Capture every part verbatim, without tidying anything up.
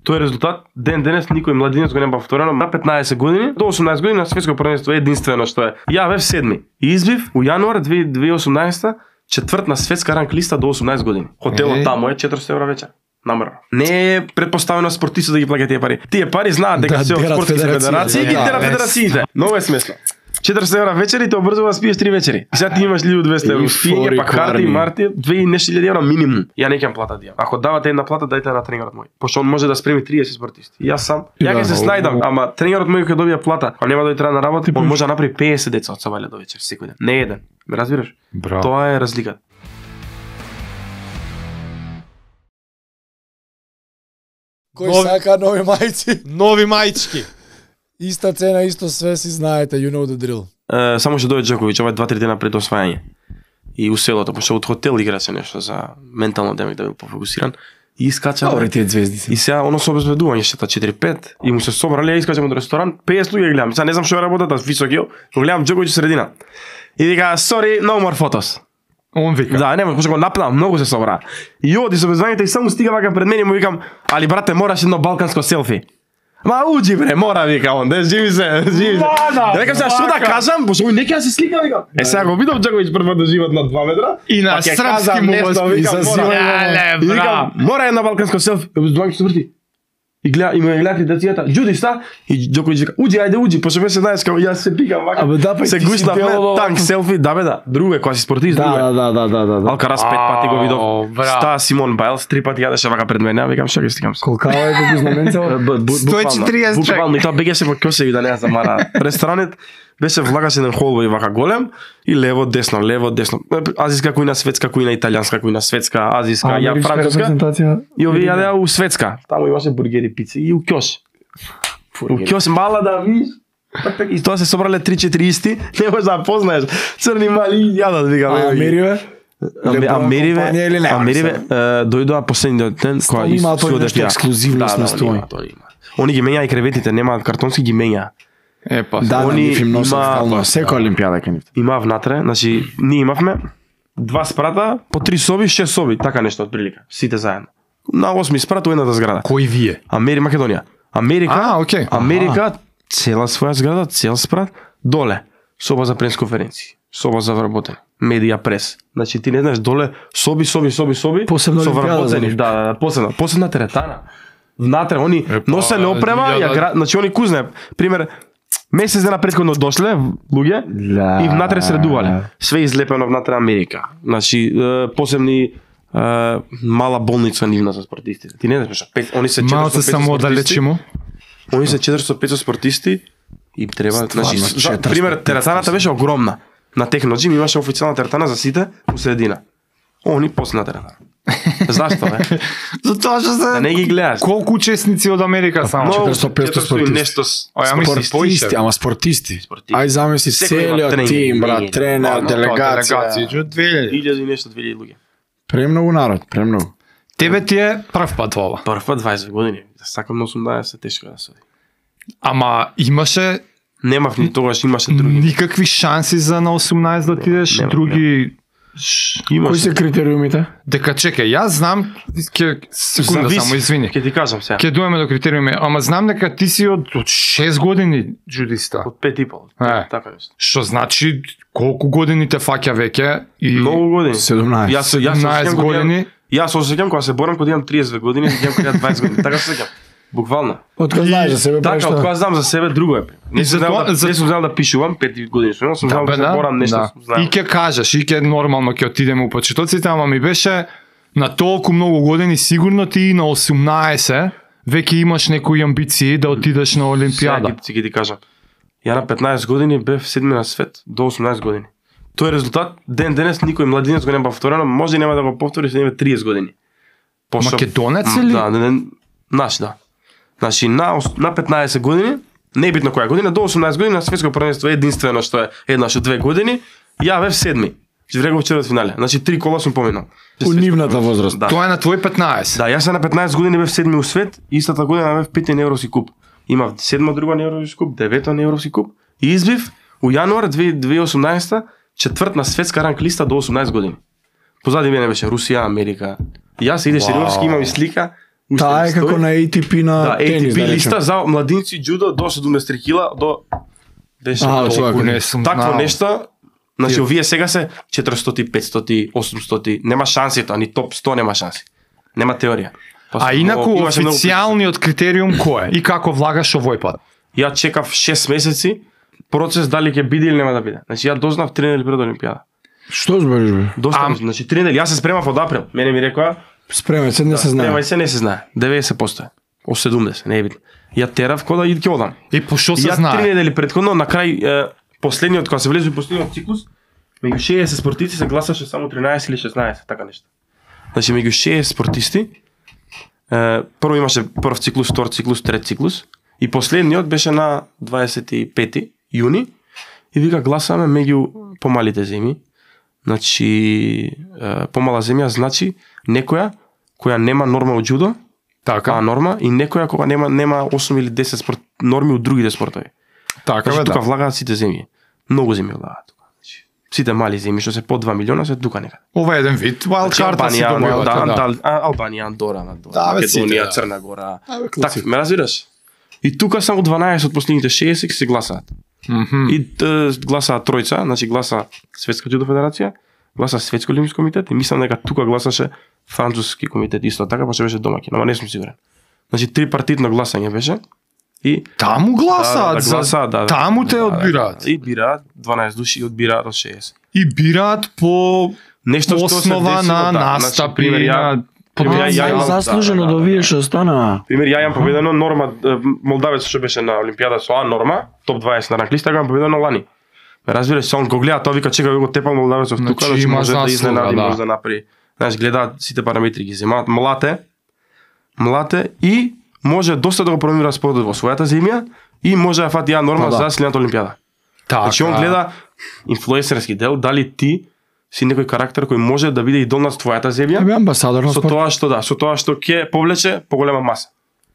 Тој резултат ден денес никој младинец го нема повторено. На петнаесет години до осумнаесет години на светско првенство е единствено што е. Ја бев седми. И избив у јануар две тисаци и осумнаесета четврт на светска ранг листа до осумнаесет години. Хотелот е... таму е четиристотини евра вечер. Намерно. Не е предпоставено спортистот да ги плаќа тие пари. Тие пари знаат дека да, се од спортски федерации и ги тера федерациите. Многу е смешно. четиристотини евра вечери те обрзува да спиеш три вечери. И сега ти имаш илјаду и двесте евра спиење, па карти, марти, две и нешто илјади евра минимум. Ја не ќе плата дијам. Ако давате една плата, дајте на тренерот мој. Пошто он може да спреми триесет спортисти. И јас сам, ја ќе се снајдам, ама тренерот мој ќе добија плата, а нема да дојде на работа, он може да направи песет деца од сабајле до вечер секој ден. Не еден. Ме разбираш? Браво. Тоа е разликата. Кој нови... сака нови мајци? Нови мајчки. Иста цена, исто све, си знаете, you know the drill. Uh, само што дојде Джоковиќ, ова е два-три дена пред освајање. И у селото, пошто од хотел играше нешто за ментално демек да бил пофокусиран. И искача. Добре, тие звезди се. И сега оно со обезбедување шета четири-пет и му се собрале, искачам од ресторан, песет луѓе гледам. Сега не знам што е работата, високи, го гледам Джоковиќ средина. И вика, sorry, no more photos. Он вика. Да, нема, пошто го напнам, многу се собра. И оди со обезбедувањето и само стига вака пред мене и му викам, али брате, мораш едно балканско селфи. Ма уџи бре, мора вика он, де живи се, живи се. Да викам сега што да кажам, пошто ој нека се слика вика. Е сега го видов Джоковиќ прв да живот на два метра и на српски му викам, мора една балканско селфи, обезбедувањето се врти. И гледа, и му гледати децата, Џуди ста? И Џоковиќ вика, уџи, ајде уџи, пошто беше знаеш како јас се пикам вака. Абе да, па се гушнав танк селфи, да бе да, друго е кога си спортист, друго е. Да, да, да, да, да. Алкарас пет пати го видов. Ста Симон Байлс три пати јадеше вака пред мене, викам што ги стикам се. Колкава е како знаменцево? сто и четириесет човек. Буквално и тоа бегеше во Кјосеви да не ја замара. Ресторанот беше влагаш еден холбој вака голем и лево десно, лево десно. Азиска кујна, светска кујна, италијанска кујна, светска, азиска, ја француска. И овие јадеа у светска. Таму имаше бургери, пици и у Кјос. У Кјос мала да видиш. И тоа се собрале три-четири исти, не можеш да познаеш. Црни мали јадат, викам. А Америве? Америве, Америве дојдоа последниот ден кога и има тоа нешто ексклузивност на стои. Они ги менјаа и креветите, немаат картонски, ги менјаа. Е, па, да, они има секоја олимпијада кај нив. Има внатре, значи ние имавме два спрата, по три соби, шест соби, така нешто отприлика, сите заедно. На осми спрат у едната зграда. Кои вие? Амери Македонија. Америка, а, okay. Америка, цела своја зграда, цел спрат, доле, соба за пресконференции, соба за вработење, медија прес. Значи ти не знаеш доле соби, соби, соби, соби, посебно со вработени, да, да, да, посебна, посебна теретана. Внатре они носеле опрема, ја гра... значи они кузне, пример, месец дена претходно дошле луѓе и внатре средувале. Све излепено внатре Америка. Значи посебни Uh, мала болница нивна за спортистите. Ти не знаеш, они се четиристотини и петдесет само да лечимо. Они се четиристотини и петдесет спортисти и треба, значи, за, пример, теретаната беше огромна. На Техноджим имаше официјална теретана за сите у средина. Они после на теретана. Зашто бе? Затоа што се да не ги гледаш. Колку учесници од Америка само? четиристотини и петдесет спортисти. Нешто спортисти, ама спортисти. Ај замисли целиот тим, брат, тренер, делегација. илјади нешто, две илјади луѓе. Премногу народ, премногу. Тебе ти е прв пат ова. Прв пат дваесет години. Да сакам на осумнаесет, тешко да се. Ама имаше немав ни тогаш, имаше други. Никакви шанси за на осумнаесет да отидеш, нема, други нема. Кои се критериумите? Дека чекај, јас знам, ќе секунда Завис, само извини. Ќе ти кажам сега. Ќе доеме до критериуми, ама знам дека ти си од од шест години джудиста. Од пет и пол. Е, така нешто. Што значи колку години те фаќа веќе и многу години. седумнаесет. Јас јас седумнаесет години. Јас се сеќам кога се борам кога имам триесет години, имам кога дваесет години. Така се сеќам. Буквално. Од кога знаеш за себе така, прашто? Така, од кога знам за себе друго е. Не сум знал да, не сум знал да пишувам пет години, сум сум знал да се борам нешто. И ќе кажеш, и ќе нормално ќе отидеме у почетоците, ама ми беше на толку многу години сигурно ти на осумнаесет веќе имаш некои амбиции да отидеш на олимпијада. Сега ќе ти кажам. Ја на петнаесет години бев седми на свет до осумнаесет години. Тој резултат ден денес никој младинец го нема повторено, може и нема да го повтори се нема триесет години. Пошо... Македонец или? Да, не, не, наш, да. Значи на на петнаесет години, небитно која година, до осумнаесет години на светско првенство единствено што е еднаш од две години, ја бев седми. Живеев четврт финале. Значи три кола сум поминал. У нивната возраст. Да. Тоа е на твој петнаесет. Да, јас на петнаесет години бев седми у свет, истата година бев пети на Европски куп. Имав седма друга на Европски куп, девета на Европски куп и избив у јануар две тисаци и осумнаесета четврт на светска ранг листа до осумнаесет години. Позади мене беше Русија, Америка. И јас иде сериорски, имам и слика Таа е како на A T P на да, тенис, A T P да листа за младинци џудо до седумдесет и три кила до беше А, Тоа не сум такво знал. нешто. Значи овие сега се четиристотини, петстотини, осумстотини, нема шанси тоа, ни топ сто нема шанси. Нема теорија. А инаку Имаше многу- официјалниот критериум кој е? И како влагаш овој пат? Ја чекав шест месеци процес дали ќе биде или нема да биде. Значи ја дознав три недели пред Олимпијада. Што збориш бе? Доста, значи три недели. Јас се спремав од април. Мене ми рекоа, Спремај се, не се знае. спремај се, не се знае. деветдесет проценти. О седумдесет, не е битно. Ја терав кода и ќе одам. И по што се Ја три знае? недели предходно на крај е, последниот кога се влезе во последниот циклус, меѓу шеесет спортисти се гласаше само тринаесет или шеснаесет, така нешто. Значи меѓу шеесет спортисти е, прво имаше прв циклус, втор циклус, трет циклус и последниот беше на дваесет и пети јуни и вика гласаме меѓу помалите земји. Значи е, помала земја значи некоја која нема норма од џудо, Така, а норма и некоја кога нема нема осум или десет спорт норми од другите спортови. така бе Значи да. тука влагаат сите земји. Многу земји влагаат тука. Значи сите мали земји што се по два милиона се тука некаде. Ова е еден вид wild Значи, card си Албанија, добивате, да, да. да, а, Албанија, Андора, Андора, Да, бе, сите, Македонија, да. Црна Гора. А, бе, Така, класика. ме разбираш? И тука само дванаесет од последните шеесет се гласаат. Мгм. И т, гласаат тројца, значи гласа Светска џудо федерација, гласа Светски олимписки комитет и мислам дека тука гласаше француски комитет исто така, па што беше домаќин, ама не сум сигурен. Значи трипартитно гласање беше и Таму гласаат, да, да, за- гласаат, да, да. таму те Да, да, одбираат. да. И бираат дванаесет души и одбираат од шеесет. И бираат по Нешто што се основа десило, на да, настапи, значи, пример, ја- на пример, ја- ја А, имам- заслужено да, да, до да, овие да. што стана. Пример, ја имам победено норма е, Молдавец што беше на Олимпијада со А норма, топ дваесет на ранглиста, ја имам победено лани. Ме разбираш, се он го гледа, тоа вика чека го тепал Молдавецов Значи, тука, значи има може да заслуга, изненади, да. може да направи. Знаеш, гледаат сите параметри ги земаат, млате, млате и може доста да го промира спортот во својата земја и може да фати ја норма Па да. за следната Олимпијада. Така. Значи он гледа инфлуенсерски дел, дали ти си некој карактер кој може да биде идол на твојата земја, Абе амбасадор на со спорт. тоа што да, со тоа што ќе повлече поголема маса.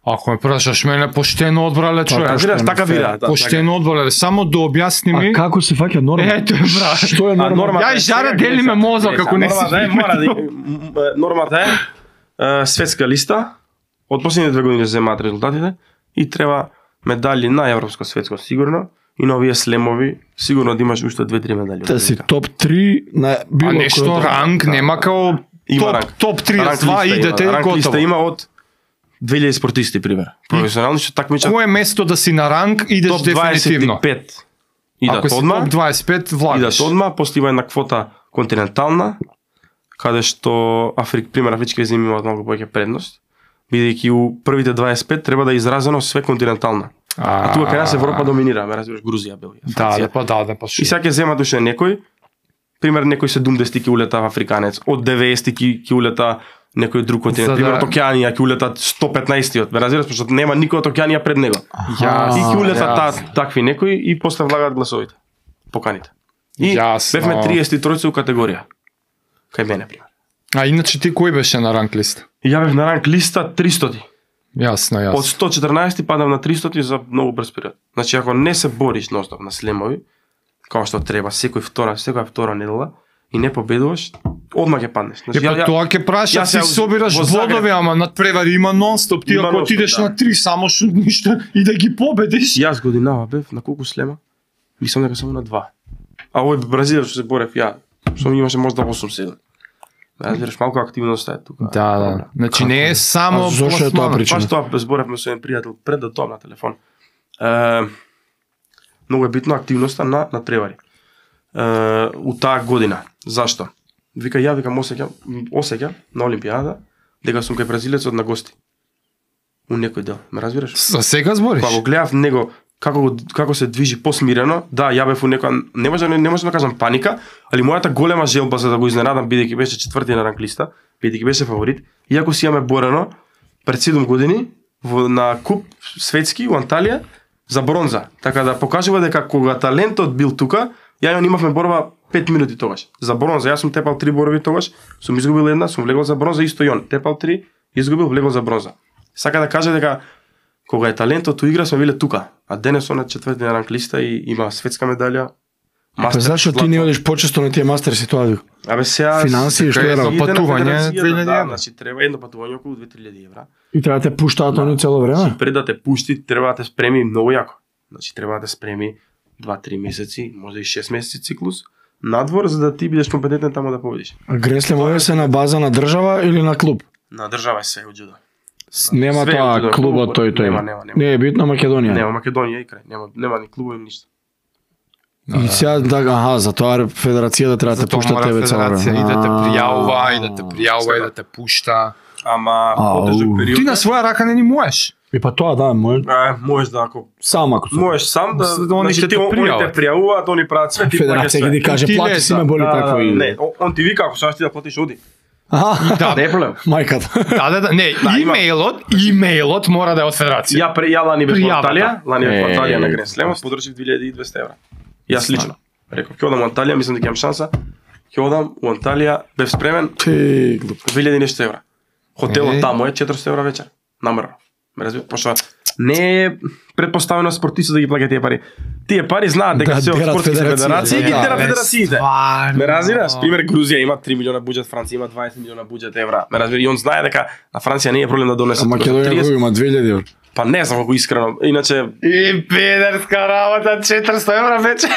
Ако ме прашаш мене, поштено одбрале човек. Разбираш, така фер. вира, да. Поштено одбрале, само да објасни А ми. како се фаќа норма? Ето е, брат. Што е А норма? нормата Ја и е жаре сега, дели гледа, ме мозок, гледа, ако не нормата си е, мора да м, нормата е, е светска листа, од последните две години се земаат резултатите и треба медали на европско, светско сигурно и на овие слемови сигурно да имаш уште две-три медали. Та си топ три на било А нешто кој- ранг да, нема да. као Има топ, ранг. топ триесет и Ранг два листа идете има, ранг листа готово. има од две илјади спортисти пример. Професионални што такмичат Кое место да си на ранг идеш топ дефинитивно. дваесет и пет. Идат Ако си одма. топ дваесет и пет влагаш. Идат одма, после има една квота континентална, каде што Африк, пример афрички земји имаат многу повеќе предност, бидејќи у првите дваесет и пет треба да е изразено све континентална. А тука кај нас Европа доминира, ме разбираш, Грузија, Белгија, Да, Франција. да, па да, да, па И шо. сега ќе земат уште некој, пример некој седумдесети ќе улета африканец, од деветдесети ќе ќе улета некој друг континент, За пример да- од Океанија ќе улета сто петнаесеттиот, ме разбираш, пошто нема никој од Океанија пред него. Јас, И ќе улета јас. та, такви некои и после влагаат гласовите. Поканите. И Јасно. бевме триесет и тројца у категорија. Кај мене, пример. А иначе ти кој беше на ранг листа? И ја бев на ранг листа тристоти. Јасно, Од јасно. сто четрнаесет падав на тристоти за многу брз период. Значи ако не се бориш ностоп на слемови, како што треба, секој втора, секоја втора недела и не победуваш, одма ќе паднеш. Е, па тоа ќе праша, јас си ја- собираш во Загреб- бодови, ама надпревари има нонстоп. Ти Има ако нонстоп, отидеш да. на три, само што ништо и да ги победиш. Јас годинава бев на колку слема? Мислам дека само на два. А овој Бразилија што се борев ја, што ми имаше можда осум седум. Разбираш, малку активност е тука. Да, да. Значи не е само А зошто е тоа пласман. причина? Баш тоа зборевме со еден пријател пред да тоа на телефон. Е, многу е битно активноста на на тревари. Е, у таа година. Зашто? Вика ја викам осеќам, осеќам на Олимпијада дека сум кај бразилецот на гости. У некој дел, ме разбираш? За сега збориш? Кога го гледав него како го, како се движи посмирено, да, ја бев у некоја не може не може да кажам паника, али мојата голема желба за да го изненадам бидејќи беше четврти на ранг листа, бидејќи беше фаворит, иако си имаме борено пред седум години во на куп светски у Анталија за бронза. Така да покажува дека кога талентот бил тука, ја и он имавме борба пет минути тогаш. За бронза, јас сум тепал три борови тогаш, сум изгубил една, сум влегол за бронза, исто и он. Тепал три, изгубил, влегол за бронза. Сака да каже дека кога е талентот у игра сме биле тука, а денес он е четврти на ранг листа и има светска медалја Па зашо ти не одиш почесто на тие мастерси тоа? Абе сега финансии што е патување две илјади да, евра. значи треба едно патување околу две-три илјади евра. И треба да те пуштаат они цело време? Пред да те пушти, треба да те спреми многу јако. Значи треба да те спреми два-три месеци, може и шест месеци циклус надвор за да ти бидеш компетентен таму да победиш. А гресле може се на база на држава или на клуб? На држава се од џудо. Нема Све тоа џудо, клубот тој тој. Нема, нема, нема. Не е битно Македонија. Нема Македонија и крај, нема нема ни клубови ништо. И сега така, аха, за тоа федерацијата треба да те пушта тебе цело време. И да те пријавува, и да те пријавува, и да те пушта. Ама Ау. потежок период. Ти на своја рака не ни можеш. И па тоа да, може Е, можеш да ако сам ако се. можеш сам да Да, они ќе значи, те ти, они те пријават. пријавуваат, они прават све, ти плаќаш Федерација ќе све. ти каже Ти плати лез, си ме да. боли Да, такво и. не, о- он ти вика ако сакаш ти да платиш оди. Аха, Да, Не е проблем. мајката. Да, да, да, не, Да, има- имејлот, имејлот мора да е од федерација. Ја пре ја лани бев во Пријавата. Анталија, лани бев во Е, Анталија на е, Грен Слем, подржив две илјади и двесте евра. Јас лично. Реков, ќе одам во Анталија, мислам дека имам шанса. Ќе одам во Анталија, бев спремен Ти глуп. две илјади и нешто евра. Хотелот Е. таму е четиристотини евра вечер. Намрно. Ме разбира, пошто не е предпоставено спортистот да ги плаќа тие пари. Тие пари знаат дека Да, се од дерат спортски федерацијите. федерации и ги Да, дерат бе, федерациите. стварно. Ме разбираш? Пример Грузија има три милиона буџет, Франција има дваесет милиона буџет евра. Ме разбира, и он знае дека на Франција не е проблем да донесе. А Македонија го има две илјади евра. Па не знам колку искрено. Иначе И педерска работа, четиристотини евра вече.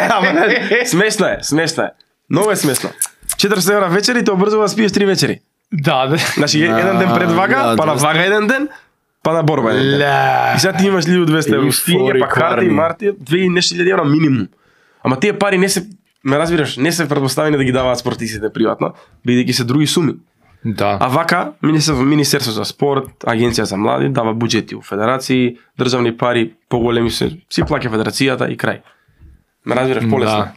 ама не, смешно е, смешно е. Многу е смешно. четиристотини евра вечери те обрзува да спиеш три вечери. Да, да. Значи еден ден пред вага, да, па на двеста. вага еден ден, па на борба еден ден. Ле. И сега ти имаш ли двесте евра, И стиње, фори, па карти, кварни. марти, две и нешто илјади евра минимум. Ама тие пари не се, ме разбираш, не се предпоставени да ги даваат спортистите приватно, бидејќи се други суми. Да. А вака, Министерство, Министерство за спорт, Агенција за млади, дава буџети у федерации, државни пари, поголеми се, си плаќа федерацијата и крај. Ме разбираш, полесно. Да.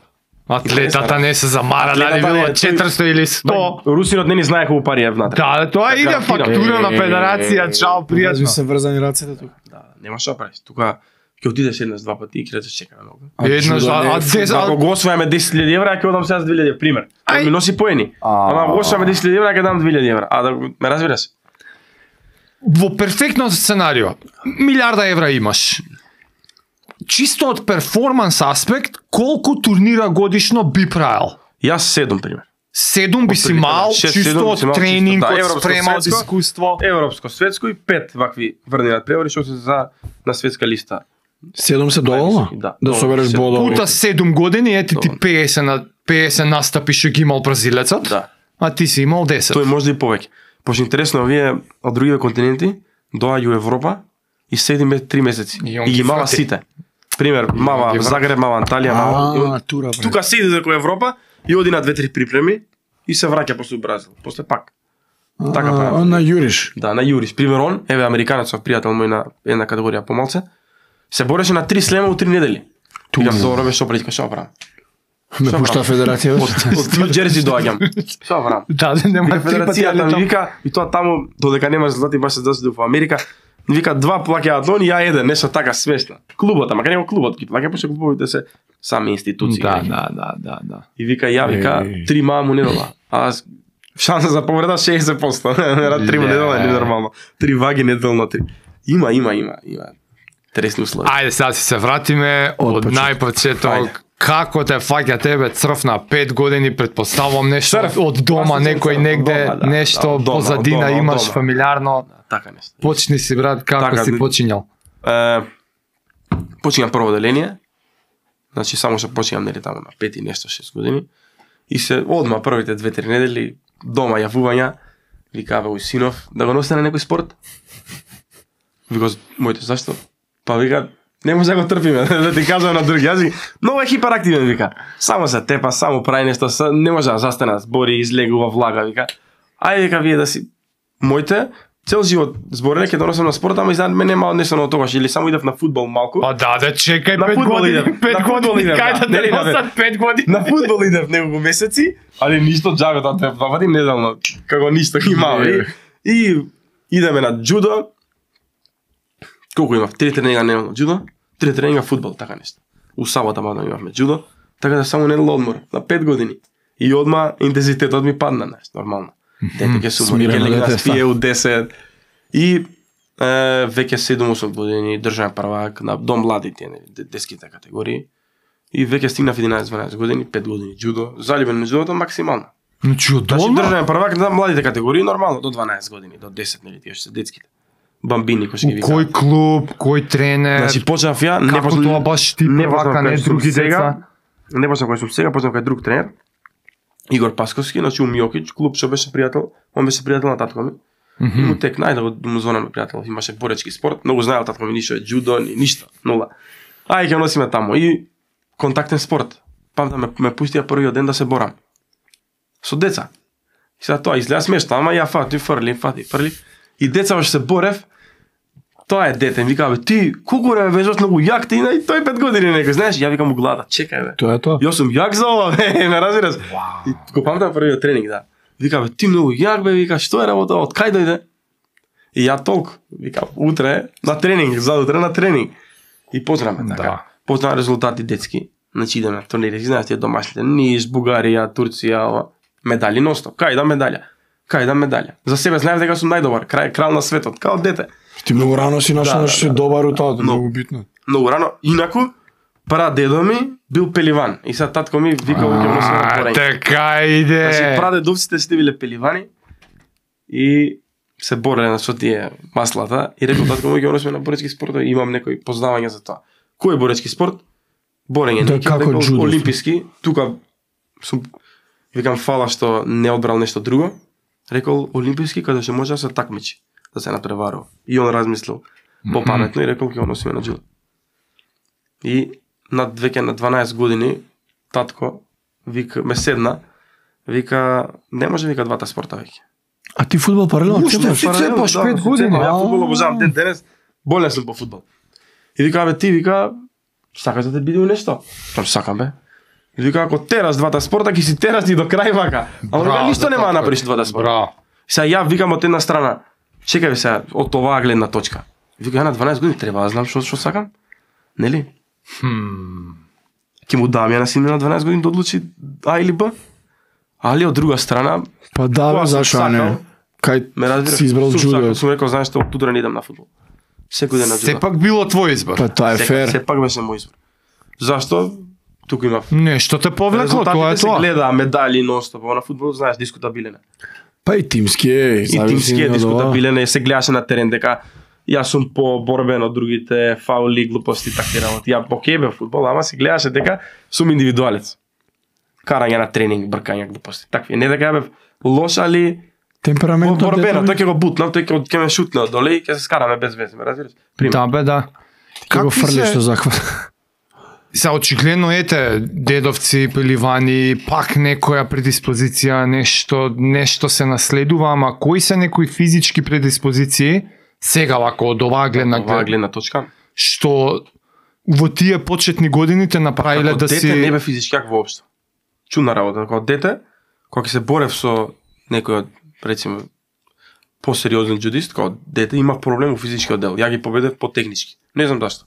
Атлетата не се замара дали Атлетата било не, тој- четиристотини или сто. Русинот не ни знае колку пари е внатре. Да, тоа иде фактура на федерација, чао, Јас пријатно. се врзани рацете тука. Да, нема што правиш. Тука ќе отидеш еднаш два пати и ќе речеш чекаме многу. Еднаш, чудо не е а десет, Ако го освојаме десет илјади евра, ќе одам сега за две илјади, пример. Ај. Ми носи поени. А. Ама ако го освојаме десет илјади евра, ќе дам две илјади евра. А да го- ме разбираш? во перфектно сценарио, милиарда евра имаш. Чисто од перформанс аспект, колку турнира годишно би правил? Јас седум, пример. Седум би си Отприлика, мал, да, шест, чисто седум би од си мал, тренинг, чисто, да, од европско, спрема, од светско. искуство. Европско, светско и пет вакви врнинат превори што се за на светска листа. Седум се доволно? Да, Да доволно, собереш се- бодови. Пута седум години, ети ти Доволно. петдесет на петдесет настапи што ги имал бразилецот, Да. а ти си имал десет. Тој може да и повеќе. Пошто интересно, овие од другите континенти доаѓаат у Европа и седиме три месеци. И он И ги ги мава врати. сите. Пример, мава ги врати. Загреб, мава Анталија, мава. А, тура бре. Тука седи за кој Европа и оди на две-три припреми и се враќа после Бразил. После пак. Така А, прави. он на Јуриш. Да, на Јурис. Пример он, еве американецов пријател мој на една категорија помалце, се бореше на три слема у три недели. Викам, добро бе, што пречка, што правам? Ме Што пушта правам? федерација. Од, од Нью Џерси доаѓам. Што правам? Да, да, нема Вика три пати федерацијата ми летам. вика и тоа таму додека немаш резултати баш се дојде во Америка. Вика два плаќаат они, ја еден, нешто така смешно. Клубот, ама кај него клубот ги плаќа, пошто клубовите се сами институции. Да, да, да, да, да. И вика ја вика Еј. три маму недела. А аз- шанса за повреда шеесет проценти. Нера три му недела не нормално. Три ваги неделно три. Има, има, има, има. Тресни услови. Ајде сега си се вратиме Од од почеток. најпочеток. Ајде. Како те фаќа тебе црв на пет години, предпоставувам нешто Црв. од дома, Аз сум некој црв, негде, од дома, да, нешто да, од дома, позадина од дома, од имаш дома. фамилиарно. Така нешто. Почни си брат, како Така, си не- почињал? Е, починам прво оделение. Значи само што починам нели таму на пет и нешто шест години. И се одма првите две-три недели дома јавувања, викава у синов да го носи на некој спорт. Вика моите зашто? Па вика не може да го трпиме, да ти кажам на други. Јас ви многу е хиперактивен вика. Само се тепа, само прави нешто, са- не може да застане, збори, излегува, влага вика. Ајде вика вие да си моите цел живот зборене ќе донесам на спорт, ама изнаդ мене нема нешто на тогаш или само идев на фудбал малку. Па да, да чекај На пет фудбал години, идем, пет на фудбал години, идем, кај да. да Нели, те да, бе. носат пет години? На фудбал идев неколку месеци, али ништо џабе тоа две два пати неделно, како ништо имав. И, и идеме на џудо. Колку имав? Три тренинга неделно џудо, три тренинга фудбал, така нешто. У сабота мадно имавме џудо, така да само недела одмор на пет години. И одма интензитетот ми падна, знаеш, нормално. Дете ќе се умори, ќе Смирено легне да дете, спие у десет. И е, веќе седум осум години државен првак на дом младите, нели, де- детските категории. И веќе стигнав единаесет-дванаесет години, пет години џудо, заљубен на џудото максимално. Значи Значи одолно? државен првак на младите категории нормално до дванаесет години, до десет нели тие што се детските. Бамбини кои ќе ги Кој клуб, кој тренер? Значи почнав ја, не како почнав тоа баш ти не првака, почнав не кај што други сум сега. деца? Не почнав кој сум сега, почнав кај друг тренер. Игор Пасковски, значи у Миокич, клуб што беше пријател, он беше пријател на татко ми. И му тек најде да го му звонам пријател, имаше боречки спорт, многу знаел татко ми ништо е џудо, ни ништо, нула. Ај ќе носиме таму и контактен спорт. Памтам ме, ме пустија првиот ден да се борам. Со деца. И сега тоа изгледа смешно, ама ја фати, фрли, фати, фрли. И деца што се борев, тоа е дете, ми вика бе, ти колку време беше многу јак ти, и тој пет години некој, знаеш, ја викам му глада, чекај бе. Тоа е тоа. Јас сум јак за ова, бе, ме разбираш? И го памтам првиот тренинг, да. Вика бе, ти многу јак бе, вика, што е работа, од кај дојде? И ја толку, вика, утре на тренинг, задутре на тренинг. И позраме така. Да. Позна резултати детски. Значи идеме на турнири, знаеш тие домашните, Ниш, Бугарија, Турција, ова. Медали ностоп. Кај да медаља? Кај да медаља? За себе знаев дека сум најдобар, крај крал на светот, као дете. Ти многу рано си нашол Да, нешто си да, да. добар у тоа, Но- многу битно. Многу рано, инаку, прадедо ми бил пеливан. И сега татко ми вика ќе му се на А, борење. така иде. Значи прадедовците сите биле пеливани и се бореле со тие маслата и рекол татко му ќе носиме на боречки спортови, имам некои познавања за тоа. Кој е боречки спорт? Борење, Да, неќе како рекол џудо. олимписки, тука сум викам фала што не одбрал нешто друго. Рекол олимписки каде што може да се такмичи, да се надпреварува. И он размислил попаметно и рекол ќе го носиме на џудо. И на веќе на дванаесет години татко вика ме седна, вика не може вика двата спорта веќе. А ти фудбал паралелно Уште цепаш? си цепаш пет години, Ја а? фудбал обожавам ден денес, болен сум по фудбал. И вика бе ти вика сакаш да те биде у нешто? Там сакам бе. И вика ако тераш двата спорта ќе си тераш и до крај вака. Ама вика ништо нема да направиш двата спорта. Браво. Сега ја викам од една страна, чекај бе сега од оваа гледна точка. Вика ја на дванаесет години треба да знам што што сакам. Нели? Ќе му дам ја на сина на дванаесет години да одлучи А или Б. Али од друга страна, Па да, бе, Кога сум зашо не? сакал, Кај ме разбираш, си избрал сум џудо? сакал, сум рекол, знаеш што, од утре не идам на фудбал. Секој ден на џудо. Сепак било твој избор. Па тоа е Сека- фер. Сепак беше мој избор. Зашто? Туку имав. Нешто те повлекло, тоа е Резултатите се тоа. гледа, медали ностоп, ова на фудбал, знаеш, дискутабилен е. Па и тимски е. И зависи тимски е од ова. дискутабилен е, се гледаше на терен дека јас сум по-борбен од другите, фаули, глупости, такви работи. Ја окей бе фудбал, ама се гледаше дека сум индивидуалец. Карање на тренинг, бркање, глупости, такви. Не дека бев лош, али Темпераментот борбено, дете, тој ќе го бутнам, тој ќе ќе ме шутне од доле и ќе се скараме без везе, ме разбираш? Пример. Да бе, да. Како Какви фрлиш се- што захват. Се очигледно ете дедовци, пеливани, пак некоја предиспозиција, нешто нешто се наследува, ама кои се некои физички предиспозиции сега вако од оваа гледна Оваа глед, гледна точка. што во тие почетни години те направиле Како да дете си не бе физички јак воопшто. Чудна работа, како дете, кога ќе се борев со некој од речеме посериозен џудист, како дете имав проблем во физичкиот дел. Ја ги победев по технички. Не знам зашто.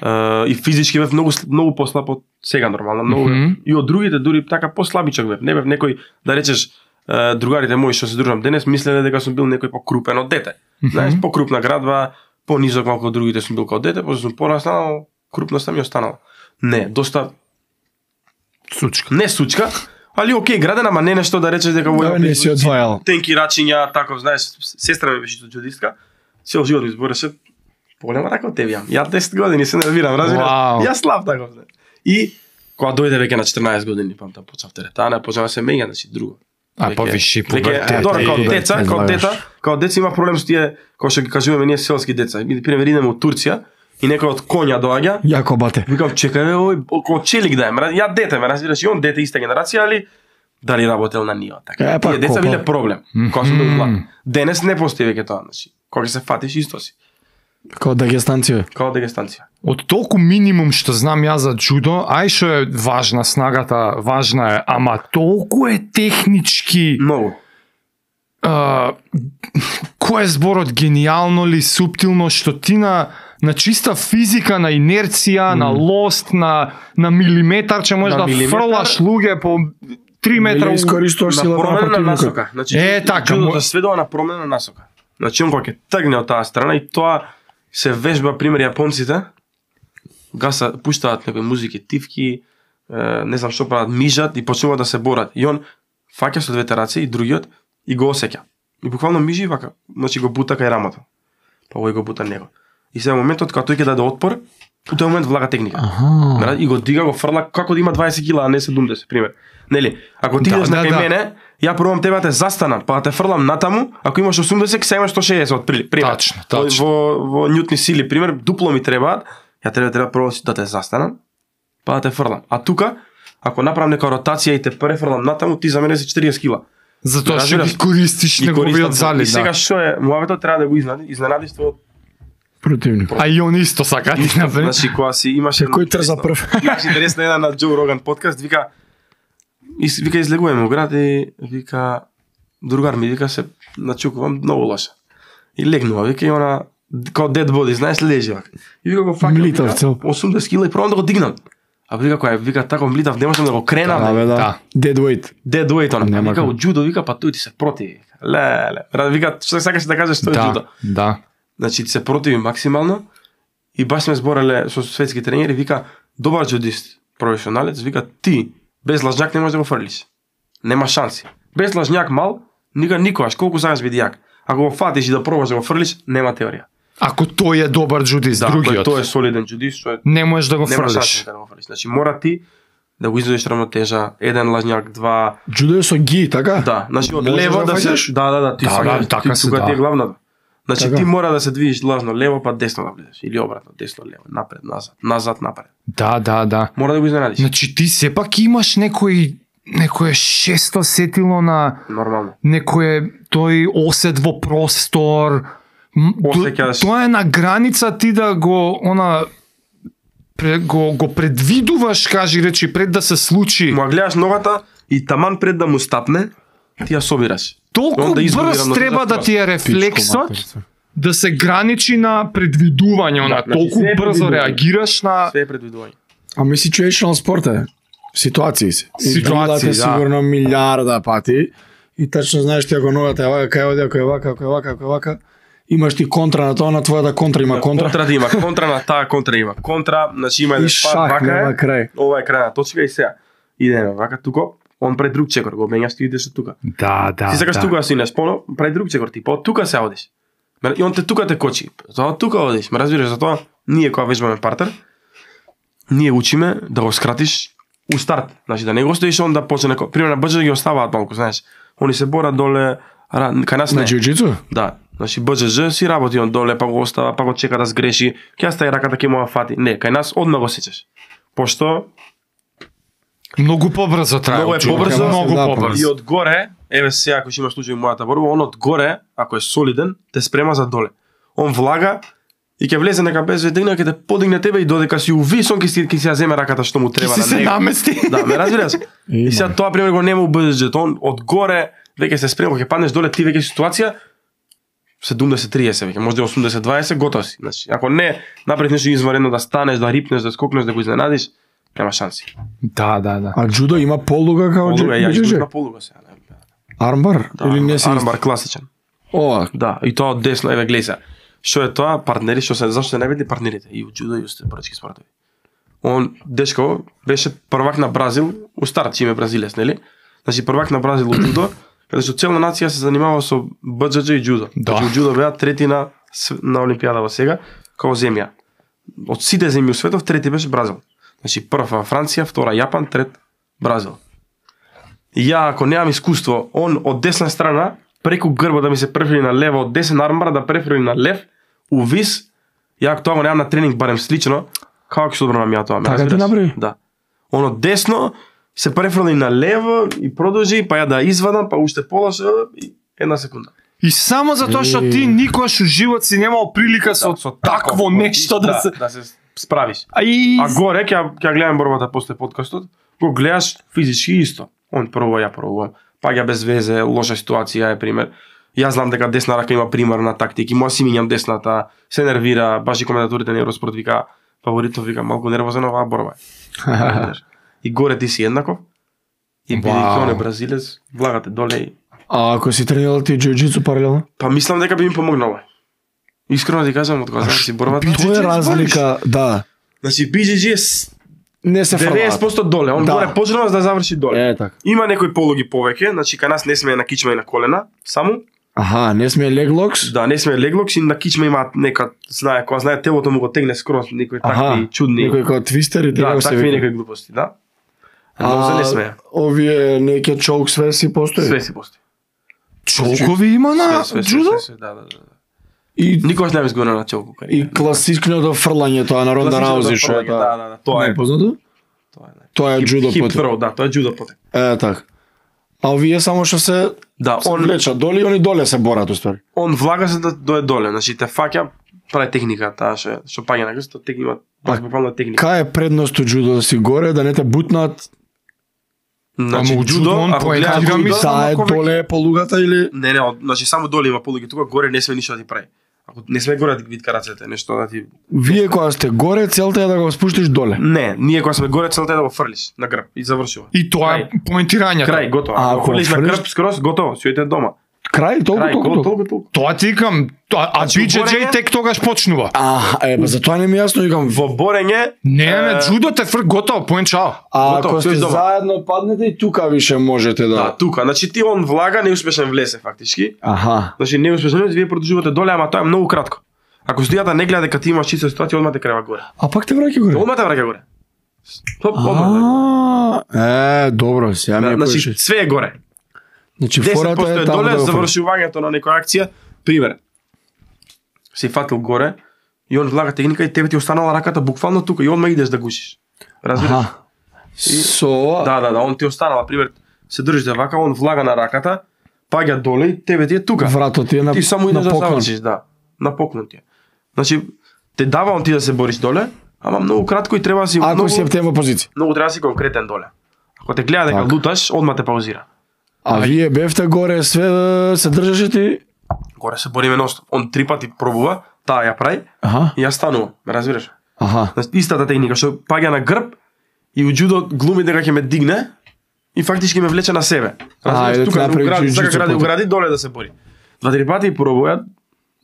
Uh, и физички бев многу сл- многу послаб од сега нормално, многу Мгм. mm-hmm. и од другите дури така послабичок бев. Не бев некој да речеш uh, другарите мои што се дружам денес мислеле дека сум бил некој покрупен од дете. Mm-hmm. Знаеш, покрупна градба, понизок малку од другите сум бил како дете, после сум пораснал, крупноста ми останала. Не, доста сучка. не сучка, али окей граден, ама не нешто да речеш дека Да, во не си одвајал. тенки рачиња, таков, знаеш, сестра ми беше џудистка, цел живот ми збореше поголема така од тебе јам. Ја десет години се нервирам, разбираш? Вау. Јас слаб таков. знаеш. И кога дојде веќе на четрнаесет години, памтам, почнав теретана, почнав да се меѓа, значи друго. А Веќе- повиши веќе- пубертет. Добро, као и- деца, не као знаеш. дета, као деца има проблем со тие, кои што ги кажуваме ние селски деца. И пример идеме од Турција и некој од коња доаѓа, Јако бате. викам чекај бе, ој, око челик да е, ме раз- ја дете ме разбираш, и он дете иста генерација, али дали работел на ниво, така. Е, па, Тие деца копа. биле проблем, кога сум бил млад. Денес не постои веќе тоа, значи. Кога ќе се фатиш исто си, Као дагестанција. као дегестанција. Од толку минимум што знам ја за џудо, ај што е важна снагата, важна е, ама толку е технички. Многу. А, кој е зборот гениално ли, суптилно, што ти на на чиста физика, на инерција, mm. на лост, на на милиметар, че можеш На да милиметар? фрлаш луѓе по три метра. Или искористуваш На силата на промена на противникот. насока. Значи, Е, така, џудото мо- сведува на промена на насока. Значи, он кога ќе тргне од таа страна и тоа се вежба, пример, јапонците, гаса, пуштаат некои музики, тивки, е, не знам што прават, мижат и почнуваат да се борат. И он фаќа со двете раце и другиот и го осеќа. И буквално мижи вака, значи го бута кај рамото. Па овој го бута него. И сега моментот кога тој ќе даде отпор, у тој момент влага техника. Аха. И го дига, го фрла како да има дваесет кила, а не седумдесет, пример. Нели? Ако ти Да, идеш да, на кај да. мене, ја пробам тебе да те застанам, па да те фрлам натаму, ако имаш осумдесет, сега имаш сто шеесет од пример. Тачно, тачно. Во, во њутни сили, пример, дупло ми требаат, ја треба треба прво да те застанам, па да те фрлам. А тука, ако направам нека ротација и те префрлам натаму, ти за мене си четириесет кила. Затоа што Разбираш? ги користиш И користам неговиот тоа. залез, И сега да. што е, муаветот треба да го изненади, изненадиш твојот. Противник. А и он исто сака ти напред. Значи кога си имаше Кој трза прв? Имаше интересна една на Джо Роган подкаст, вика и с- вика излегуваме у град и вика другар ми вика се начукувам многу лоша. И легнува, вика и она као dead body, знаеш лежи вака. И вика го фаќам. Млитав вика, цел. осумдесет кила и пробам да го дигнам. А вика кој е, вика тако млитав, не можам да го кренам. Да, бе, да. Да. Dead weight. Dead weight она. Нема Вика како. у джудо, вика па тој ти се противи. Леле. Ра- Вика што сакаш да кажеш што е джудо. Да, да. Значи се противи максимално и баш сме збореле со светски тренери, вика добар джудист, професионалец, вика ти без лажњак не можеш да го фрлиш. Нема шанси. Без лажњак мал, никога никогаш, колку сакаш биди јак. Ако го фатиш и да пробаш да го фрлиш, нема теорија. Ако тој е добар джудист, Да, другиот, тој е солиден джудист, што е не можеш да го нема шанси фрлиш. да го фрлиш. Значи мора ти да го изведеш рамнотежа, еден лажњак, два, Джудо е со ги, така? да, значи од Можеш лево да да се фаќаш? да, да, да, ти Да, сакаш, да, така ти се, тука да. ти е главното. Значи Така. ти мора да се движиш лажно лево па десно да влезеш или обратно, десно лево, напред, назад, назад, напред. Да, да, да. Мора да го изненадиш. Значи ти сепак имаш некој некое шесто сетило на Нормално. некое тој осет во простор. М, то- Осеќаш. Тоа е на граница ти да го она пре, го го предвидуваш, кажи речи пред да се случи. Му ја гледаш ногата и таман пред да му стапне, ти ја собираш. Толку Он да изгуби брз равнотежа треба да скоро. ти е рефлексот да се граничи на предвидување, на значи толку се е брзо предвидување. реагираш на Све е предвидување. Ами situational спорт е. Ситуации се. И Ситуации, дрилате да. сигурно милиарда пати и тачно знаеш ти ако ногата е вака, кај оди, ако е вака, ако е вака, ако е вака, имаш ти контра на тоа, на твојата контра има контра. Контра да има, контра на таа контра има. Контра, значи има И еден шах, пат, вака нема е, крај. ова е крајна точка и сега. Идеме вака тука, он пред друг чекор, го менјаш ти идеш од тука. Да, да. Ти сакаш да. тука да си идеш поно, пред друг чекор ти, па од тука се одиш. Ме- И он те тука те кочи. За од тука одиш, ме разбираш, затоа ние кога вежбаме партер, ние учиме да го скратиш у старт. Значи да не го стоиш он да почне, пример на БДЖ ги оставаат малку, знаеш. Они се борат доле, ра- кај нас На не. џиу-џитсу? Да, значи БДЖ си работи он доле, па го остава, па го чека да сгреши, ќе ја стави раката ќе му ја фати. Не, кај нас одма го сечеш. Пошто Многу побрзо трае. Многу е учење, побрзо, многу да, и побрзо. од горе, еве сега ако ќе имаш случај во мојата борба, он од горе, ако е солиден, те спрема за доле. Он влага и ќе влезе нека без ведрина, ќе те подигне тебе и додека си увис, он ќе си ќе си ја земе раката што му треба Си на се него. намести. Да, ме разбираш? И сега тоа пример го нема у БДЖ, он од горе веќе се спрема, ќе паднеш доле, ти веќе си ситуација седумдесет триесет веќе, може да осумдесет дваесет, готов си. Значи, ако не направиш нешто изварено да станеш, да рипнеш, да скокнеш, да го изненадиш, нема шанси. Да, да, да. А джудо има полуга као Полуга, ја џиу-џитсу? изгубив на полуга сега. не. Армбар? Да, Или не си? армбар класичен. Ова, Да, и тоа од десно, еве гледа. Што е тоа? Партнери, што се зашто се најбитни партнерите и у џудо и у степорачки спортови. Он дечко беше првак на Бразил, у старт име бразилец, нели? Значи првак на Бразил у џудо, каде што цела нација се занимава со БДЖ и џудо. Да. Значи у џудо беа трети на св- на олимпијадава сега, као земја. Од сите земји у светов трети беше Бразил. Значи прв во Франција, втора Јапан, трет Бразил. И ја ако немам искуство, он од десна страна преку грба да ми се префрли на лево, од десен армбар да префрли на лев, увис, ја ако тоа го немам на тренинг барем слично, како ќе се одбранам ја тоа? ме Така ти разбираш? направи? Да. Он од десно се префрли на лево и продолжи, па ја да извадам, па уште полоше и една секунда. И само затоа што ти никош у живот си немал прилика со, со такво нешто да, се... да се справиш. А, и... А горе ќе ќе гледам борбата после подкастот, го гледаш физички исто. Он прво ја пробувам. Паѓа без везе, лоша ситуација е пример. Јас знам дека десна рака има примерна тактика, моја си минјам десната, се нервира, баш и коментаторите на Евроспорт вика фаворитов вика малку нервозен оваа борба. е. И горе ти си еднаков. И бидејќи Вау. он е бразилец, влагате доле и а ако си тренирал ти џиу-џитсу паралелно? па мислам дека би ми помогнало. Искрено ти кажам, од кога знаеш си борбата. Тоа е разлика, да. Значи би джи джи е с- Не се деветдесет фрлаат. проценти доле, он Да. горе почнува за да заврши доле. Е, така. Има некои полуги повеќе, значи кај нас не сме на кичма и на колена, само. Аха, не сме леглокс. Да, не сме леглокс и на кичма имаат нека, знае, кога знае телото му го тегне скроз, некои такви чудни. Некој како твистер и Да, така се такви вика. некои глупости, да. Но за не сме. Овие неќе чоук сверси постои. Све си постои. Чолкови има на Све, све, джудо? све, све, да, да, да. И Никогаш не ми изгодна на челку кариера. и класичното фрлање тоа на Ронда Класичното Раузи што е фрлање, тоа. да, да, да, тоа Не е. познато? Тоа е. Тоа е Хип- джудо хип потек. throw, да, тоа е джудо потек. Е, така. А овие само што се Да, се он влечат доле и они доле се борат уствари. он влага се да дое доле, значи те фаќа, прави техника, таа што што паѓа на грст, тек има А, буквално техника. Кај е предност од джудо да си горе, да не те бутнат, Значи Ама у джудо он ако поетира гледаш ми джудо, са- таа е малку веќе. доле по лугата или не, не, од- значи само доле има полуѓе, тука горе не сме ништо да ти прави. Ако не сме горе да ти витка рацете, нешто да ти вие кога сте горе, целта е да го спуштиш доле. Не, ние кога сме горе целта е да го фрлиш на грб и завршува. И тоа е поентирањето. Крај, готово. А, Ако ако фрлиш на фрлиш- грб скроз, готово, си ојде дома. Крај, толку, Крај, толку, готово, толку. толку, толку. Тоа ти викам, тоа- а Значи, би джи джи уборење- тек тогаш почнува. А, е, па затоа не ми е јасно, викам, Во борење, Не, не, Е, джудо те фр готово, поен чао. а готово, ако си сте дома. заедно паднете и тука више можете да, да. тука, значи ти он влага, неуспешен влесе фактички. Аха. Значи неуспешен, вие продолжувате доле, ама тоа е многу кратко. Ако студијата не гледа дека ти имаш чиста ситуација, одма те крева горе. А пак те враќа горе. Одма те враќа горе. Хоп, одма. А, е, добро, сега ми Да, е значи поише. све е горе. Значи десет фората проценти е е таму доле да го фрлиш. завршувањето на некоја акција. Пример. Си фатил горе и он влага техника и тебе ти останала раката буквално тука и одма идеш да гушиш. Разбираш? Аха. Со ова, Да, да, да, он ти останала, пример, се држите вака, он влага на раката, паѓа доле и тебе ти е тука. вратот ти е на Ти само идеш на да поклон. завршиш, да. На поклон ти е. Значи, те дава он ти да се бориш доле, ама многу кратко и треба да си Ако многу, си ептен во позиција. многу треба да си конкретен доле. Ако те гледа дека Така. луташ, одма те паузира. А вие бевте горе, све се држеше ти. Горе се бориме ностоп. Он три пати пробува, таа ја прави Аха. и ја станува, ме разбираш? Аха. Значи, истата техника што паѓа на грб и у джудо глуми дека ќе ме дигне и фактички ме влече на себе. А, Разбираш, и да тука ти да направи угради, сака джиу-џитсу гради, потек. угради, доле да се бори. Два-три пати пробува,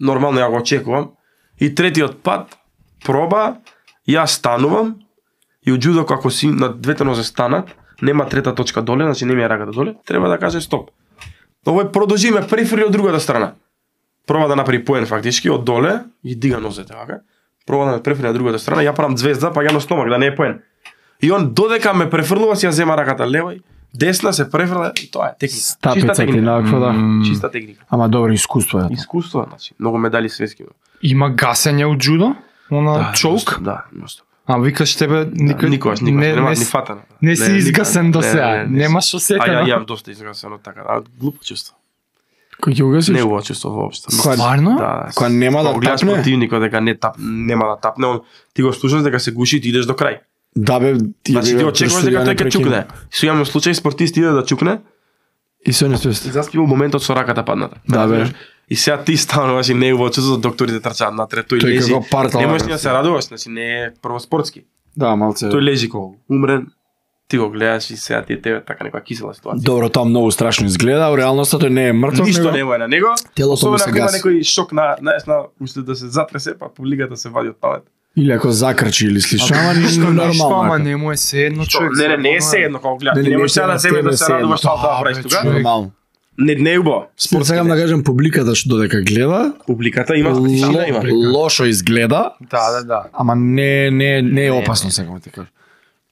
нормално ја го очекувам, и третиот пат проба, ја станувам и у джудо како си на двете нозе станат, нема трета точка доле, значи не ми е раката доле, треба да каже стоп. Овој продолжи ме префрли од другата страна. Проба да направи поен фактички од доле и дига нозете вака. Проба да ме префрли на другата страна, ја правам звезда, па ја на стомак да не е поен. И он додека ме префрлува си ја зема раката лева и десна се префрла и тоа е техника. Чиста Стапица ти техника. наква, да. Чиста техника. Ама добро искуство е. Искуство, значи, многу медали светски. Има гасење у джудо? Она чолк? Да, носто. А викаш тебе никој Никогаш, никогаш, не, нема не, ни фатано. не си изгасен до не, сега. не, не, Немаш А ја осетено. јам доста изгасено така, а глупо чувство. Кој ќе угасиш? Не убаво чувство воопшто. Стварно? Да, Кога нема да кога гледаш тапне? противникот дека не тап, нема да тапне, он ти го слушаш дека се гуши и ти идеш до крај. Да бе, ти Значи бе, ти очекуваш дека тој ќе чукне. Со имаме случај спортист иде да чукне И се не и свест. заспива моментот со раката падната. Да, бе. Разбираш? И сега ти стануваш и не убаво чувство, докторите трчаат натре, тој Тој лежи. како партал, Не можеш бе. ни да се радуваш, значи не е прво спортски. Да, малце. Тој лежи како умрен, ти го гледаш и сега ти е тебе така некоја кисела ситуација. Добро, тоа многу страшно изгледа, а у реалноста тој не е мртов, Ништо него- нема е на него. Телото му Особено се ако има гаси. некој шок на, знаеш, на уште да се затресе, па публиката се вади од палет. Или ако закрчи или слично, ама Ништо, ништо ништо, ама нормално. не му е се едно човек. Не, не, не е се едно како гледаш. Не, Ти не, не не можеш сега се да земеш тебе да се се едно. радуваш тоа да Да, правиш бе, тука. човек. Нормално. Не, не е убаво. Спорт Спортски. сакам да кажам публиката што додека гледа, Публиката има тишина има. ло- лошо изгледа, Да, да, да. ама не не не е опасно сакам да ти кажам.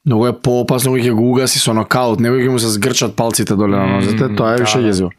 Многу е поопасно кога ќе го угаси со нокаут, него ќе му се згрчат палците доле на нозете, тоа е више језиво.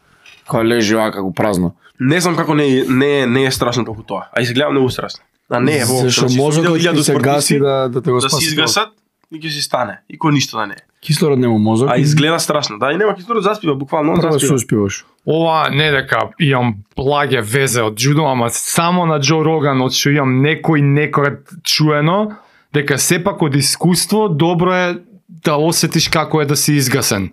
Кога лежи вака го празно. Не знам како не е- не е- не е страшно толку тоа. А изгледа многу страшно. А не е воопшто. Зашто Значи, мозокот видел ќе илјаду се спортисти гаси да да те го да се спаси. изгасат и ќе си стане. И кој ништо да не е. Кислород нема мозок. А изгледа страшно. Да, и нема кислород, заспива буквално, он Прво се заспива. успиваш. Ова не дека имам благе везе од джудо, ама само на Џо Роган од што имам некој некогад чуено, дека сепак од искуство добро е да осетиш како е да си изгасен.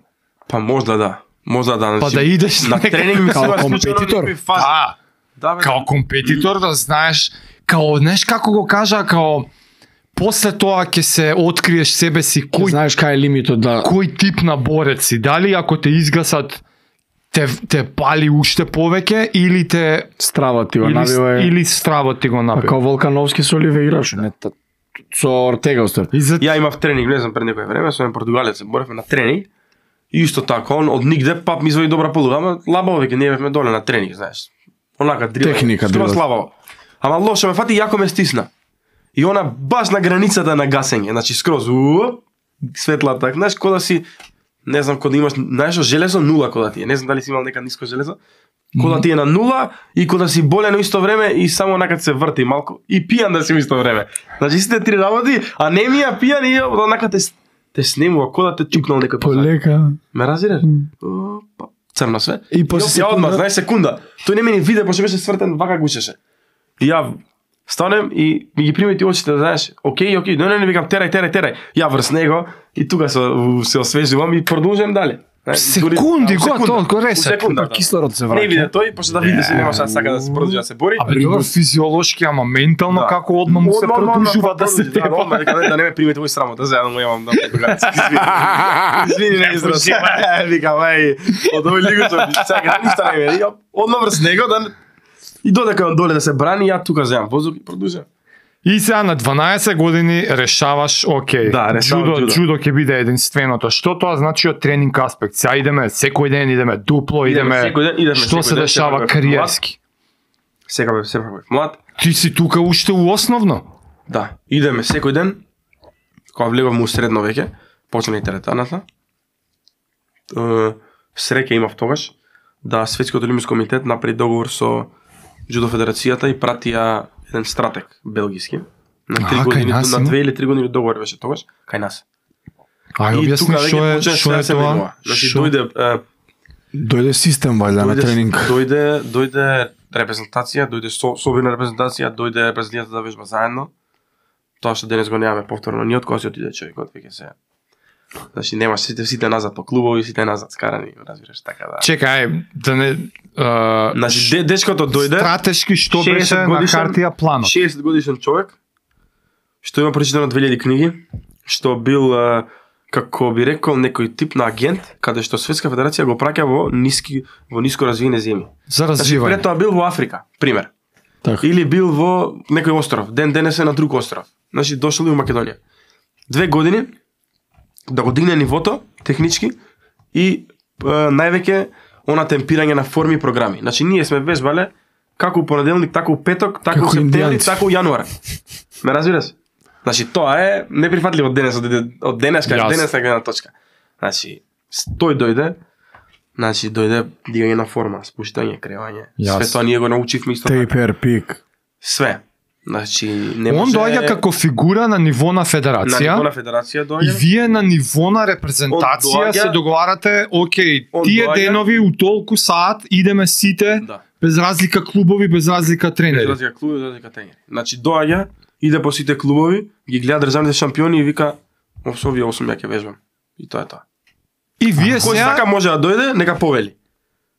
Па можда да. Можда да. Па значи, да идеш на нека- тренинг ми се Као има случајно компетитор? некои фази. Да, Да, бе. као компетитор да знаеш, као знаеш како го кажа, као после тоа ќе се откриеш себе си Кој кој знаеш кај е лимитот да кој тип на борец си, дали ако те изгасат те те пали уште повеќе или те стравот ти го или, набива е. или стравот ти го А набива. као Волкановски со Оливе играш, не та- со Ортега устар. И за Ја имав тренинг, не знам пред некое време, со еден португалец, боревме на тренинг. И исто така, он од нигде пап ми извади добра полуга, ама лабаво веќе не бевме доле на тренинг, знаеш. Онака дрила. Техника дрила. дрила. Слабаво. Ама лошо ме фати, јако ме стисна. И она баш на границата на гасење, значи скроз уу, светла так, знаеш, кога да си не знам кога да имаш, знаеш, железо нула кога ти е. Не знам дали си имал нека ниско железо. Кога да ти е на нула и кога да си болен во исто време и само онака се врти малку и пијан да си во исто време. Значи сите три работи, а не ми ја пијан и онака те те снемува кога да те чукнал некој позади. Полека. Ме разбираш? Опа, црно све. И после ја одма, секунда- знаеш секунда. Тој не ме ни виде, пошто беше свртен, вака гушеше. И ја станем и ми ги примети очите, знаеш, окей, окей, не, не, не, викам, терај, терај, терај. Ја врз него и тука се, се освежувам и продолжувам дале. Знаеш, секунди, дури- го, секунда, толку у ресет. секунда, да. Кислород се Не враќа. виде тој, пошто да види се немаше да сака да се продолжи да се бори. Абе, добро, физиолошки, ама ментално Да. како одма му се Одма, одма, продолжува одма, да се продолжи, да, теба. одма, дека не- да не ме примете овој срамота, заедно му јавам да португалец. Извини, не израз. Викам, ај, од овој лигучот, чакај, ништо не вели. Одма врз него да и додека он доле да се брани, ја тука земам воздух и продолжувам. И сега на дванаесет години решаваш, окей, Да, решавам джудо, джудо. джудо ќе биде единственото. Што тоа значи од тренинг аспект? Сега идеме секој ден, идеме дупло, Идеме идеме, секој ден, идеме што секој се ден, дешава секој ден. кариерски. Сега бев, сега бев млад. Ти си тука уште у основно. Да, идеме секој ден. Кога влеговме у средно веќе, почна и теретаната. Е, Среќа имав тогаш да Светскиот олимписки комитет направи договор со Джудо федерацијата и пратија еден стратег белгиски. На три Аха, кај години, нас на има? две или три години договор беше тогаш, кај нас. Ај, И објасни тука што веќе е, почна што да е се тоа? менува. Значи Што? дојде е, Дојде систем валјда на дојде тренинг. дојде дојде репрезентација, дојде со, собирна репрезентација, дојде репрезентацијата да вежба заедно. Тоа што денес го немаме повторно ни од кога си отиде човекот веќе се. Значи немаш сите сите назад по клубови, сите назад скарани, разбираш така да. Чекај, ај, да не... а, Значи де, дечкото дојде Стратешки што шеесет беше на годишен- хартија планот? шеесет годишен човек што има прочитано две илјади книги, што бил а, како би рекол некој тип на агент, каде што Светска федерација го праќа во ниски во ниско развиени земји. За Значи развивање. пред тоа бил во Африка, пример. Така. Или бил во некој остров, ден денес е на друг остров. Значи дошол и во Македонија. Две години да го дигне нивото технички и е, највеќе она темпирање на форми и програми. Значи ние сме вежбале како у понеделник, така у петок, така Како у септември, индијанци. така у јануар. Ме разбираш? Значи тоа е неприфатливо од денес, од, од денес кај Јас. денес на гледна точка. Значи тој дојде, значи дојде дигање на форма, спуштање, кревање. Јас. Све тоа ние го научивме исто така. Тейпер пик. Све. Значи не Он може доаѓа како фигура на ниво на на федерација. ниво на федерација И доаѓа. вие на ниво на репрезентација Он доаѓа- се договарате, окей, Он тие доаѓа- денови у толку саат идеме сите, Да. без разлика клубови, без разлика тренери. Разлика клуб, разлика тренери. Значи доаѓа, иде по сите клубови, ги гледа државните шампиони и вика со овие осум ја ќе вежбам. И тоа е тоа. И вие Кој сега сака може да дојде, нека повели.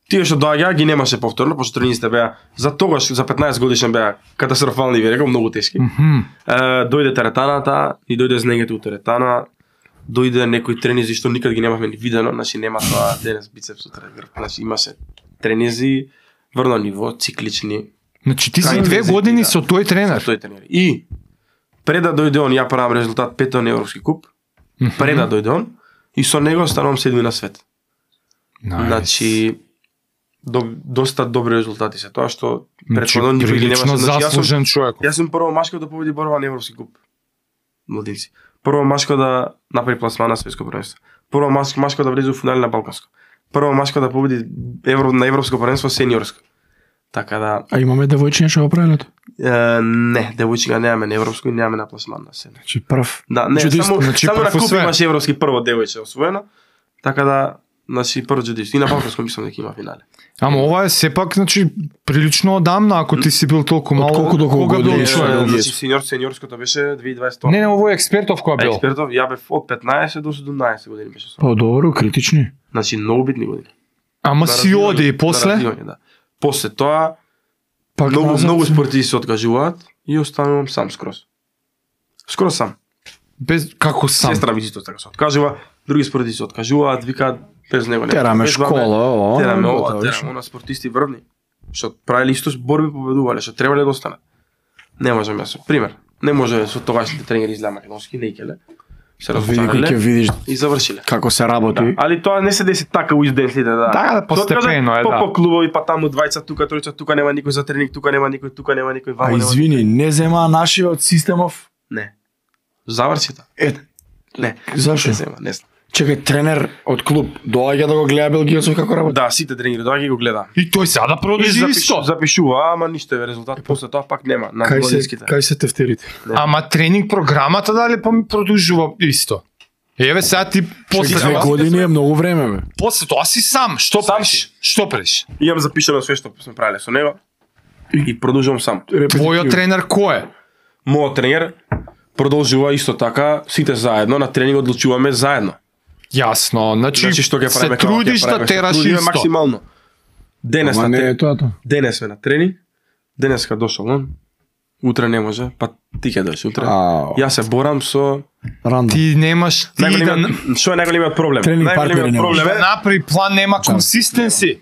Тие што доаѓа ги немаше повторно, пошто тренисите беа за тогаш за петнаесет годишен беа катастрофални, ви рекам, многу тешки. Мгм. Е, дојде теретаната, и дојде знегето у теретана, дојде некои тренизи што никад ги немавме ни видено, значи нема тоа денес бицепс утре грб, значи имаше тренизи врно ниво, циклични, Значи ти си Кај две интензити, години да. со тој тренер. тој тренер. И пред да дојде он, ја правам резултат петон европски куп, пред да дојде он, и со него станувам седми на свет. Nice. Значи до, доста добри резултати се тоа што Значи, претходно никој ги прилично немаше. Значи, јас сум заслужен човек. Јас сум прво машко да победи борба на европски куп. Младинци. Прво машко да направи пласман на светско првенство. Прво маш- машко да влезе во финали на балканско. Прво машко да победи евро на европско првенство сениорско. Така да А имаме девојчиња што го правелат? е, не, девојчиња немаме на европско и немаме на пласман на сени. Значи прв. Да, не, Джудист, само значи само на прв куп све. имаше европски прво девојче освоено. Така да значи прво джудист. И на балканско мислам дека има финале. Ама ова е сепак, значи, прилично одамна, ако ти си бил толку Од мало. колку до колку кога бил години? човек? Е, Значи сениор сениорското беше две илјади и дваесет. Не, не, ово е експертов која бил. Експертов, ја бев од петнаесет до седумнаесет години беше со. Па добро, критични. Значи многу битни години. Ама На си развивање- оди и на после? развивање, да. После тоа Пак многу назад. многу спортисти се откажуваат и останувам сам скроз. Скроз сам. Без како сам. Сестра ми исто така се откажува, други спортисти се откажуваат, викаат без него не. Тераме школа, о, тераме готово, ова, виш. тераме она спортисти врвни. Што правеле исто борби победувале, што требале да останат. Не можам јас. Пример, Не може со тогашните тренери изгледа македонски, не икеле. Се Види кој ќе разочарале видиш и завршиле. како се работи. Да. Али тоа не се деси така у изденците, да. Да, да, постепено е, по, да. По клубови, па таму двајца, тука тројца, тука нема никој за тренинг, тука нема никој, тука нема никој, А вамо нема извини, не зема наши од системов? Не. Заврши тоа. Е, Не. зашо? Не зема, не знам. Чекај, тренер од клуб доаѓа да го гледа белгијецов како работи? Да, сите тренери доаѓа и го гледа. И тој сега да И продолжи запишу, исто. запишува, ама ништо е резултат, после тоа пак нема на Кај се, годинските. кај се тефтерите? Ама тренинг програмата дали па ми продолжува исто. Еве сега ти после Две тоа, години е многу време, бе. после тоа си сам. Што Сам правиш? си. Што правиш? Имам запишано све што сме правеле со него и продолжувам сам. Твојот тренер кој е? Мојот тренер продолжува исто така, сите заедно, на тренинг одлучуваме заедно. Јасно, значи, Значи што ќе се правиме, како ќе трудиш да правиме, се тераш трудиме исто. максимално. Денес Ама на не е тренинг, тоа тоа. денес сме на тренинг, денеска дошол он, утре не може, па ти ќе дојдеш утре. Ау. Јас се борам со Рандом. Ти немаш ти да, најголемиот, што е најголемиот проблем? Тренинг партнери Најголемиот не можеш. проблем да е, направи план, нема консистенси.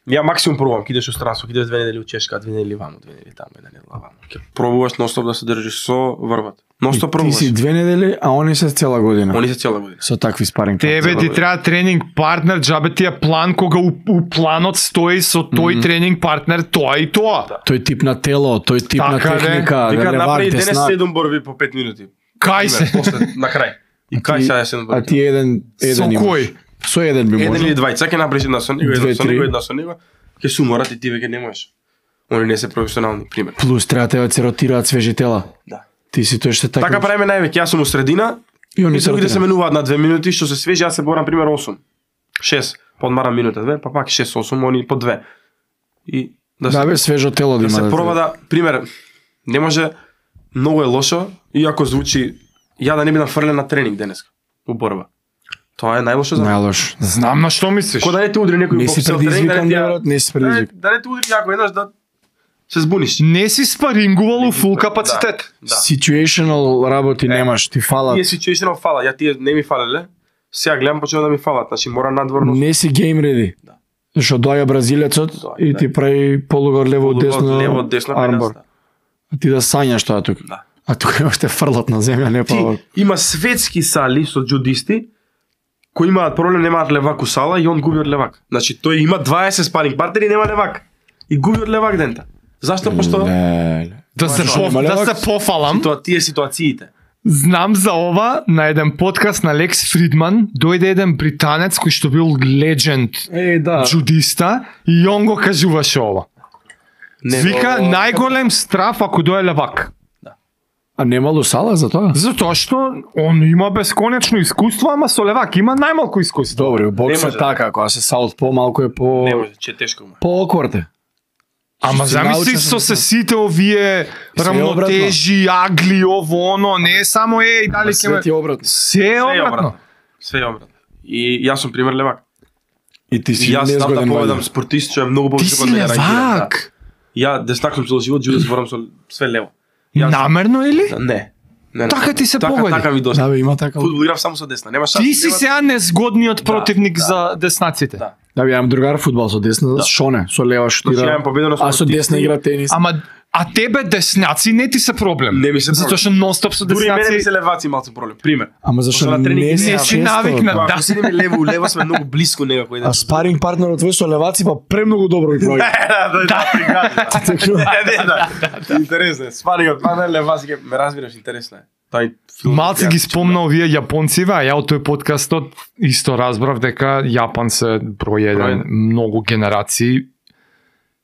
ја максимум пробувам, ќе идеш у странство, ќе идеш две недели у Чешка, две недели ваму, две недели таму, една недела ваму. Ќе пробуваш ностоп да се држиш со врвот. Ностоп Ти пробуваш. си две недели, а они се цела година. Они се цела година. Со такви спаринг. Тебе ти Цела треба тренинг партнер, џабе ти е план кога у, у планот стои со тој mm -hmm. тренинг партнер тоа и тоа. Да. Тој тип на тело, тој тип на Така, де. техника, Вика, левак, направи денес деснак. седум борби по пет минути. Кај се? Пример, после, на крај. И кај сега е седум борби? А ти еден, еден Со имаш. кој? Со еден би Еден можел. или двајца ќе направиш една со него, една Две, со три. него, една со него, ќе се уморат и ти веќе не можеш. Они не се професионални, пример. Плюс треба тебе да се ротираат свежи тела. Да. Ти си тој што така. Така правиме највеќе, јас сум у средина И они и се другите се ротираат. менуваат на две минути, што се свежи, јас се борам пример осум. шест, подмарам минута две, па пак шест осум, они по две. И да се Да бе, свежо тело да да има. се проба да, пример, не може, многу е лошо, иако звучи, ја да не бидам фрлен на тренинг денес, у борба. Тоа е најлошо за мене. Најлош. Знам на што мислиш. Ко да не те удри некој Не си боксер тренинг, да предизвикан, не ти ја- брат, не си да не- предизвикан. да не те удри јако еднаш да се збуниш. Не си спарингувал у фул капацитет. Да. Situational работи немаш, ти фалат. Тие situational фала, ја тие не ми фалеле. Сега гледам почнува да ми фалат, значи мора надворно. Не си гейм реди. Да. Зашто доаѓа бразилецот Доаѓа, и да. ти прави полугор лево десно лево десно армбор. пенаста. А ти да сањаш тоа тука. Да. А тука имаш те фрлат на земја, не Ти па. има светски сали со джудисти кои имаат проблем, немаат левак у сала и он губи од левак. Значи тој има дваесет спаринг партнери, нема левак. И губи од левак дента. Зашто? Пошто Леле. Да се Зашо по, нема да левак? се пофалам. тоа тие ситуациите. Знам за ова на еден подкаст на Лекс Фридман, дојде еден британец кој што бил легенд Е, да. джудиста и он го кажуваше ова. Не, Вика но- најголем страф ако дое левак. А немало сала за тоа? Затоа што он има бесконечно искуство, ама со левак има најмалку искуство. Добре, у бокс Не е може. така, кога се саут помалку е по Не може, че тешко му. по окварте. Ама Си замисли научен со за се сите овие Се е рамнотежи, агли, ово, оно, не е само еј, дали ќе Свет ме... е обратно. Се е Све е обратно. обратно. Све е обратно. И јас сум пример левак. И ти И си јас знам да незгоден поведам ваѓа. спортист што е многу Ти повеќе си од мене рангиран, левак. да. Ја деснак сум цело живот, живот зборам со све лево. Јас- Намерно или? Не. Не, не. Така ти се така, погоди. Така ми дошла. Да бе, има така. Фудбал играм само со десна. Нема шанс. Ти си нема- сега незгодниот противник да. за деснаците. Да. Да бе, имам другар фудбал со десна, да. Шоне, со лева Значи, ја шутира. имам победено А со десна спортисти. игра тенис. Ама а тебе десняци не ти се проблем. Не ми се Затоа проблем. што нонстоп со Дури и мене ми десняци се леваци малку проблем. Пример. Ама зашто Пошто на тренинг не не си си често? навикнат. Ако Да. седиме лево у лево сме многу блиску некако еден. А спаринг партнерот твој со леваци па премногу добро ги пројде. Да, да, да. Да, интересно е. Спарингот, па не леваци ке ме разбираш, интересно е. Тај филм. Малце ги спомна овие јапонциве, а ја од тој подкастот исто разбрав дека Јапан се број еден, Број еден. многу генерации.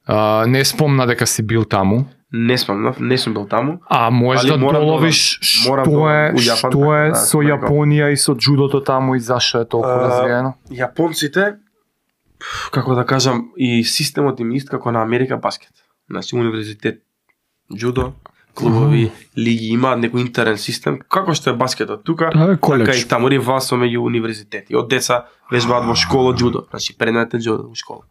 А, не спомна дека си бил таму, Не спомнав, не сум бил таму. а можеш Али да морам да доловиш одам. Морам што да е, одам у Јапан, што е да, со да, Јапонија и со джудото таму и зашто е толку А, развиено. Јапонците, пф, како да кажам, и системот им ист како на Америка баскет. Значи универзитет, джудо, клубови, лиги имаат некој интерен систем, како што е баскетот тука, Да, бе, коледж. така и таму рива со меѓу универзитети. Од деца вежбаат во школа джудо, значи предмет е джудо во школа.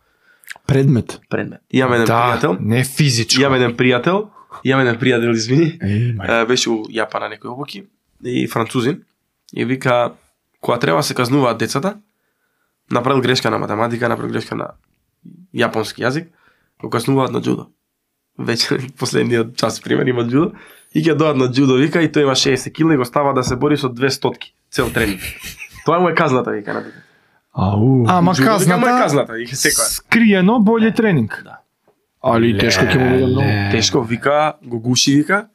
Предмет. Предмет. Имам еден Да, пријател, не физичко. имам еден пријател, имам еден пријател, извини, Е, мај. е, беше у Јапан на некои обуки и французин и вика кога треба да се казнуваат децата, направил грешка на математика, направил грешка на јапонски јазик, го казнуваат на джудо. вечер последниот час пример има џудо и ќе дојдат на џудо вика и тој има шеесет килограми и го става да се бори со две стотки цел тренинг. Тоа му е казната вика на детето. Ау. Ама Џудо, вика, му е казната, казната и секоја. скриено боле тренинг. Да. Али тешко ќе му биде многу. Тешко вика, го гуши вика.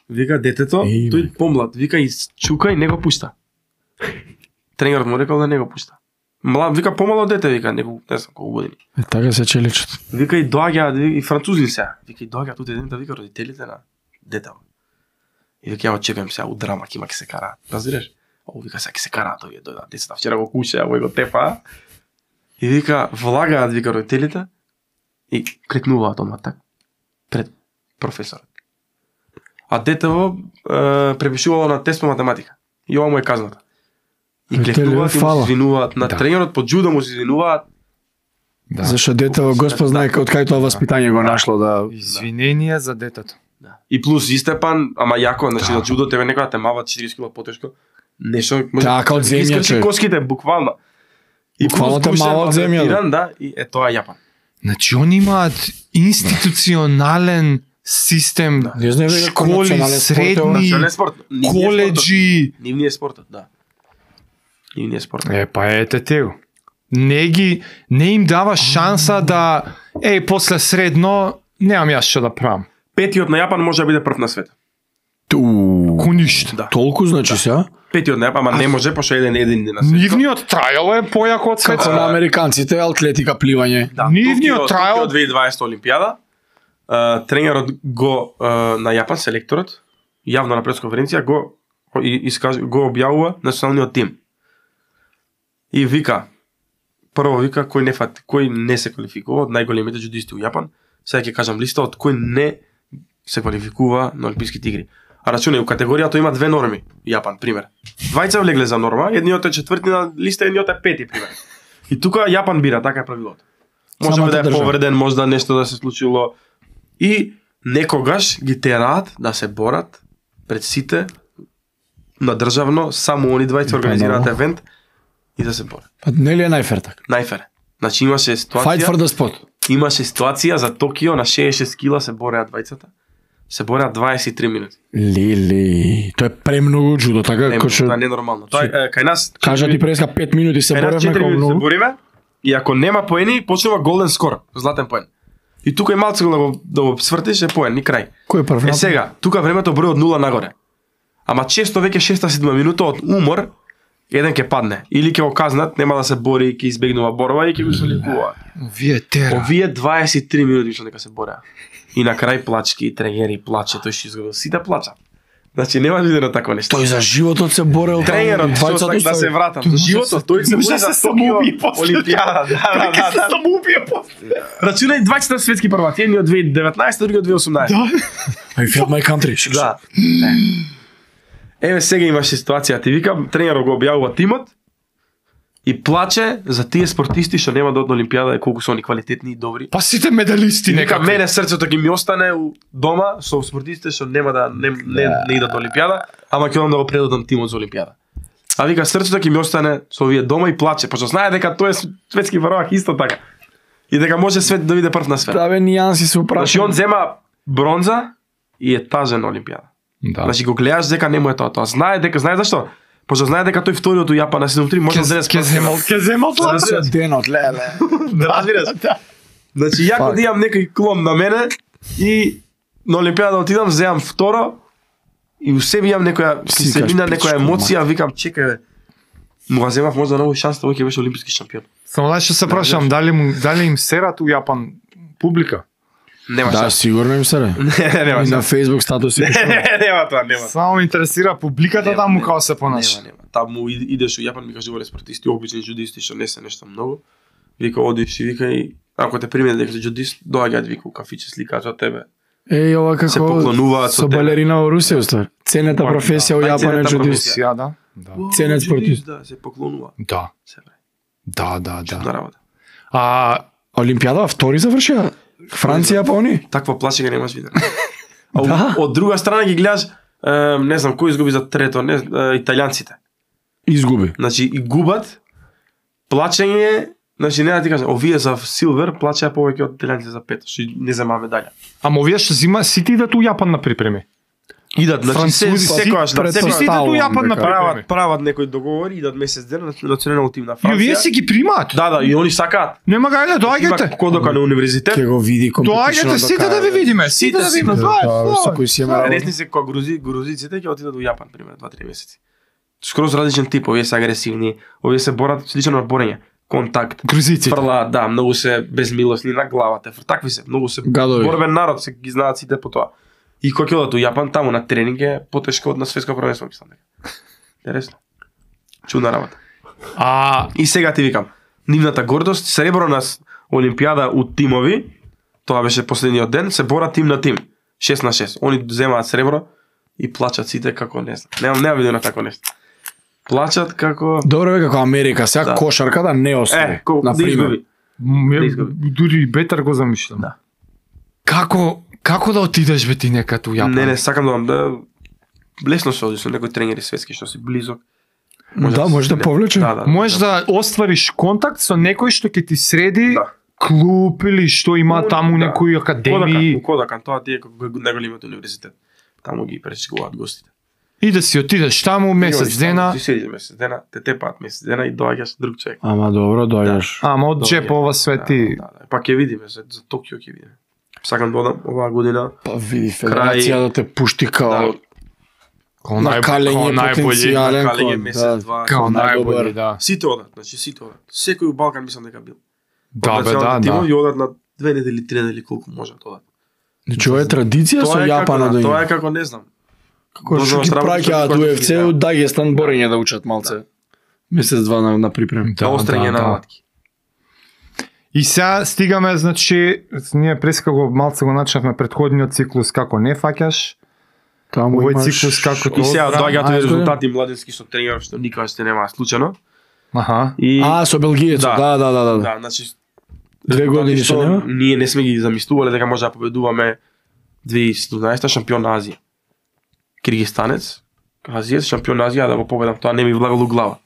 Вика детето, Еј, тој бе. помлад, вика и чука и не го пушта. Тренерот му рекол да не го пушта. Млад, вика помало дете, вика, неколку, не знам колку години. Е, така се челичат. Вика и доаѓа и французи се. Вика и доаѓа тука еден да вика родителите на детето. И вика ја очекувам сега у драма ќе има ќе се караат. Разбираш? О, вика сега ќе се караат овие дојдат децата. Вчера го куша, овој го тепа. И вика влагаат вика родителите и крикнуваат одма так пред професорот. А детево е, препишувало на тест по математика. И ова му е казната. И Родителите, клекнуваат и му фала. се извинуваат на Да. тренерот по џудо му се извинуваат. Да. Зашто детево Господ знае од кај тоа воспитање го нашло да Извинение за детето. Да. И плюс и Степан, ама јако, значи Да. да џудо тебе некоја те мава четириесет килограми потешко. Нешто може Така, од да земја, искрши човек. коските буквално. И Буквално плюс те пушен, мава од земја, адаптиран, да, и е тоа е Јапан. Значи они имаат институционален систем, Не знам веќе кој школи, национален спорт е ова. средни, Национален спорт, нивниот спортот. коледжи. Нивниот спортот, да. Нивниот спортот. Е, па ете тео. Не ги, не им дава шанса да, еј, после средно, немам јас што да правам. Петиот на Јапан може да биде прв на свет. Ту. Ко ништо. Да. Толку значи се? Петиот на Јапан, ама не може пошто еден един на свет. Нивниот трајал е појако од Како светот. на американците, атлетика, пливање. Да, Нивниот Токио- трајал- Токио две илјади и дваесета Олимпијада. Uh, тренерот го uh, на Јапан селекторот јавно на пресконференција го и, искаж, го објавува националниот тим. И вика прво вика кој не фат, кој не се квалификува од најголемите џудисти у Јапан. Сега ќе кажам листа од кој не се квалификува на Олимписките игри. А рачунај, у категоријата има две норми, Јапан, пример. Двајца влегле за норма, едниот е четврти на листа, едниот е пети, пример. И тука Јапан бира, така е правилото. Може Самата да е држава. повреден, може да нешто да се случило. И некогаш ги тераат да се борат пред сите на државно, само они двајца организираат да. евент и да се борат. Па нели е најфер така? Најфер. Значи имаше Fight ситуација, for the spot. имаше ситуација за Токио на шеесет и шест кила се бореа двајцата. Се бореа дваесет и три минути. Лили, тоа е премногу џудо, така Не, како што тоа е ненормално. Тоа е е, кај нас кажа ти преска пет минути се кај нас боревме четири како минути се многу. бориме и ако нема поени, почнува голден скор, златен поен. И тука и малце да го да го свртиш е поен и крај. Кој е прв? Е сега, тука времето брои од нула нагоре. Ама често веќе шеста седма минута од умор еден ќе падне или ќе го казнат, нема да се бори, ќе избегнува борба и ќе го соликува. Вие тера. Овие дваесет и три минути што нека се бореа. И на крај плачки, и тренери плаче, тој што изгубил, сите плачат. Значи нема видено такво нешто. Тој за животот се борел. Тренерот што двајцата сак да се вратам. За животот тој се може бори да за се Токио самоубие после. Олимпијада. Да, да, да, да. самоубие после. Рачунај двајцата светски прваци, едниот две илјади и деветнаесета, другиот две илјади и осумнаесета. I felt my country. Да. Еве сега имаше ситуација, ти викам, тренерот го објавува тимот и плаче за тие спортисти што нема да одат на Олимпијада и колку се они квалитетни и добри. Па сите медалисти Нека некако. мене срцето ќе ми остане у дома со спортистите што нема да не не, не идат на Олимпијада, ама ќе одам да го предадам тимот за Олимпијада. А вика срцето ќе ми остане со овие дома и плаче, пошто знае дека тој е светски првак исто така. И дека може свет да биде прв на свет. Да бе, нијанси се Значи упрашам. он зема бронза и е тажен на Олимпијада. Да. Значи го гледаш дека не му е тоа, тоа. Знае дека, знае зашто? Пошто знае дека тој вториот у Јапан на седум три може да зене Ке земал, ке земал Да, злато. Денот, леле. Да разбираш. Значи ја Фак. да имам некој клон на мене и на Олимпијада отидам, земам второ и у себе имам некоја Си киселина, кажеш, некоја пичко, емоција, викам чекај бе. Му го земав можда ново шанс, тој ќе беше олимписки шампион. Само знаеш што се прашам, дали му дали им серат у Јапан публика? Нема Да, шанс. сигурно им се ре. Не, нема И на шанс. Facebook статуси пишува. Нема тоа, нема. Само ме интересира публиката Нема, таму нема. како се понаша. Нема, нема. Таму и- идеш у Јапан, ми кажувале спортисти, обични џудисти што не се нешто многу. Вика одиш и вика и ако те примет дека си џудист, доаѓаат вика у кафиче, сликаат со тебе. Еј, ова Се како поклонуваат со со тебе. балерина во Русија уствари. Ценета Па, професија у да, Јапан е најценета џудист. професија. Ја, да. Да. Ценет спортист. Да, се поклонува. Да. Се бре. Да, да, Чудна да. работа. А Олимпијада втори завршија. Франција па они. Таква плачење немаш видено. А Да. од друга страна ги гледаш, е, не знам кој изгуби за трето, не, е, италијанците. Изгуби. Значи и губат плачење, Значи не да ти кажам, овие за силвер плачаа повеќе од италијанците за пет, што не земаме дале. Ама овие што зима сите идат у Јапан на припреми. Идат, значи се Французи, секојаш на Сите секојаш идат у Јапан на прават припреми. прават некои договори, идат месец ден на национален тим на И овие Франција. си ги примаат. Да, да, и они сакаат. Нема гајде, Има доаѓајте. кодока на универзитет. Ќе го види компетичното. Доаѓајте сите да ви видиме, сите да видиме. Да, Тоа е, тоа е. кој си има Ресни се кога грузи, грузиците ќе отидат во Јапан, пример, два-три месеци. Скроз различен тип, овие се агресивни, овие се борат слично на борење. Контакт. Грузиците. Фрлаат, да, многу се безмилосни на главата. Такви се, многу се Гадови. борбен народ, се ги знаат сите по тоа. И кога ќе одат у Јапан, таму на тренинг е потешко од на светско првенство, мислам дека. Интересно. Чудна работа. А И сега ти викам, нивната гордост, сребро на с- Олимпијада у тимови, тоа беше последниот ден, се бора тим на тим, шест на шест. Они земаат сребро и плачат сите како не знам. Немам нема видено тако нешто. Плачат како Добро е како Америка, сега Да. кошарката не освои. е, ко, на да пример. изгуби. м, Да изгуби. дури бетар го замишлам. Да. Како како да отидеш бе ти некад у Јапан? Не, не, сакам да вам да лесно се оди со некои тренери светски што си близок. Да, може да не- повлече. Да, да. Можеш да оствариш контакт со некој што ќе ти среди Да. клуб или што има Ну, таму да. некои академии Кодакан, Кодакан, тоа ти е како најголемиот универзитет. Таму ги пресекуваат гостите. и да си отидеш таму месец дена. Ти седиш месец дена, те тепаат месец дена и доаѓаш друг човек. Ама добро, дојдеш. Ама од Доаѓаш. джепова свети. Да, да, да. Па ќе видиме, за, за Токио ќе видиме. Сакам да одам оваа година. Па види федерација да те пушти као Да. Као на нај- калење као најбољи. потенцијален. Калење кон- месец, да. два. Као најбољи, најдобар. да. Сите одат, значи сите одат. Секој у Балкан мислам дека бил. Да, бе, да, да. И одат на две недели, три недели колку можат одат. Значи ова е традиција со Тоа е како, Јапана да, да тоа е има. како не знам. Како што дозволаш ги работа, праќаат што у ги Еф Це да. у Дагестан борење да учат малце. Месец два на, на припрем. Да, Да, острење да, на да. латки. И сега стигаме, значи, ние преска го малце го начнавме предходниот циклус како не фаќаш. Таму Овој имаш- циклус како И сега Добра, доаѓаат ајде, овие резултати младински со тренеров што никогаш не немаа случајно. Аха. И А, со белгиецот, Да. да, да, да, да. да, значи Две години што што нема? ние не сме ги замислувале дека може да победуваме две тисячи и седумнаесета шампион на Азија. Киргистанец, азијец шампион на Азија, да го победам, тоа не ми влагало у глава.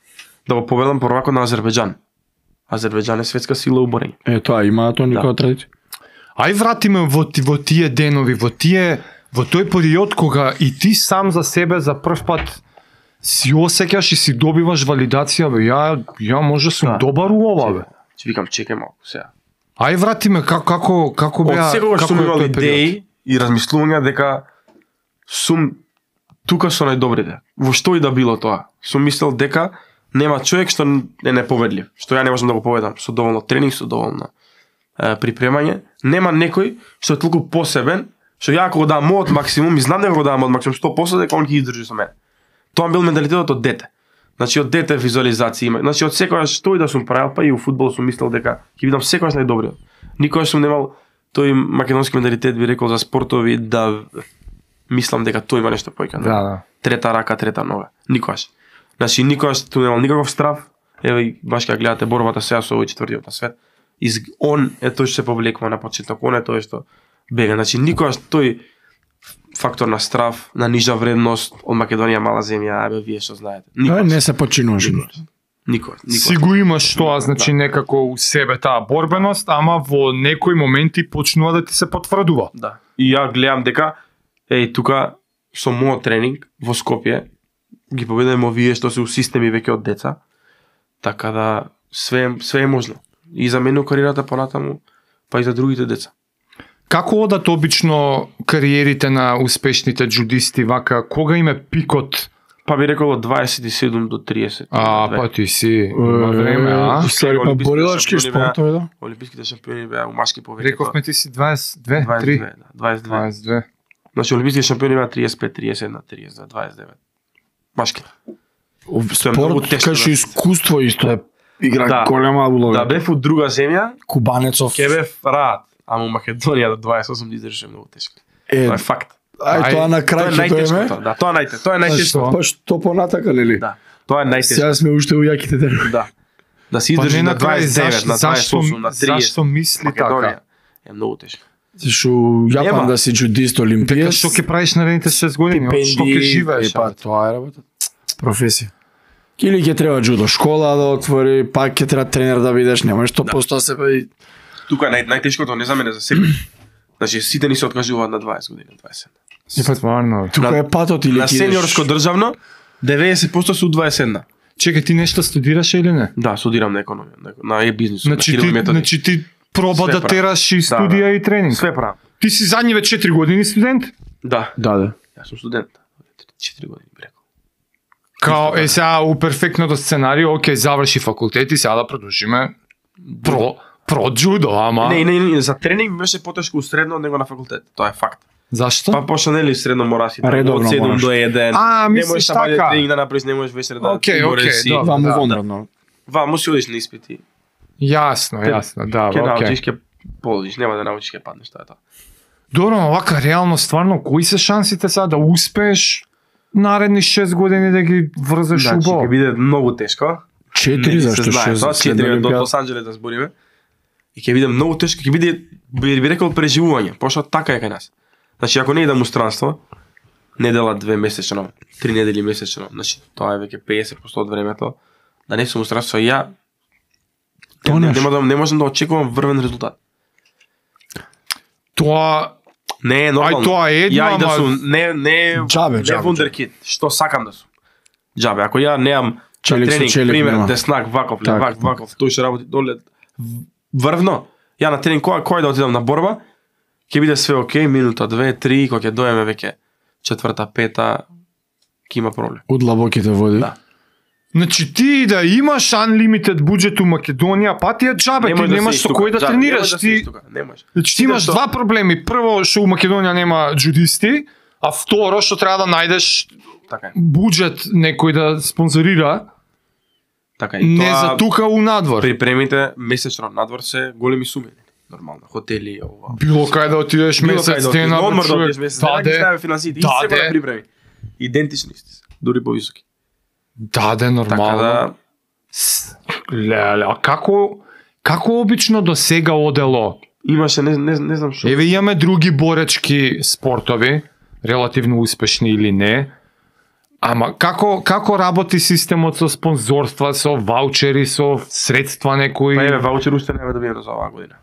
Да го победам првако на Азербејџан. Азербејџан е светска сила у борење. Е, тоа има тоа никоја традиција. Ај вратиме во, ти- во тие денови, во тие во тој период кога и ти сам за себе за прв пат си осеќаш и си добиваш валидација, бе, ја ја може сум Да. добар у ова, бе. Че викам чекај малку сега. Ај вратиме како како како Од беа секогаш како сум е имал тој период? идеи и размислувања дека сум тука со најдобрите. Во што и да било тоа. Сум мислел дека нема човек што е непобедлив, што ја не можам да го победам со доволно тренинг, со доволно е, припремање. Нема некој што е толку посебен, што ја ако го дам мојот максимум и знам дека го дам мојот максимум сто проценти дека он ќе издржи со мене. Тоа бил менталитетот од дете. Значи од дете визуализација има. Значи од секогаш што и да сум правил, па и у фудбал сум мислел дека ќе бидам секогаш најдобриот. Никогаш сум немал тој македонски менталитет би рекол за спортови да мислам дека тој има нешто појка. Да, да. Трета рака, трета нога. Никогаш. Значи никогаш ту немал никаков страв. Еве и баш кога гледате борбата сега со овој четвртиот на свет. Из он е тој што се повлекува на почеток, он е тој што бега. Значи никогаш тој фактор на страв, на нижа вредност од Македонија мала земја, абе вие што знаете. Е, Никогаш. не се починуваш. Никогаш. Никогаш. Си Никогаш. го имаш тоа, значи некако у себе таа борбеност, ама во некои моменти почнува да ти се потврдува. Да. И ја гледам дека еј тука со мојот тренинг во Скопје ги победуваме овие што се у системи веќе од деца. Така да све све е можно. И за мене кариерата понатаму, па и за другите деца. Како одат обично кариерите на успешните джудисти вака, кога им е пикот? Па би рекол од дваесет и седум до триесет. А, па ти си, има време, а? Стари, па Олимписките борилачки шампиони беа- спортови, да. Олимписките шампиони беа у машки повеќе. Рековме ти си дваесет и две, дваесет и три, две, да, дваесет и две. дваесет и две. Значи олимписките шампиони беа триесет и пет, триесет и едно, триесет и две, дваесет и девет. Машки. Спорт, многу тешко кај што да- искуство исто е игра Да. голема улога. Да бев у друга земја, Кубанецов. ќе бев рад, ама у Македонија до дваесет и осум да издржеше многу тешко. Е, Тоа е факт. ај Ај, тоа на Тоа крај е ќе најтешкото. доеме. Да, тоа е најтешко. Тоа е најтешко. Па што понатака, нели? Да. Тоа е најтешко. Сега сме уште у јаките денови. Да. Да се Па издржи не на на крај, дваесет и девет, зашто, на дваесет и осум, на зашто, триесет. зашто мисли Македонија така? е многу тешко. Зашто Јапан Нема. да си джудист Дека олимпиец. што ќе правиш наредните шест години, од што ќе живееш? Е, па тоа е работа. Професија. Или ќе треба џудо школа да отвори, пак ќе треба тренер да бидеш, немаш сто проценти се па. Тука нај најтешкото не за мене, за себе. Значи сите ни се откажуваат на дваесет години, дваесет. И па стварно. Тука е патот или на сениорско државно деветдесет проценти се у дваесет. Чекај, ти нешто студираше или не? Да, студирам на економија, на, на е-бизнис. Значи ти, значи ти проба Све да правам. тераш и Да, студија да. и тренинг. Све правам. Ти си задниве четири години студент? Да. Да, да. Јас сум студент. четири години би рекол. Као, е сега у перфектното сценарио, окей, заврши факултет и сега да продолжиме про, про джудо, ама... Не, не, не, за тренинг ми беше потешко у средно него на факултет. Тоа е факт. Зашто? Па почна нели средно мора си Редовно од седум мораш. до еден. А, не мислиш можеш да така. тренинг да направиш, не можеш вечер да Окей, мореш окей, си. добро. Ваму да, вонредно. Ваму си одиш на испити. Јасно, јасно, да, Ке окей. научиш, ке положиш, нема да научиш, ке паднеш, тоа е тоа. Добро, но вака реално стварно кои се шансите сега да успееш наредни шест години да ги врзеш Значи, убаво? ќе биде многу тешко. Четири, Не, се зашто знае, шест? тоа след четири до Олимпијада? Лос Анџелес да збориме. И ќе биде многу тешко, ќе биде би, би рекол преживување, пошто така е кај нас. Значи ако не идам у странство, недела две месечно, три недели месечно, значи тоа е веќе педесет проценти од времето, да не сум у странство, ја Тоа не, нешто. нема да не можам да очекувам врвен резултат. Тоа Не е нормално. Ај, тоа е едно, Ја и да ама- сум не не Џабе, не џабе, вундеркид, што сакам да сум. Џабе, ако ја немам Челик со тренинг, челик пример, нема. деснак, ваков, Така, левак, така. ваков, тој што работи доле врвно. Ја на тренинг кој кој да отидам на борба, ќе биде све окей, минута, две, три, кога ќе доеме веќе четврта, пета, ќе има проблем. Од длабоките води. Да. Значи ти да имаш unlimited буџет у Македонија, па ти е џабе, ти Немој да немаш седиш со тука. кој да Џабе, тренираш, немој да ти седиш тука, немош. Значи ти Сите имаш што- два проблеми. Прво, што у Македонија нема джудисти, а второ, што треба да најдеш Така е. буџет некој да спонзорира, Така е. не Тоа за тука у надвор. Припремите месечно надвор се големи суми, нормално, хотели, ова. Било кај да отидеш Било месец кај да дена, отидеш, одмор да човек. отидеш месец дена, ги Даде, стави финансите, и даде. се да припреми. Идентични исти се, дури повисоки. даде Така нормално. да, С- Леле, а како како обично до сега одело? имаше, не, не, не знам што. Еве имаме други боречки спортови, релативно успешни или не. Ама како како работи системот со спонзорства, со ваучери, со средства некои? Па еве, ваучер уште не добиеме за оваа година.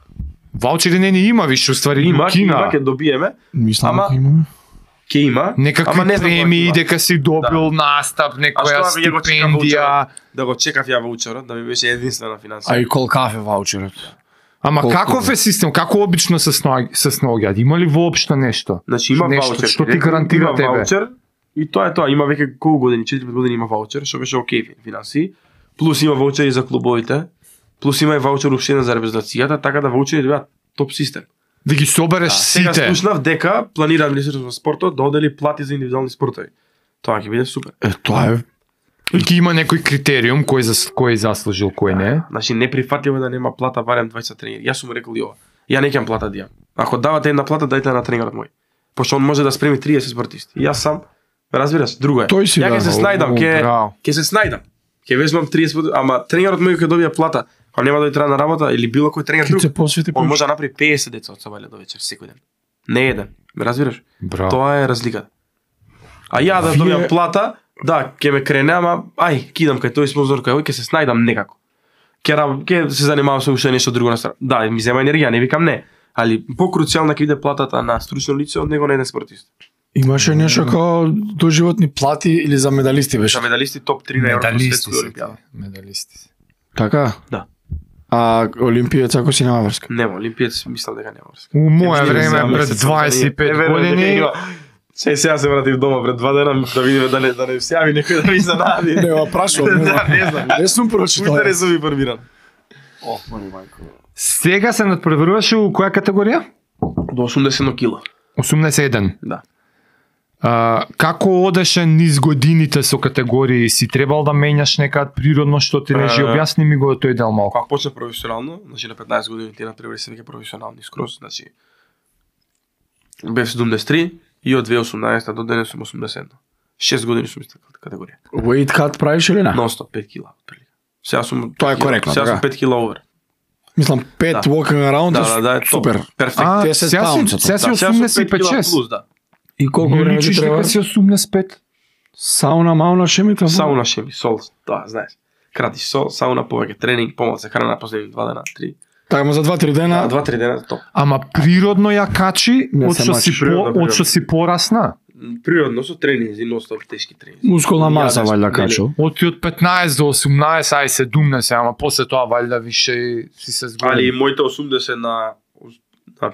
Ваучери не ни има више, уствари Има, Кина. има, ќе добиеме, Мислам Ама- дека имаме. ќе има. Некакви ама не знам кога ќе премии има. дека си добил Да. настап, А некоја што ја го чекав стипендија. ваучерот? Да го чекав ја ваучерот, да ми беше единствена финансија. А и кол кафе ваучерот. Ама Колку каков е систем? Како обично се снаоѓа, се снаоѓаат? Има ли воопшто нешто? Значи има Нешто ваучер. што ти директно гарантира има тебе? Ваучер, и тоа е тоа, има веќе колку години, четири години има ваучер, што беше окей финансии. Плюс има ваучери за клубовите, плюс има и ваучер уште за репрезентацијата, така да ваучери добиваат топ систем. Да ги собереш Сега сите. слушнав дека планира Министерството за спортот да одели плати за индивидуални спортови. Тоа ќе биде супер. Е, тоа е. И ќе има некој критериум кој за кој заслужил, кој не. Значи неприфатливо е да нема плата барем дваесет тренери. Јас сум рекол и ова. Ја не ќе плата да имам. Ако давате една плата, дајте на тренерот мој. Пошто он може да спреми триесет спортисти. И јас сам, разбираш, друго е. Тој си Ја ќе да, се о, снајдам, о, ќе браво. ќе се снајдам. Ќе везмам триесет спортисти, ама тренерот мој ќе добија плата. Ако нема да дојде на работа или било кој тренер Ќе друг, се посвети он повеќе. може да направи педесет деца од сабајле до вечер секој ден. Не еден. Ме разбираш? Браво. Тоа е разликата. А ја да Вие- добијам плата, да, ќе ме крене, ама ај, кидам кај тој спонзор кај овој, ќе се снајдам некако. Ќе раб- ќе се занимавам со уште нешто друго на страна. Да, ми зема енергија, не викам не, али покруцијална ќе биде платата на стручно лице од него на еден спортист. Имаше нешто како доживотни плати или за медалисти беше. За медалисти топ три на Европската Медалисти светска се. олимпијада. Медалисти се. Така? Да. А олимпиец ако си нема врска. Нема, олимпиец мислам дека нема врска. У моје Ќе време видиме пред за дваесет и пет Е, верувам дека години има. Се сега се вратив дома пред два дена да видиме да не да не се јави некој да ви занади. Не, ма прашувам, не Да, знам. не знам. Не сум прочитал. Уште не сум информиран. Ох, мој мајко. сега се надпреваруваше у која категорија? До осумдесет кила. осумдесет и еден. Да. А, како одеше низ годините со категории? Си требал да менјаш некад природно што ти режи? Е. Објасни ми го тој дел малку. Кога почна професионално, значи на петнаесет години ти натпревари се веќе професионални скроз, значи бев седумдесет и три и од две илјади и осумнаесета до денес сум осумдесет. шест години сум иста категорија. Weight cut правиш или не? Нон-стоп пет кила отприлика. Сега сум Тоа е пет кила- коректно, Сега така? сум пет кила овер. Мислам пет Да. walking around Да, е да, да, е топ. супер. Перфект. А, десет сега си, паунца, сега си Да, сега сум осумдесет и пет пет кила шест. плюс, да. И колку Не време ти личиш треба? дека си осумдесет и пет. Сауна, мауна, шемите? Сауна, шеми, сол, тоа, знаеш. Крати сол, сауна, повеќе тренинг, помалку храна последни два дена, три. Така, ма за два-три дена. два-три дена топ. Ама природно ја качи, Не од се што мачи, си по, природно, од што си порасна. Природно со тренинзи, ностоп тешки тренинзи. Мускулна маса Јадеш, валјда нели? качил. Од ти од петнаесет до осумнаесет, ај седумнаесет, ама после тоа валјда више и си се зголеми. Али моите осумдесет на на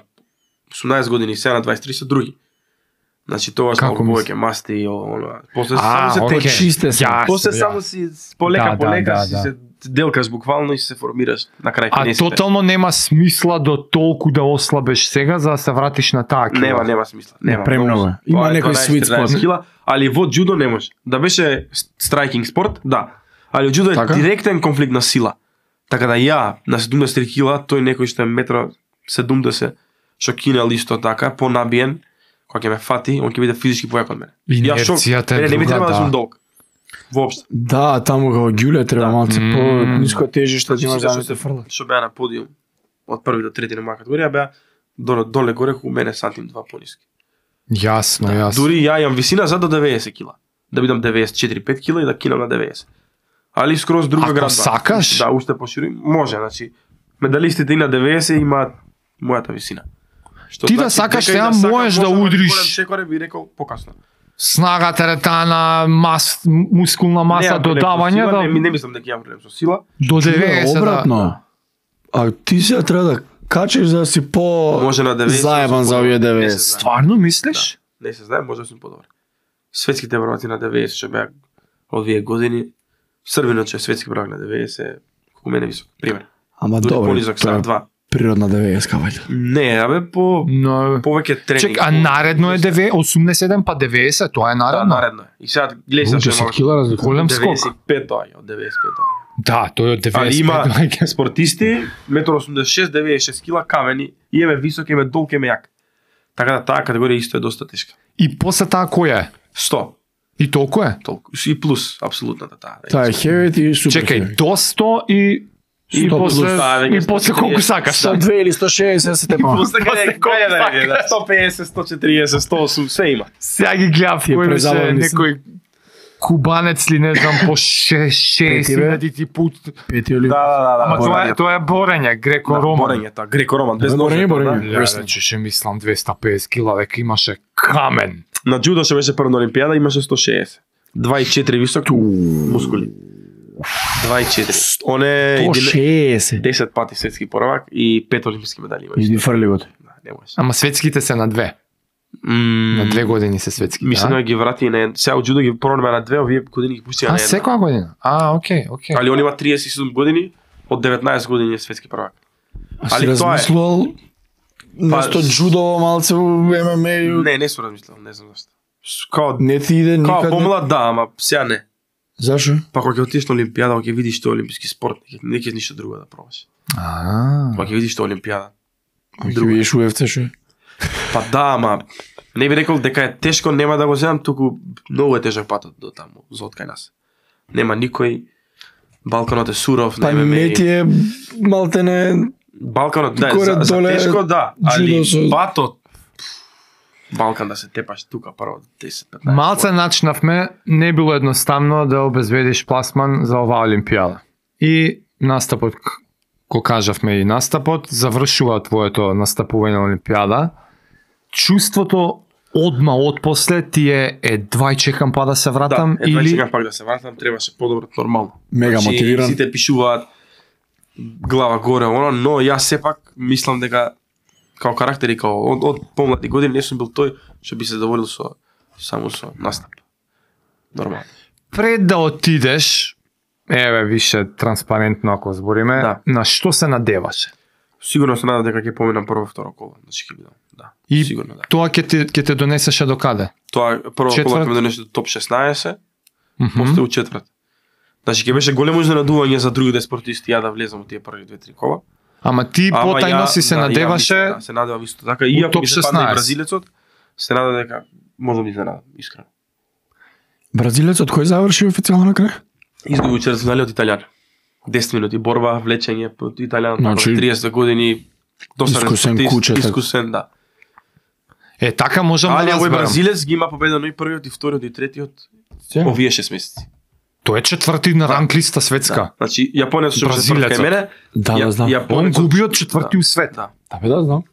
осумнаесет години, сега на дваесет и три се други. Значи тоа што Како повеќе масти и оно. После А, само се окей. течи. Чисте се. Јасно, После јасно. само си полека Да, да, полека да, си да. се делкаш буквално и се формираш на крај А педесет. тотално нема смисла до толку да ослабеш сега за да се вратиш на таа кила. Нема, нема смисла. Нема. Премногу е. Има Тоа е некој дваесет sweet тринаесет spot. кила, али во џудо не може. Да беше страйкинг спорт, да. Али во џудо е Така? директен конфликт на сила. Така да ја на седумдесет и три кила, тој некој што е метро седумдесет, што кинел исто така, понабиен, кога ќе ме фати, он ќе биде физички појак од мене. Ја шок, Инерцијата е мене не би друга, требало да да. сум долг. Воопшто. Да, таму како ѓуле треба Да. малце М. по ниско тежиште да имаш Сите да што не те се- фрла. Што беа на подиум од први до трети на моја категорија беа доле доле горе ку мене сантим два пониски. Јасно, јасно. Дури ја имам висина за до деветдесет кила. Да бидам деветдесет и четири пет кила и да кинам на деветдесет. Али скроз друга Ако градба. сакаш? Да, уште пошири. Може, значи медалистите и на деветдесет имаат мојата висина. Што Ти да значи, сакаш, дека и сега сакам, можеш да можам удриш. голем чекоре би рекол покасно. Снага, теретана, мас, мускулна маса, Немам проблем со додавање сила, да не, не мислам дека имам проблем со сила. до деветдесет да. Обратно. А ти се треба да качиш за да си по Може на деветдесет. заебан за овие Не се деветдесет. знае. Стварно мислиш? Не се знае, може да сум подобар. Светските прваци на деветдесет што беа од овие години. Србинот што е светски првак на деветдесет, колку мене висок, пример. Ама Дури добро, понизок тоа са е два. природна деветдесет вајда. Не, абе по Но повеќе тренинг. чек, а по- наредно е деве- осумдесет и седум па деветдесет, тоа е Да, наредно. наредно е. И сега гледај сега што е десет малку. кила разлика. Голем скок. деветдесет и пет доаѓа, од деветдесет и пет доаѓа. Да, тој е од Али деветдесет. има доаѓа. спортисти, метар осумдесет и шест деветдесет и шест кила камени, и еме висок, еме долг, еме јак. Така да таа категорија исто е доста тешка. И после таа која е? сто, И толку е? толку. И плюс, апсолутната таа. Таа е хевит и супер. Чекај, до сто и и сто после плюс, да, и веќе после сто колку триесет. сакаш. сто две или сто шеесет се тепа. После каде После колку каде да иде, да, сакаш. сто педесет, сто четириесет, сто осум, се има. Сега ги гледав Ти е кој беше презабавни се. некој кубанец ли не знам по шест хиляди ти пут. Пети или Да, да, да, да. Ама тоа е борење. тоа е борење, греко-роман. Борење, тоа, греко-роман, без Да, ножи. борење, борење. да. Ја рече ше мислам двеста и педесет кила, дека имаше камен. На џудо што беше прво на Олимпијада имаше сто шеесет. два и четири висок, мускули. два и четири. Он е сто един- шеесет. десет пати светски првак и пет олимписки медали има. Иди фрли го. Да, не може. Ама светските се на две. На две години се светски. Мислам да? да ги врати и на ед- сега од џудо ги пронеме на две, овие години ги пусти на А една. секоја година. А, окей, окей. Али он има триесет и седум години, од деветнаесет години е светски првак. А си Али тоа е. размислувал место джудо малце во Ем Ем Е? Не, не сум размислил, не знам зашто. С- Као, Не ти иде као никаде. помлад да, ама сега не. Зашо? Па кога ќе отидеш на Олимпијада, кога ќе видиш тоа олимписки спорт, не ќе- не ќе ништо друго да пробаш. А. Кога ќе видиш тоа Олимпијада. Ќе видиш У Еф Це шо? Па да, ама не би рекол дека е тешко, нема да го земам, туку многу е тежок патот до таму, за од кај нас. Нема никој, Балканот е суров, Па на Ем Ем не Е. ти е малтене Балканот, да, Горе за, за доле тешко, да, али джудо со- патот, Балкан да се тепаш тука прво десет петнаесет. Малце начнавме, не било едноставно да обезведиш пласман за оваа Олимпијада. И настапот, к- ко кажавме и настапот, завршува твоето настапување на Олимпијада. Чувството одма отпосле ти е едва чекам па да се вратам Да, едва или чекам пак да се вратам, требаше подобро нормално. Мега Значи, мотивиран. Сите пишуваат глава горе, оно, но јас сепак мислам дека као карактер и као од, од помлади години не сум бил тој што би се задоволил со само со настап. Нормално. пред да отидеш, еве више транспарентно ако збориме, Да. на што се надеваше? Сигурно се надам дека ќе поминам прво второ коло, значи ќе бидам. Да. И Сигурно да. тоа ќе те ќе те донесеше до каде? Тоа прво Четврт? коло ќе ме донесе до топ шеснаесет, Мгм. после у четврт. Значи ќе беше големо изненадување за другите спортисти ја да влезам во тие први две-три кола. Ама ти Ама потајно ја- си се да, ја надеваше мислам, да, се надевам исто така и ако топ ми се падне и шеснаесет. бразилецот, се надевам дека може да ми изненадам, искрено. Бразилецот кој заврши официјално на крај? Изгуби у четвртфинале од Италијан. десет минути борба, влечење под Италијан, Значи, значи, триесет години, досаден искусен спортист, куче, така. искусен, да. Е, така можам Али да овој разберам. бразилец ги има победено и првиот и вториот и третиот овие шест месеци. Тој е четврти на ранг листа светска. Значи јапонец што се Бразилецот. кај мене. Да, ја- да, знам. Он Јапонецот- губи од четврти у свет. Да. Да, бе, да, знам.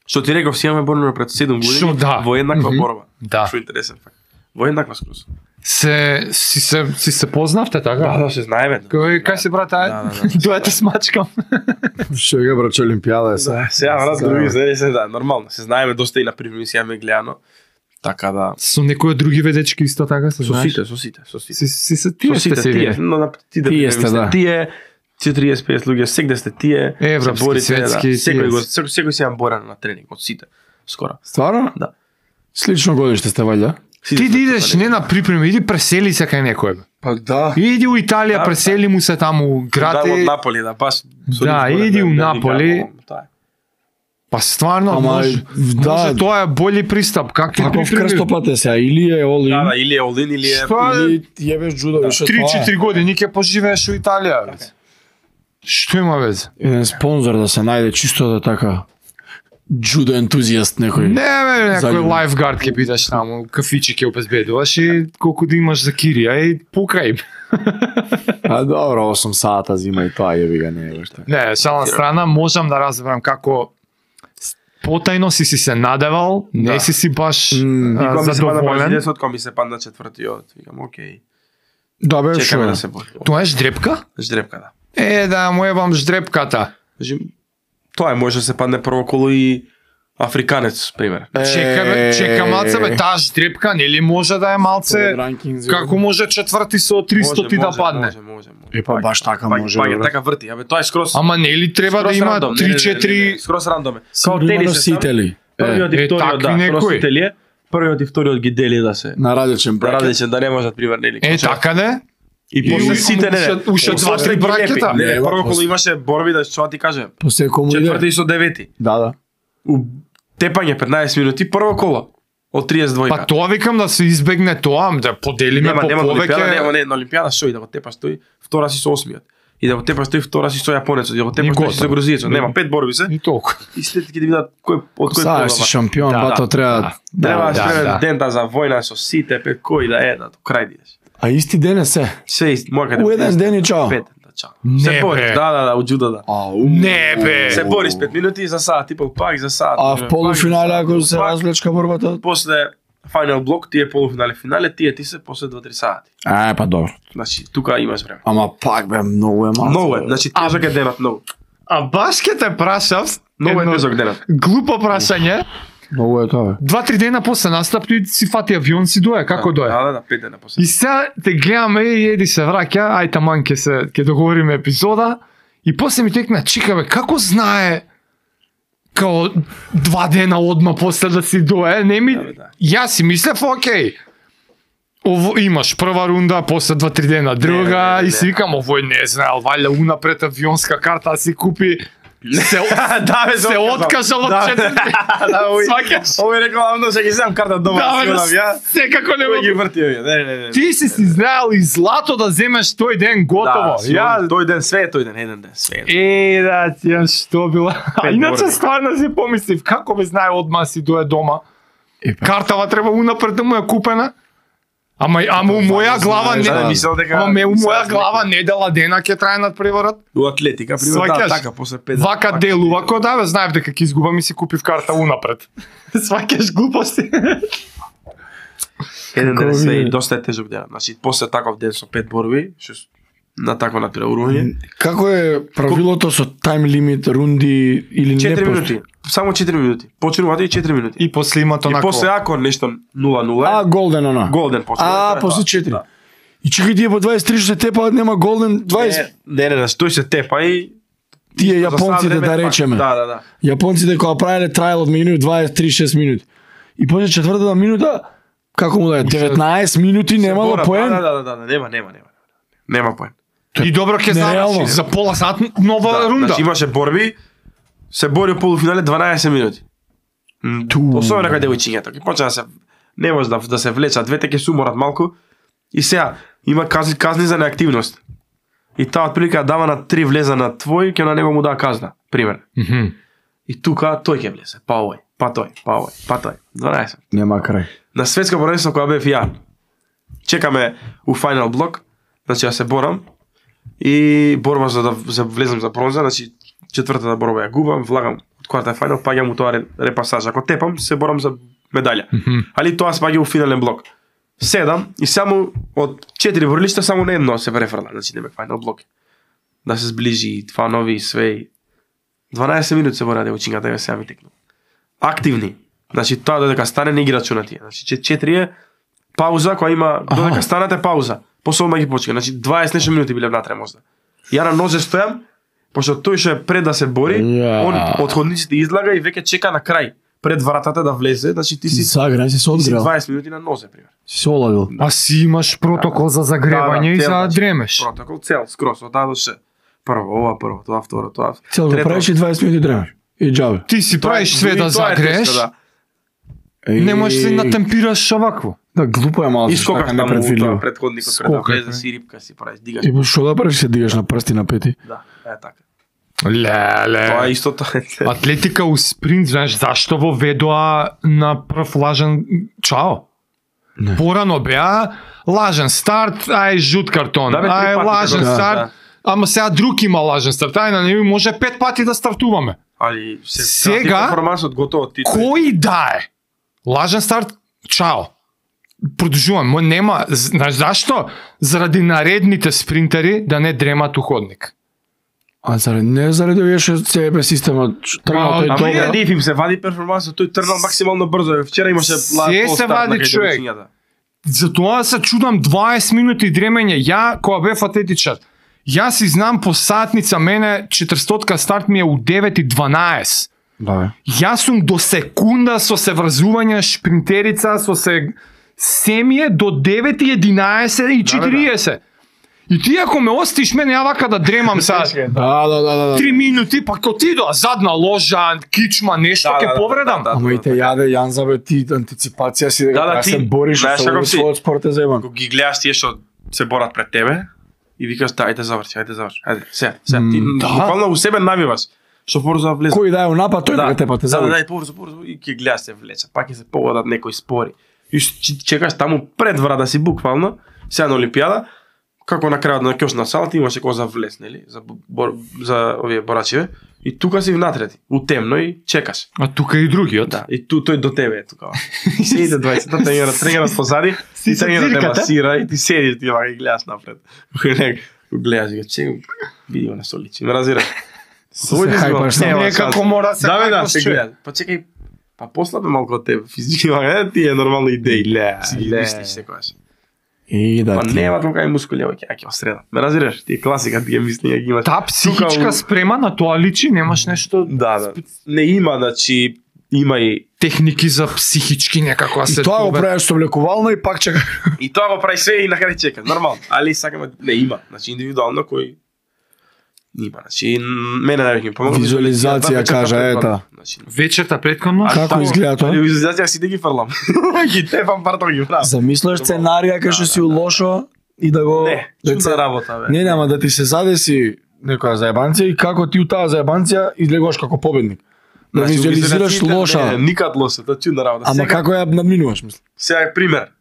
Што ти реков, си имаме борба пред седум Шо, години да. во еднаква Мгм. борба. Да. Што интересен факт. Во еднаква скроз. Се си се си се познавте Да, така? да, се знаеме. Кој кај се брат ај? Да, да, да. Дојате смачкам. Што е браче Олимпијада е се. Да, сега брат други се се да, нормално. Се знаеме доста и на први си имаме гледано. Така да Со некои од други ведечки исто така се со знаеш? сите, со сите, со сите. Си си се Со тие сте сите се тие, вие. но на тие Тие сте, да. Тие четириесет петдесет луѓе, сегде сте тие. Европски, се борите, светски, да. Секој тие. го секој секој си имам борен на тренинг од сите. Скоро. Стварно? Да. Слично годиште сте ваља? Сите Ти сме да идеш тоа, не на припрема, иди пресели се кај некој. бе. Па да. Иди у Италија, Да, пресели му се таму, град Да, од е. Наполи, да, баш. со Да, нив зборев, иди у да, да, Наполи. да, тоа е. Па стварно, Ама, може, да. може тоа е бољи пристап. Как ти Каков припреми? крстопат е сега? Или е all Да, in, да, или е Олин, или е... Што е? или јебеш джудо, више три-четири години ќе поживееш у Италија. бе. Што има везе? Еден спонзор да се најде чисто да така джудо ентузијаст некој. Не, бе, некој Заљубен. лайфгард ќе бидеш таму, кафичи ќе обезбедуваш и колку да имаш за кирија и пукај. А добро, осум сата зима и тоа јеби га не е баш така. Не, шална страна, можам да разберам како потајно си си се надевал, не Да. си си баш М, а, И кога ми се падна задоволен. бразилецот, кога ми се падна четвртиот, викам, окей, Да бе, чекаме шо? да се бори. Тоа е ждрепка? Ждрепка, да. Е, да, му ебам ждрепката. Значи, тоа е, може да се падне прво коло и африканец, пример. Чека, бе, чека малце, бе, таа ждрепка, нели може да е малце, како може четврти со триста ти да падне? Може, може, може. Е, па баш така Паѓа, може, паѓа, бе. така врти, абе тоа е скроз. Ама нели треба да скроз има рандом, не, не, не, не, три-четири... не, скроз рандом е. Као Сигурно тенис е носители. Првиот Е, и Е, вториот, такви да, некои. носители е. Првиот и вториот ги дели да се на различен да бракет. различен, да не можат пример нели. Е, така не? И И после уште- сите не, не. уште- уште После два-три ги бракета. лепи. Не, не, Не, прво ба, коло после- имаше борби да што ти кажем. После кому Четврти иде? со девети. Да, да. У тепање петнаесет минути прво коло од триесет и две. Па тоа викам да се избегне тоа, да поделиме нема по нема на Олимпијада, нема повеќе. не на Олимпијада што и да го тепаш тој, втора си со осмиот. И да го тепаш тој, втора си со јапонецот, и да го тепаш тој си со готово. грузијецот. Нема пет борби се. И толку. И след ќе да видат кој од кој Саеш си шампион, Да, бато да, треба. Треба да, треба да. дента за војна со сите пет кои да е, да до крај идеш. А исти ден е се. Се ист, моја каде. У еден ден и чао. Пет, да чао. Не, Се бори, бе. да, да, да, у джудо да. Ау. Не, бе. Се бори с пет минути за сат и пол, пак за сат. А пак в полуфинале за сат, ако се пак. развлечка борбата? После финал блок, тие полуфинале, финале, тие ти се после два-три сати. А, па добро. Значи, тука имаш време. Ама пак бе, многу е малку. Многу е, значи тежок е денот, многу. А баш ке те прашав, Многу е едно тежок денот. глупо прашање. Многу е тоа бе. Два-три дена после настап ти си фати авион си дое, како дое? Да, да, да, пет дена после. И сега те гледаме и еди се враќа, ај таман ќе се ќе договориме епизода и после ми текна чика бе, како знае као два дена одма после да си дое, не ми Да, бе, да. јас си мислев окей. Ово имаш прва рунда, после два-три дена друга Не, не, не, и си не. викам овој не знаел, валја унапред авионска карта си купи. Се да, бе, се откажал од Да, четврти. Да, овој. Сваќаш? Овој рекол, амно ќе ги земам карта дома, Да, бе, да, ја. секако не Кој ги мога. врти овие? Не, не, не. Ти си си знаел и злато да земеш тој ден готово. Да, Ја тој ден све е тој ден, еден ден све. е. Е, да, тија што било. А Пет иначе борби. стварно си помислив, како бе знае одма си дое дома. Е, па. Картава треба унапред да му ја купена. Ама ама у моја глава знаеш, не. да, мислел дека- Ама ме у мислел моја дека- глава недела дена ќе трае над преварот. У атлетика, пример, да, Сваќаш? така, после пет дена. Вака пак. делува, ко да бе знаев дека ќе изгубам и си купив карта унапред. Сваќаш глупости. Еден Како ден све ви- и доста е тежок ден. Значи, после таков ден со пет борби, што с- на такво натпреварување, Како е правилото со тайм лимит, рунди или не? четири постои? минути. Само четири минути. Почнуваат и четири минути. И после има И тоа после ако нешто нула нула, А, голден она. голден почнува. А, тоа е после тоа. четири. Да. И чекај тие по дваесет и три што се тепаат, нема голден дваесет. Не, не, не, тој се тепа и Тие за сад јапонците време да пак. речеме. Да, да, да. Јапонците кога правеле трајал од минути дваесет и три шест минути. И после четвртата минута, како му да е, деветнаесет минути немало Се поен. Да, да, да, да, да, нема, нема, нема. Нема поен. И добро ќе Нереално. знаеш за пола сат нова Да, рунда. значи имаше борби, се бори у полуфинале дванаесет минути. М, Ту. Особено кај девојчињата, ќе почна да се не може да да се влечат, двете ќе се уморат малку. И сега има казни, казни за неактивност. И таа отприлика дава на три влеза на твој, ќе на него му даа казна, пример. Мгм. И тука тој ќе влезе, па овој, па тој, па овој, па тој. дванаесет. Нема крај. На светско првенство кога бев ја. Чекаме у финал блок, значи ја се борам и борба за да за влезам за бронза, значи четвртата борба ја губам, влагам од кварта финал, паѓам у тоа репасаж. Ако тепам, се борам за медаља. Mm -hmm. Али тоа спаѓа у финален блок. Седам и само од четири борлишта само на едно се префрла, значи нема финал блок. Да се зближи, фанови, све. дванаесет минути се бора девојчињата ја сега ми текну. Активни. Значи тоа додека стане не ги рачуна тие. Значи четири е пауза која има додека станете пауза. После одма ги почека. Значи дваесет нешто минути биле внатре можда. Ја на нозе стојам, пошто тој што е пред да се бори, yeah. Он од ходниците излага и веќе чека на крај пред вратата да влезе, значи ти си загрел, си се одгрел. дваесет минути на нозе пример. Си се оладил. А си имаш протокол за загревање и за дремеш. Протокол цел, скрос од А до Ш. Прво ова, прво, тоа второ, тоа. Цел да правиш и дваесет минути дремеш. И џабе. Ти си правиш све да загрееш. Не можеш ли натемпираш овакво. Да, глупо е малку. И скокаш таму тоа предходникот пред да влезе си рипка си правиш, дигаш. И што да правиш, се дигаш на прсти на пети? Да, е така. Леле. Тоа е исто тоа. Атлетика у спринт, знаеш зашто во ведоа на прв лажен чао? Не. Порано беа лажен старт, ај жут картон, да, бе, ај лажен да, старт, да. Ама сега друг има лажен старт, ај на нему може пет пати да стартуваме. Али се сега информацијата готово ти. Кој да е? Лажен старт, чао. Продолжувам, нема, знаеш зашто? Заради наредните спринтери да не дремат у ходник. А заради не заради овие што себе системот тргнал тој тоа. тоа. Ама диф им се вади перформансот, тој тргнал максимално брзо. Вчера имаше се се вади човек. Затоа се чудам дваесет минути дремење. Ја кога бев атлетичар, јас си знам по сатница, мене четиристотка старт ми е у девет и дванаесет. Да. Јас сум до секунда со се врзување шпринтерица, со се семије до девет и единаесет и четириесет. И ти ако ме остиш мене ја вака да дремам сега. Да, да, да, да. Три минути, па ко ти доа задна ложа, кичма, нешто ќе повредам. Ама и те јаде Јанза бе, ти антиципација си дека се бориш со својот спорт е заебан. Кога ги гледаш тие што се борат пред тебе и викаш да, ајде заврши, ајде заврши. Ајде, сега, сега ти буквално у себе навиваш. Што порзо влезе. Кој да е у напад, тој да те па те заврши. Да, да, порзо, порзо и ќе гледаш се влече. Пак ќе се погодат некои спори. И чекаш таму пред врата си буквално, сега на Олимпијада, како на крајот на кјошна салата имаше кој за влез, нели, за бор, за овие борачиве, и тука си внатре ти, у темно и чекаш. А тука и другиот. Да, и ту тој до тебе е тука. Седите дваесет тренерот, тренерот позади, и тренерот те масира и ти седиш ти вака и гледаш напред. Гледаш и чекам, види го на столици, ме разбираш. Се хајпаш на некако мора се хајпаш човек. Па чекај, па послабе малку од тебе, физички вака, ти е нормално идеи. Ле, си ги мислиш секогаш. И да. Па нема толка и мускули, ќе ќе осреда. Ме разбираш? Ти е класика, тие мислења ги имаш. Та психичка спрема на тоа личи, немаш нешто. Да, да. Не има, значи има и техники за психички некако се. И тоа го правиш со влекувално и пак чека. И тоа го прави све и на крај чека, нормално. Али сакаме не има, значи индивидуално кој има, значи мене највеќе ми помогна. Визуализација кажа ета. Вечерта претходно како изгледа тоа? Визуализација си да ги фрлам. Ги тепам партов ги правам. Замислуваш сценарија кај што си у лошо и да го не, чудна работа бе. Не, нема да ти се задеси некоја заебанција и како ти у таа заебанција излегуваш како победник. Да визуализираш лоша. Не, никад лоша, тоа чудна работа. Ама како ја надминуваш, мислам? Сега пример.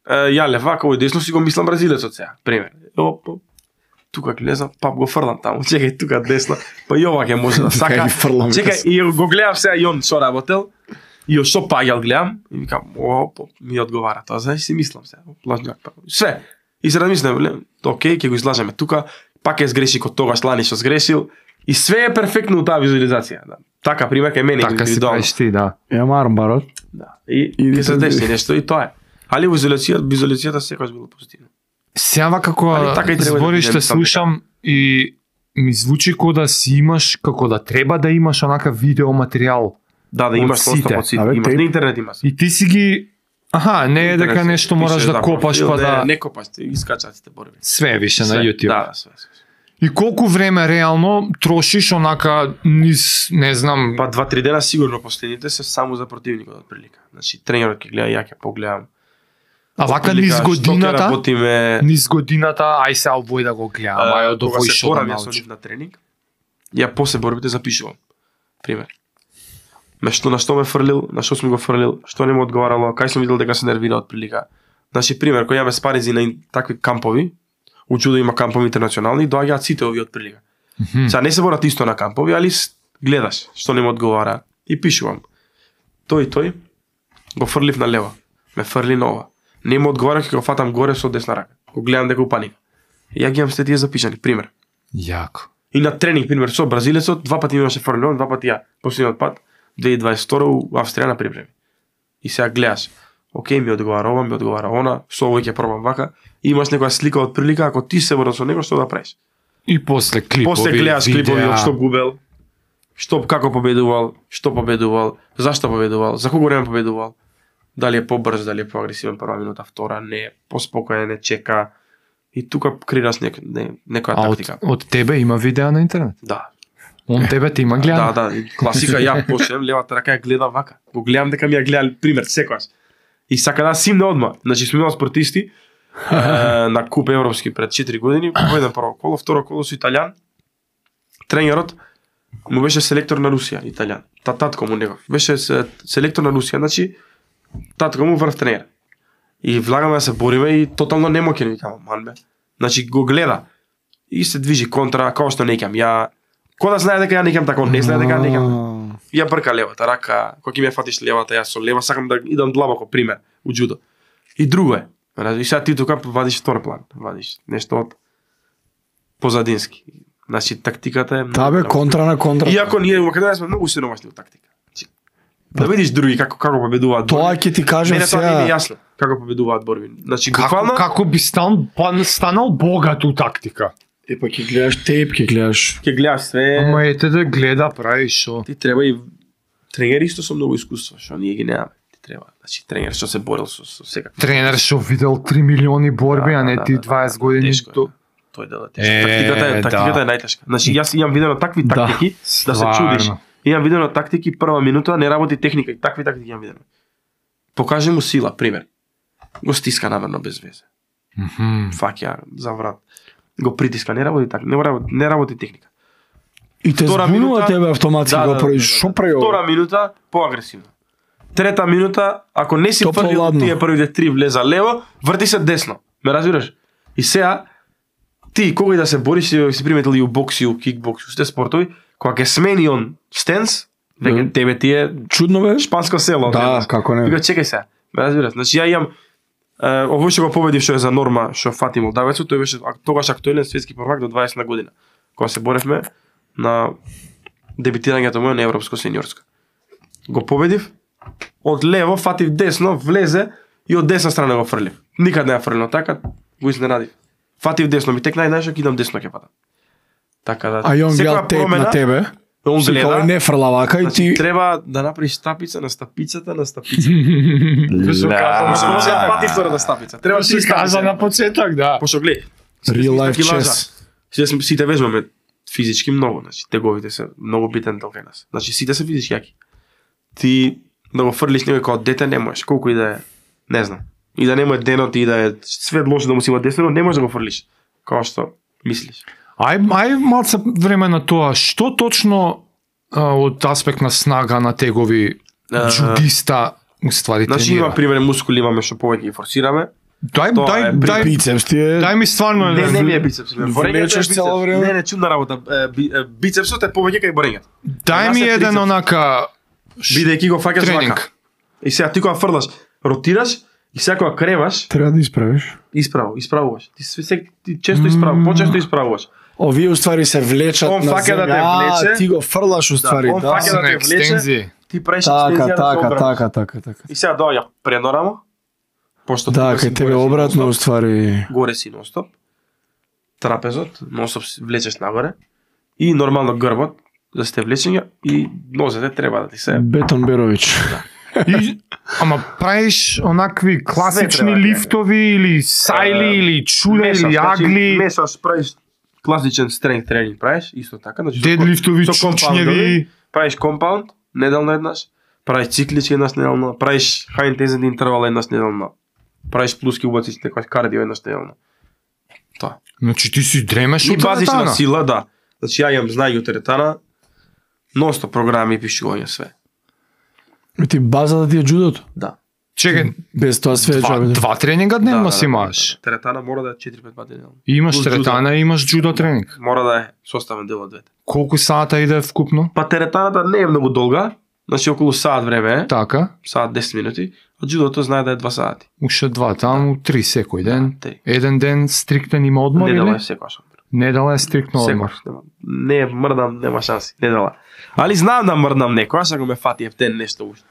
Ја левако и десно си го мислам бразилецот сега. Пример. Оп, оп. Тука гледам, пап го фрлам таму. Чекај тука десно. Па и ова ќе може да сака. Чекај и го гледам сега и он со работел. И што паѓал гледам и викам, оп, ми одговара тоа, знаеш си мислам сега. Лажњак па. Све. И се размислам, окей, ќе го излажеме тука, пак е сгреши кога тогаш лани што сгрешил. И све е перфектно у таа визуализација. Да. Така пример кај мене индивидуално. Така си ти, да. Ја марам барот. Да. И ќе се деси нешто и тоа е. Али визуализацијата, визуализацијата секогаш било позитивно. Сева како така збориш те слушам и ми звучи како да си имаш, како да треба да имаш онака видео материјал. Да, да имаш сите. Од сите. Имаш на интернет имаш. И ти си ги аха, не е дека нешто мораш да копаш па да не копаш, ти искачат сите борби. Све више на YouTube. Да, све. И колку време реално трошиш онака низ, не знам, па два-три дена сигурно последните се само за противникот од прилика. Значи тренерот ќе гледа, ја ќе погледам. А вака низ годината, работиме... низ годината, ај се овој да го гледам, ај од овој шо да научи. Со нив на тренинг, ја после борбите запишувам. Пример. ме што на што ме фрлил, на што сум го фрлил, што не му одговарало, кај сум видел дека се нервира од прилика. Значи пример, кој имаме спаринзи на такви кампови, у Џудо има кампови интернационални, доаѓаат сите овие од прилика. Mm -hmm. Сега не се борат исто на кампови, али гледаш што не му одговара и пишувам. Тој тој го фрлив на лево, ме фрли на ова. Не му одговара, ќе го фатам горе со десна рака. Го гледам дека упаника. И ја ги имам сте тие запишани, пример. Јако. И на тренинг, пример, со бразилецот, два пати имаше фрлено, два пати ја. Последниот пат, две илјади дваесет и втора у Австрија на припреми. И сега гледаш, окей, ми одговара ова, ми одговара она, со овој ќе пробам вака. И имаш некоја слика од прилика, ако ти се борил со него, што да правиш? И после клипови, После гледаш видеа. клипови од што губел, што како победувал, што победувал, зашто победувал, за колку време победувал. Дали е побрз, дали е поагресивен прва минута, втора, не, поспокоен, не чека. И тука креираш нек, не, некоја А од, тактика. од тебе има видеа на интернет? Да. Он тебе те има гледа? Да, да, класика, ја почнем левата рака ја гледам вака. Го гледам дека ми ја гледа пример секогаш. И сака да симне одма. Значи сме имали спортисти е, на куп европски пред четири години, победен прво коло, второ коло со италијан. Тренерот му беше селектор на Русија, италијан. Та татко му негов. Беше селектор на Русија, значи татко му врв тренер. И влагаме да се бориме и тотално немоќен викам, ман бе. Значи го гледа и се движи контра, како што не ќам. Ја Ко да знае дека ја некам така, не знае дека ја некам. Ја брка левата рака, кога ќе ме фатиш левата, јас со лева сакам да идам длабоко, пример, у џудо. И друго е. И сега ти тука вадиш втор план, вадиш нешто од позадински. Значи тактиката е Та бе, контра на контра. Иако ние во Македонија сме многу сиромашни во тактика. Да видиш други како како победуваат. Тоа ќе ти кажам сега. Мене тоа не ми е сега. јасно како победуваат борби. Значи Како, буквално како би стан, па, станал богат у тактика? Е, па ќе гледаш тейп, ќе гледаш. ќе гледаш све. Ама ете да гледа, прави шо. Ти треба и тренер исто со многу искуство, што ние ги немаме. Ти треба. Значи тренер што се борил со со секако. Тренер што видел три милиони борби, Да, а не да, ти да, дваесет да, години. тешко е. То... Тој дел е тешко. Е, Тактиката е, тактиката да. е најтешка. Значи јас имам видено такви Да, тактики да се чудиш. стварно. Имам видено тактики прва минута не работи техника и такви тактики имам видено. Покажи му сила, пример. Го стиска намерно без везе. Мгм. Фаќа за врат. Го притиска, не работи така, не работи, не работи техника. И те Втора збунува минута- тебе автоматски Да, го да, правиш. да, да. Шо прави ова? Втора минута поагресивно. Трета минута, ако не си Топло фрлил ладно. тие првите три влеза лево, врти се десно. Ме разбираш? И сега ти кога и да се бориш, си, си приметил и у бокс и у кикбокс, и у сите спортови, кога ќе смени он стенс, веќе Мгм. тебе ти е Чудно бе? шпанско село. Да, гледаш. како не. Вика чекај се. Ме разбираш? Значи ја имам е, овој што го победив што е за норма, што фати Молдавецот, тој беше ак- тогаш актуелен светски првак до дваесет година. Кога се боревме на дебитирањето моје на европско сениорско. Го победив, од лево фатив десно, влезе и од десна страна го фрлив. Никад не ја фрлил така, го изненадив. Фатив десно, ми текна и знаеш дека идам десно ќе фатам. Така да. А и он секоја гледа тейп промена, на тебе. Он Си гледа, кај не фрла вака и значи, ти... треба да направиш стапица на стапицата на стапица. Да. Ама се може да пати втората стапица. Треба Си три кажа стапици. на почеток, да. Пошто гледај. Real life chess. Сите сме сите вежбаме физички многу, значи теговите се многу битен дел кај нас. Значи сите се физички јаки. Ти да го фрлиш некој како дете не можеш, колку и да е, не знам. И да нема денот и да е све лошо да му си има десно, не можеш да го фрлиш. Како што мислиш. Ај, ај малце време на тоа. Што точно а, од аспект на снага на тегови А, джудиста уствари Значи тренира? има пример мускули имаме што повеќе ги форсираме. Дај, тоа дај, е дај, Бицепс ти е... дај ми стварно Не, не ми е еден. бицепс. Влечеш цело време? Не, не, чудна работа. Е, би- е, Бицепсот е повеќе кај борењето. Дај ми Нас е еден трицепс. онака Бидејќи го фаќаш тренинг. вака. И сега ти кога фрлаш, ротираш и сега кога креваш, Треба да исправиш. исправо, исправуваш. Ти све се ти често исправ, почесто исправуваш. Овие уствари се влечат Он на фаќа да те земја. влече. А, ти го фрлаш уствари, он да. фаќа да на те влече. екстензии. Ти правиш Така, екстензија да се така, обраниш. така, така, така. И сега доаѓа преднорамо, пошто Да, тука си кај тебе горе си обратно нон-стоп, уствари. горе си нонстоп. Трапезот, нонстоп си влечеш нагоре и нормално грбот за сте влечења и нозете треба да ти се Бетон Берович. И, ама правиш онакви класични треба да е. лифтови или сајли Е, или чуда мешаш, или значи, агли, мешаш, правиш класичен стренг тренинг, правиш исто така, значи со- дедлифтови, со компаундови, чучњеви. правиш компаунд неделно еднаш, правиш циклички еднаш неделно, правиш high intensity интервал еднаш неделно, правиш плуски убаци некој кардио еднаш неделно. Тоа. Значи ти си дремеш И од базична теретана. сила, да. Значи ја имам знаење од теретана, ностоп програми и пишување све. Ти база да ти е джудото. Да. Чекај, Без тоа све е два, джабе. два тренинга дневно си имаш. Теретана мора да е четири пет пати дневно. Имаш Плюс теретана и имаш джудо тренинг. Мора да е составен дел од двете. Колку сата иде вкупно? Па теретаната не е многу долга, значи околу саат време е, Така. саат десет минути, а джудото знае да е два сати. Уште два, таму три секој ден. Да, три. Еден ден стриктен има одмор Недела или? е секојаш. Недела е стриктно одмор. Секојаш. нема- Не мрдам, нема шанси, недела. Али знам да мрдам некојаш, ако ме фати ефтен нешто уште.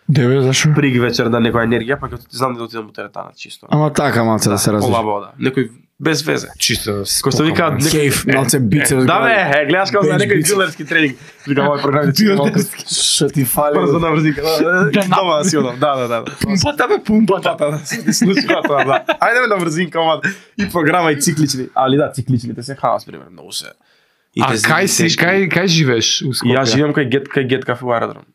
Деве, зашо? Приг вечер да некоја енергија, па ќе знам да отидам у теретана чисто. Ама така малце да се развиш. Полабо, да. Некој без везе. Чисто. Кој што викаат некој Кейф, малце бицепс. Да бе, е, гледаш како за Бенч некој бицепс. дилерски тренинг. Вика мој програм е малку Што ти фали? брзо на врзика. Дома да си одам. Да, да, да. Пумпата бе, пумпата. Пата, да се случи тоа, да. Ајде на врзинка, ама и програма и циклични. Али да, цикличните се хавас пример, многу се. А кај си, кај кај живееш у Скопје? Јас живеам кај Гет кај Гет кафе у аеродром.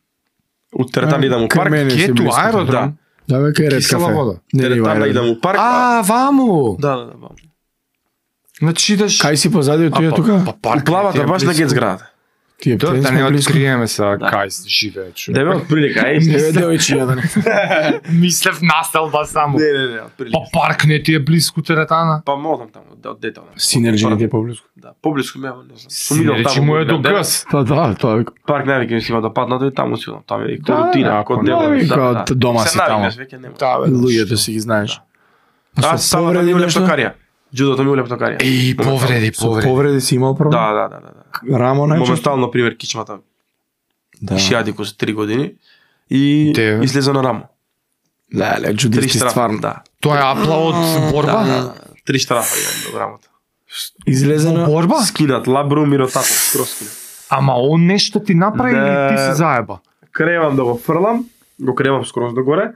У теретана идам у Кај парк. мене си Кету, близко. аеродром? Да бе, кај ред Кисела кафе. вода. Не, не, Теретана аеродром. идам у парк. а- А, ваму. Да, да, да. Значи идеш... Кај си позади од А, тие па- тука? Па парк. У плавата баш на Гет зградата. Тие Да, да плесме не близко. откриеме сега Да. кај живее човек. Деве од прилика, Не еј. бе, девојчиња да не. Мислев настелба само. Не, не, не, од прилика. Па парк не ти е близко теретана. Па модам таму, од детал. Синерџи ти е поблизко. Да, поблиску ме, не знам. Сум идел Речи таму. му е до да, гъс. Па да, тоа е. Парк навике ми си има да паднато и таму си одам. Таму е Да, рутина, ако код не, дел. навика од дома си таму. Веќе нема. Да, бе. Луѓето си ги знаеш. Аз Со само да ми повреди у нешто? лептокарија. Джудото ми у лептокарија. И повреди, Со повреди. повреди си имал проблем? Да, да, да, да. да. Рамо најчесто? Моментално, пример, кичмата Да. шијадико со три години и Деве. излезе на рамо. Леле, Три джудисти штрафа, стварно. да. Тоа е апла од Да, борба? да, да. Три штрафа имам до рамото. Излезе на... Борба? Скинат лабрум и ротатор, скроз скинат. Ама он нешто ти направи Да. или ти се заеба? Кревам да го фрлам, го кревам скроз до горе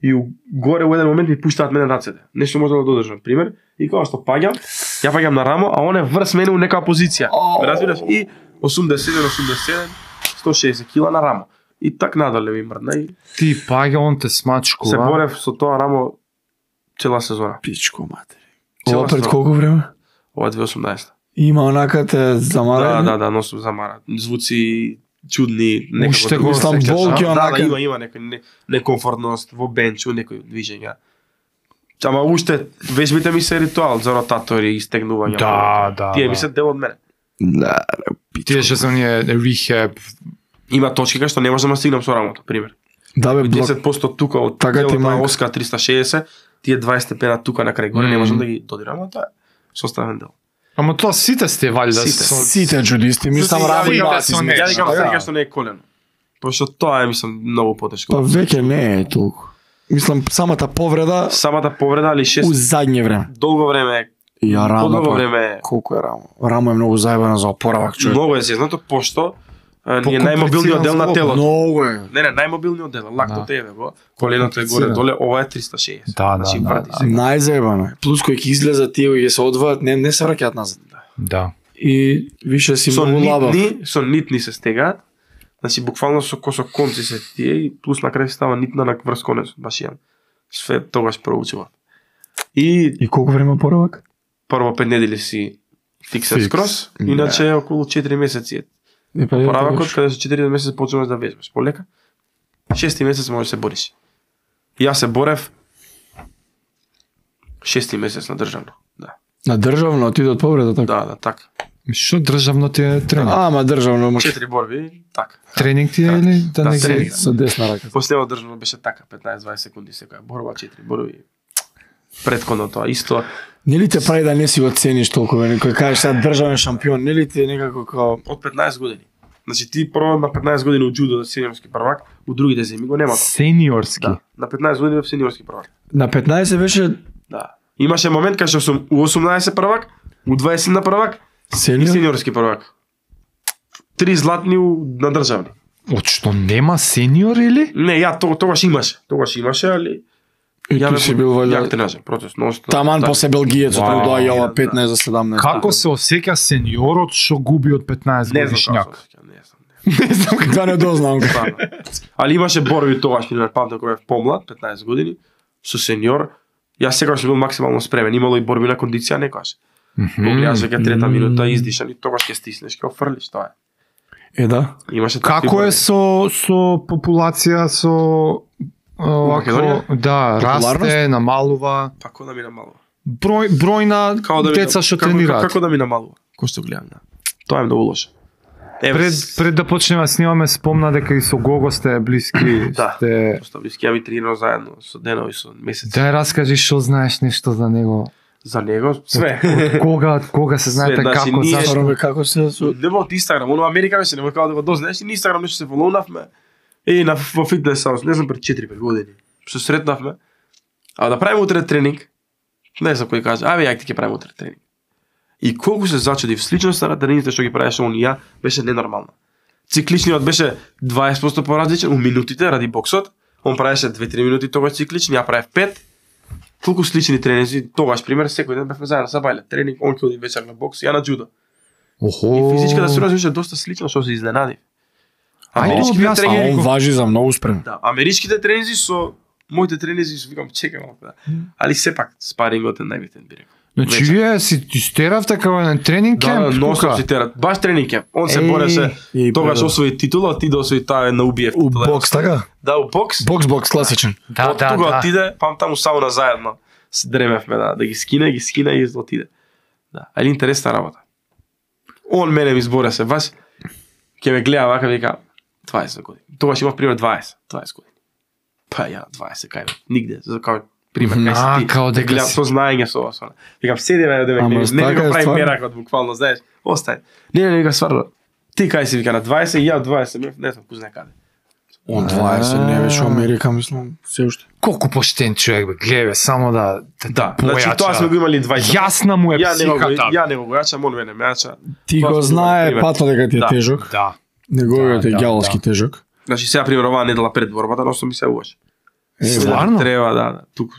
и у- горе у еден момент ми пуштаат мене рацете. Нешто може да го додржам, пример, и кога што паѓам, ја паѓам на рамо, а он е врз мене у некоја позиција. Ау. Разбираш? И осумдесет и седум, осумдесет и седум, сто и шеесет кила на рамо. И так надоле ми мрдна и Ти паѓа, он те смачкува. се борев со тоа рамо цела сезона. Пичко, матери. Цела Ова пред сезона. колку време? Ова е две тисачи и осумнаесета. Има онака те Да, замара. да, да, носам замара. Звуци чудни, некако. Уште да го Мислам, осеќаш, болки да, онака. Да, има, има некој не, некомфортност во бенчу, некој движења. Ама уште вежбите ми се ритуал за ротатори и стегнување. Да, да, Тие да. ми се дел од мене. Да, Тие што се оние рехаб. Има точки кај што не можам да стигнам со рамото, пример. да бе, блок. десет проценти тука од Така ти телото на манка. Оска триста и шеесет, тие дваесет степена тука на крај горе, не Мм. можам да ги додирам, а тоа е составен дел. Ама тоа сите сте валјда Сите. со... Сите джудисти, мислам Сите, рамо сите има со нешто. Ја викам Да. сега што не е колено. Пошто тоа е мислам многу потешко. Па веќе не е толку. Мислам, самата повреда Самата повреда али у шест задње време. долго време, Ја рамо. подолго па, време. Колку е рамо? Рамо е многу заебано за опоравак, човек. Многу е зезнато пошто а, ни е Покомплициран најмобилниот дел на зглоб. телото. Многу е. Не, не, најмобилниот дел, лактото Да. еве го, коленото е горе Комплициран. доле, ова е триста и шеесет. Да, да, Значи, да, врати да. се. Најзаебано е. Плюс кој ќе излезат тие кои ќе се одваат, не не се враќаат назад. Да. И више си Со многу лабав. нитни, со нитни се стегаат. Значи буквално со косо конци се тие и плюс на крај се става нитна на врз конец, баш јан. Све тогаш проучува. И И колку време опоравак? прво пет недели си фиксен Фикс. скроз, иначе околу четири месеци е. И па Поравакот каде со четири месеци почнуваш да вежбаш полека. Шести месец можеш да се бориш. Јас се борев шести месец на државно. Да. на државно отиде од повреда така. Да, да, така. Што државно ти е тренинг? А, ама државно може Четири борби, така. Тренинг ти е или да Да, не тренинг. ги... со десна рака. Последно државно беше така, петнаесет-дваесет секунди секоја борба, четири борби. Предходно тоа исто. Нели те прави да не си го цениш толку, бе, некој кажеш сега државен шампион, нели ти е некако као Од петнаесет години. Значи ти прво на петнаесет години у џудо да сениорски првак, у другите земи го нема тоа. Сениорски. Да, на петнаесет години бев сениорски првак. на петнаесет беше Да. Имаше момент кај што сум у осумнаесет првак, у дваесет на првак и сениор? сениорски првак. Три златни у- на државни. Од што нема сениор или? Не, ја то, тогаш имаше. Тогаш имаше, али И ја ти бев си бил Јак вајда тренажен процес, нонстоп. таман Да. после белгиецот, Вау. тој доаѓа ова Да. петнаесет за седамнаесет. Како се осеќа сениорот што губи од петнаесет Не знам годишњак? како се осеќам, не знам. Не знам како не дознам. Стварно. Али имаше борби тогаш, пример, памтам кога бев помлад, петнаесет години, со сениор. Јас секогаш сум бил максимално спремен. Имало и борби на кондиција некогаш. Го гледаш веќе трета минута издишан и тогаш ќе стиснеш, ќе офрлиш, тоа е. Е, да. Имаше такви Како е борби. со со популација со овако, Македонија? да, Популарност? расте, намалува, Па како да ми намалува? број број на Како да ми деца што како- тренираат. Како да ми намалува? Кој што гледам, да. Тоа е многу лошо. Еве, Пред пред да почнеме да снимаме, спомна дека и со Гого сте блиски, Да. сте. Доста блиски, ја ми тренирам заедно со денови, со месеци. Дај раскажи што знаеш нешто за него. За него све. Од кога, од кога се знаете, значи, како, ние- зашто? Робе, како се со... Нема од Инстаграм, оно Америка беше, нема како да го дознаеш, и на Инстаграм нешто се фолоунавме. И на во фитнес хаус, не знам пред четири-пет години. Што сретнавме. А да правиме утре тренинг. Не знам кој каже, аве ја ти ќе правиме утре тренинг. И колку се зачудив, сличноста на тренингите што ги правеше он и ја беше ненормална. Цикличниот беше дваесет проценти поразличен у минутите ради боксот. Он правеше две-три минути тогаш циклични, ја правев пет. Толку слични тренинзи, тогаш пример секој ден бевме заедно са бајле. Тренинг, он ќе оди вечер на бокс, ја на джудо. Охо. И физичката силност беше доста слична, што се изненадив. Ајде, Америчките објасни. А тренинзи, он важи за многу спрем. да, америчките тренинзи со моите тренинзи со викам чекам малку, да. Али сепак спарингот е најбитен би рекол. Значи Вечер. вие си истеравте како еден тренинг Да, кемп, но тука? се терат. Баш тренинг кемп. Он се Еј, бореше, и тогаш пред- освои титула, ти да освои таа на убиев У титула. бокс, така? Да, у бокс. Бокс, бокс, класичен. Да, Од да, тука да. отиде, пам таму сауна заедно. Се дремевме да, да ги скине, ги скина и отиде. Да, али интересна работа. Он мене ми збора се, баш ќе ме гледа вака вика дваесет години. Тогаш имав пример дваесет, дваесет години. Па ја дваесет кај бе, нигде, за кај пример кај А, си ти. као да дека гледам си. со знаење со ова со. она. Викам седи ме да ме Ама гледа, не така ми е го прави стварно. меракот буквално, знаеш. Остај. Не, не, не, вика стварно. Ти кај си вика на дваесет и ја дваесет, не, не знам кој знае каде. Он дваесет не беше у Америка, мислам, се уште. Колку поштен човек бе, гледа бе, само да да, Да, појача. значи тоа сме го имали дваесет. Јасна му е Ја не го, психата. ја не го јачам, он мене ме јача. Ти Тоа го сме знае пример. пато дека ти е Да. тежок. Да. Неговиот Да, е да, ѓаволски да. тежок. Значи сега пример оваа недела пред борбата, носам ми се уаш. Е, Стварно? Треба да, да, тук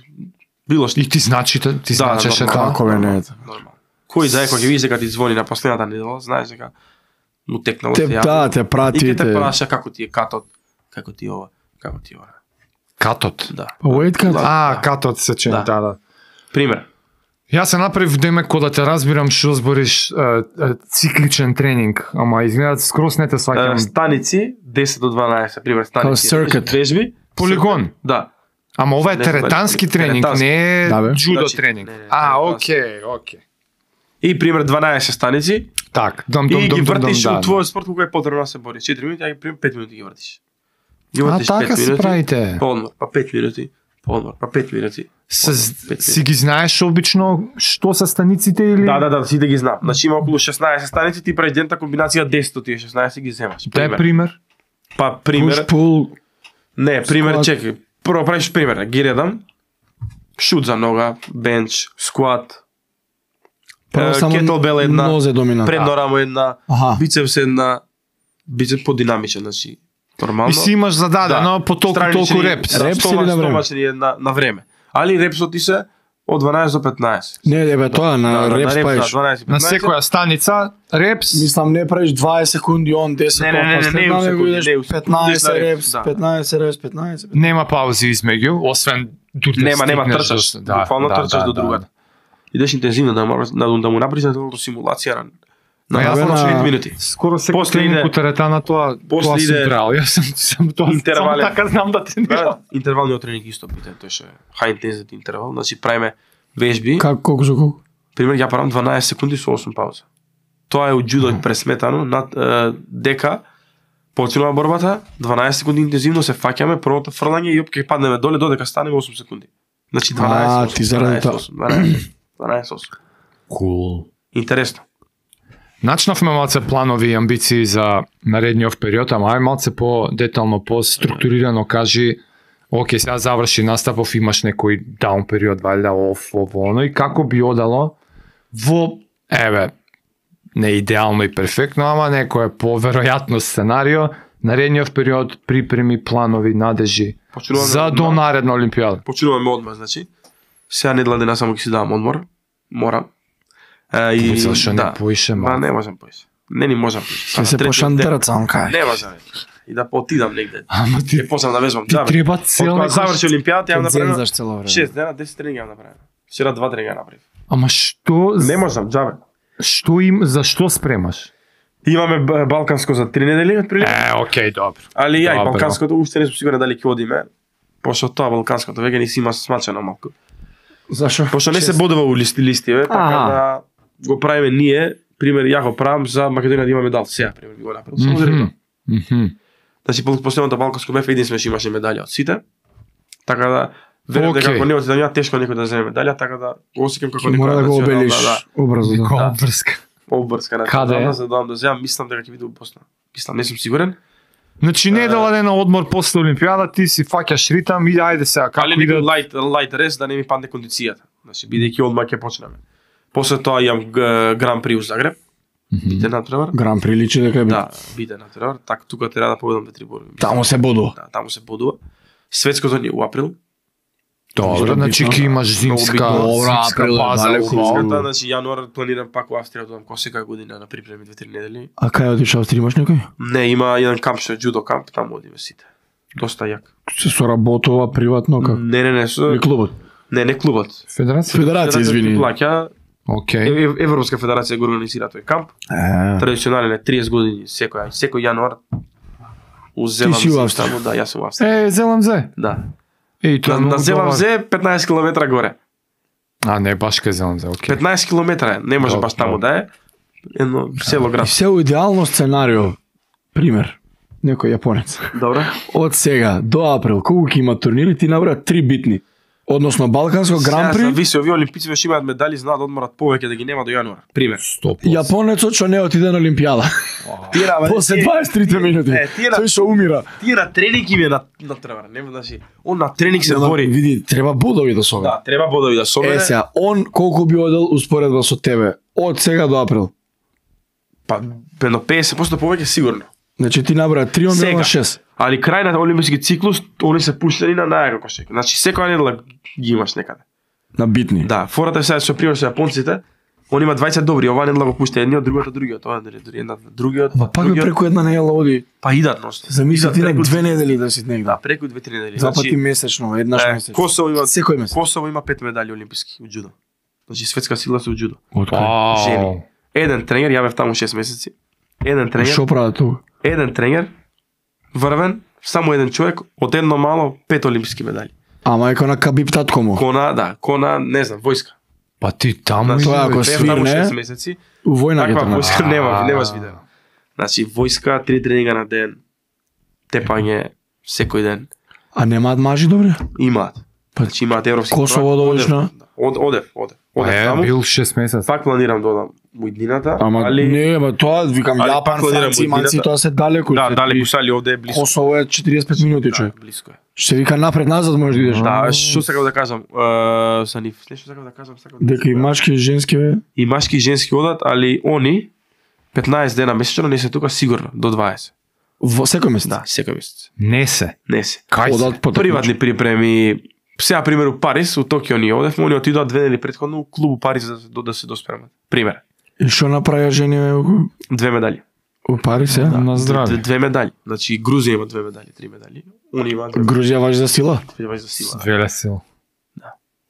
било што И ти значи, ти Да, значеше да, тоа. Како бе не е? нормално. Кој знае кога ќе видиш дека ти звони на последната недела, знаеш дека му текнало Те, те да, те И прати, ќе те те... праша како ти е катот, како ти е ова, како ти е ова. Катот. Да. Wait cut. А, Да. катот се чини, Да. да, да. Пример. Јас се направив деме кога да те разбирам што збориш е, е, цикличен тренинг, ама изгледа скрос не те Е, сваќам. Станици десет до дванаесет, пример станици. Као circuit. Вежби. Полигон. Да. Ама ова е Не знам, теретански теретански. тренинг, не е Да, бе. джудо Значи, тренинг. не, не, А, теретански. окей, окей. И пример дванаесет станици Так, дом, и дом, ги дом, дом, вртиш дом, у да. твојот спорт колку е потребно да се бориш. четири минути, а ги пример пет минути ги вртиш. Ги А, вртиш така пет се минути, правите. По одмор, па пет минути, по одмор, па пет минути. Се, пет си ги знаеш обично што се станиците или? Да, да, да, сите ги знам. Значи има околу шеснаесет станици, ти правиш дента комбинација десет од тие шеснаесет ги земаш. Дај пример. Па пример, Push, pull, не, пример, Squat. чекај. Прво правиш пример, ги редам. Шут за нога, бенч, скват, Право само кетелбел една, нозе доминант. предно рамо една, Аха. бицепс една, бицепс подинамичен, значи нормално. И си имаш зададено Да. по толку Странични, толку репс. да, Репс или стомаш- на време? стомачни една на време. Али репсот ти се од дванаесет до петнаесет. Не, не бе, тоа на Да, репс да, правиш. дванаесет, На петнаесет. секоја станица репс. Мислам, не правиш дваесет секунди, он десет, Не, не, не, не, не, не, у не, секунди, идеш не, у секунди, петнаесет да, репс, да. петнаесет репс, петнаесет. Нема паузи измеѓу, освен дури да Нема, нема стигнеш трчаш. до- да, Буквално да, трчаш да, до да. другата. Идеш интензивно да, му- да, да му направиш на целото симулација на на Па јас на на- пет минути. Скоро секој После тренинг иде- у теретана тоа после тоа сум иде правил. Јас сум сум тоа интервален. само така знам да тренирам. Да, интервалниот тренинг исто питен, тој ше high intensity интервал, значи правиме вежби. Како, колку за колку? Пример, ја правам дванаесет секунди со осум пауза. Тоа е од джудо пресметано над е, дека почнува борбата, дванаесет секунди интензивно се фаќаме, првото фрлање и опке паднеме доле додека станеме осум секунди. Значи дванаесет. А, осум, ти заради дванаесет, тоа. осум, дванаесет, дванаесет осум. Кул. Интересно. Начнавме малце планови и амбиции за наредниот период, ама ај малце по детално, по структурирано кажи, окей, сега заврши наставов, имаш некој даун период, валјда, оф, ово, оно, и како би одало во, еве, не идеално и перфектно, ама некој поверојатно сценарио, наредниот период, припреми, планови, надежи, Почнуваме за до одмор. наредна Олимпијада. Почнуваме одмор, значи. Сега недела дена само ќе си давам одмор. Морам. Е, и Мислам, што не да. поише Ма малку. не можам поише. Не ни можам поише. Ќе се пошандерат сам кај. Не можам. И да поотидам негде. Ама ти, Ќе почнам да вежбам. ти Џабе. треба цел Откога некој- заврши Олимпијата, ја направив Зензаш цело време. шест дена, десет тренинги ја направив. Вчера два тренинга направив. Ама што, Не можам, џабе. што им, за што спремаш? Имаме б- балканско за три недели отприлика. Е, окей, добро. Али ја и Добро. балканското уште не сум сигурен дали ќе одиме. Пошто тоа балканското веќе не си има смачено малку. Зашо? Пошто не се бодува у листи листиве, така Аха. да го правиме ние, пример ја го правам за Македонија да има медал сега, пример би го направил. Само заради тоа. Мгм. Значи по последното балканско бев единствен што имаше медалја од сите. Така да верувам дека Окей. ако не отидам ја тешко некој да земе медалја, така да го осеќам како Ќе мора да го национална, обелиш да, образно. Никола врска. обврска Каде е? национална, за да дам да земам, мислам дека ќе биде у Босна. Мислам, не сум сигурен. Значи недела дена одмор после Олимпијада, ти си фаќаш ритам и ајде сега како Али иде. некој лайт лайт рес да не ми падне кондицијата. Значи бидејќи одма ќе почнеме. После тоа имам г- Гран При у Загреб. Бите натпревар. Гран приличи дека е бит. Да, бите натпревар. Така тука треба да победам две три борби. Таму се бодува. Да, таму се бодува. Светското ни е у април. Добро, значи ќе имаш зимска, Много битно. зимска Април е база. далеку. убаво. Светската, значи јануар планирам пак у Австрија да одам како секоја година на припреми две три недели. А кај одиш Австрија имаш некој? Не, има еден камп што е джудо камп, таму одиме сите. Доста јак. Се соработува приватно како? Не, не, не, со... Или клубот? не, не клубот. Федерација? Федерација, извини. Плаќа, Окей. Ев- Европска федерација го организира тој камп. Е, Традиционален е триесет години секој секој јануар. Уземам Ти си у се Австрија. таму, да, јас сум у Австрија. Е, зелам зе. Да. Еј, тоа На, е на многу Зелам добар. зе петнаесет километра горе. А, не, баш кај зелам зе, окей. петнаесет километра е, не може Добро, баш таму добро. да е. Едно село и град. се у идеално сценарио. Пример. Некој јапонец. Добро. Од сега до април, колку ќе има турнири, ти набра три битни. Односно Балканско Гран Сега При. зависи, овие олимпици што имаат медали знаат да одморат повеќе да ги нема до јануар. Пример. Стоп. Јапонецот што не отиде на Олимпијада. Тие на После дваесет и трите минути. Е, тие на Тој што умира. тие на тренинг им е на на тревар, не значи. Он на тренинг се Нема- бори. Види, треба бодови да собере. Да, треба бодови да собере. Е, сега, он колку би одел успоредба со тебе? Од сега до април. Па едно петдесет проценти повеќе сигурно. Значи ти набра три, он бил Сега. на шест. Али крај на олимписки циклус, они се пуштени на најако кошек. Значи секоја недела ги имаш некаде. На битни. Да, фората е сега со пример со јапонците, они имаат дваесет добри, оваа недела го пушта едниот, другиот, другиот, ова недела една, другиот, Ма пак би другиот, преку една недела оди. па идат носно. Замисли Идат ти на преку- две недели да си негде. Да, преку две три недели. Два пати месечно, еднаш е, месечно. Косово има Секој месец. Косово има пет медали олимписки у џудо. Значи светска сила се у џудо. Од кој? Вау. Жени. Еден тренер, ја бев таму шест месеци. Еден тренер, Што прават тука? еден тренер, врвен, само еден човек, од едно мало пет олимписки медали. Ама еко на Кабиб татко му. Кона, да, кона, не знам, војска. Па ти таму Значи, Тоа ако бев таму свирне, шест месеци. У војна ги Таква тренира. војска нема, А. немаш видео. Значи војска, три тренинга на ден, тепање секој ден. А немаат мажи добри? Имаат. Па, Значи имаат европски. Косово првак. да одиш на? Од одев, одев. Одев Е, таму. бил шест месеци. Пак планирам да одам у иднината, Ама али не, ама тоа викам али Јапан, пак планирам Франција, годината. Манци, тоа се далеку. да, Се дали ти- пушали овде е близко. Косово е четириесет и пет минути, човек. Да, близко е. Што се вика напред назад можеш да идеш. Да, што сакав да кажам, е, са нив, нешто сакав да кажам, сакав да Дека и машки и женски бе. и машки и женски одат, али они петнаесет дена месечно не се тука сигурно до дваесет. Во секој месец. Да, секој месец. Не се. Не се. Кај се? Одат по Приватни припреми. Сега пример у Париз, у Токио ние одевме, они отидоа две недели претходно у клуб у Париз да, да, да се доспремат. Пример, И што направија жени бе, две медали. у Париз, е? На Две, здраве. две медали. Значи Грузија има две медали, три медали. Они имаат две Грузија важи за сила. медали за сила. Веле сила.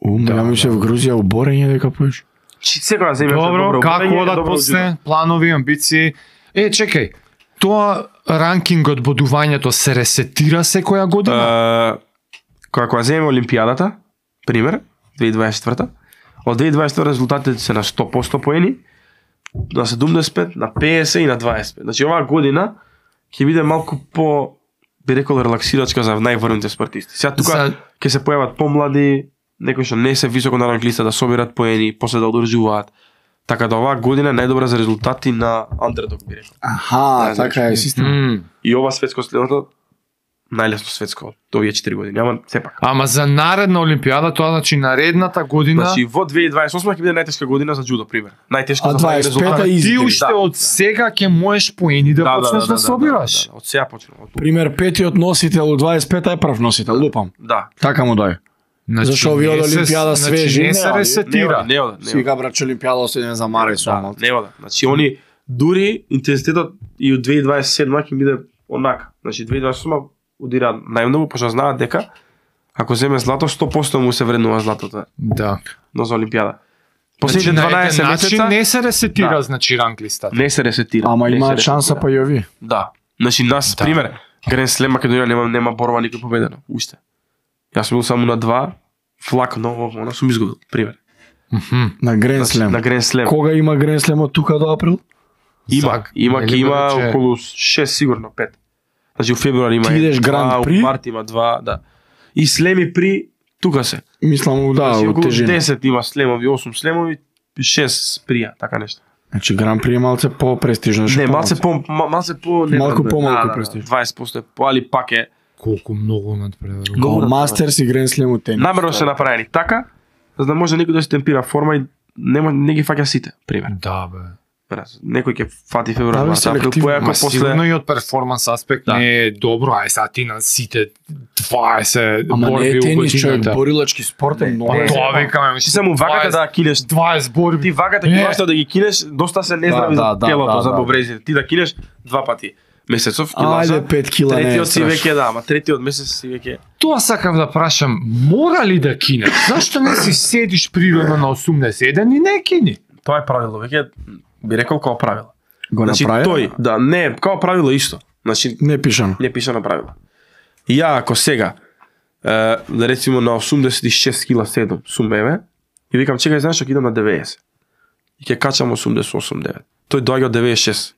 У, Да, ја мислев да. Грузија у борење дека поеш. Чи секоја земја Добро, како одат после планови, амбиции? Е, чекај. Тоа ранкингот бодувањето се ресетира секоја година? Кога кога земеме Олимпијадата, пример, две илјади дваесет и четврта, од две илјади дваесет и втора резултатите се на сто проценти поени, на седумдесет и пет, на петдесет и на дваесет и пет. Значи оваа година ќе биде малку по би рекол релаксирачка за најврвните спортисти. Сега тука За- ќе се појават помлади, некои што не се високо на ранглиста да собират поени, после да одржуваат. Така да оваа година е најдобра за резултати на андердог би рекол. Аха, Да, така е систем. М. И ова светско следното најлесно светско од овие четири години, ама сепак. Ама за наредна Олимпијада, тоа значи наредната година, Значи во две илјади дваесет и осма ќе биде најтешка година за џудо, пример. Најтешка А за дваесет и пета резултати. и- ти изгледа, уште да, од да. сега ќе можеш поени да, почнеш да, собираш. Да, да, од сега почнувам. Од тука. Пример, петиот носител у дваесет и пета е прв носител, лупам. Да. Така му дај. Значи, Зашо овие од не се- Олимпијада значи, свежи, не не, се али- ресетира. Не ода, не Си ода. га брат, Олимпијада се за Маре со Да, малку. не ода. Значи они дури интензитетот и од две илјади дваесет и седма ќе биде онака. Значи две илјади дваесет и осма удира најмногу, пошто знаат дека ако земе злато сто проценти му се вреднува златото, Да. но за Олимпијада. Последните Значи, на дванаесет еден начин месеца не се ресетира, Да. значи ранглистата. не се ресетира. Ама Не имаат се шанса ресетира. па и овие. Да. Значи нас Да. пример, Грен Слем Македонија нема нема борба никој победено, уште. Јас сум бил само на два, флак ново, она сум изгубил, пример. Мгм. На Грен Значи, Слем. на Грен Слем. Кога има Грен Слем од тука до април? Има, Зак- има, нели има рече- околу шест сигурно, пет. Значи у февруар има Ти идеш два, Гранд у При? март има два, да. И слеми при тука се. Мислам, да, Значи, од околу тежина. десет има слемови, осум слемови, шест прија, така нешто. Значи Гран При е малце по-престижно. Не, малце по ма- малце по не Малку знам, помалку да, да, престижно. дваесет проценти е по, али пак е Колку многу надпреварува. Много Као Мастерс и Грен Слем у тенис. намерно се направени така, за да може некој да се темпира форма и нема не ги фаќа сите, пример. Да, бе. Раз, некој ќе фати февруар, Да, бе, март, април, селективно. појако Ма сигурно после и од перформанс аспект Да. не е добро, ај сега ти на сите дваесет Ама не борби е у тенис, човек, годината. борилачки спорт е Не, многу. Па не, тоа не. викаме, ти само ваката да кинеш. дваесет борби. Ти ваката Е. ќе можеш да ги кинеш, доста се нездрави Да, за да, да, телото, да, за да. бобрезите. Ти да кинеш два пати месецов, килажа. Ајде, пет кила не е Третиот си страшно. веќе да, ама третиот месец си веќе Тоа сакав да прашам, мора ли да кинеш? Зашто не си седиш природно на осумдесет и еден и не кини? тоа е правило, веќе би рекол како правило. Го Значи направи? тој, да, не, како правило исто. Значи Не пишано. не пише на правило. И ја ако сега е, да речеме на осумдесет и шест кила седам сум еве и викам чекај знаеш ќе идам на деветдесет. И ќе качам осумдесет и осум девет. Тој доаѓа од деветдесет и шест.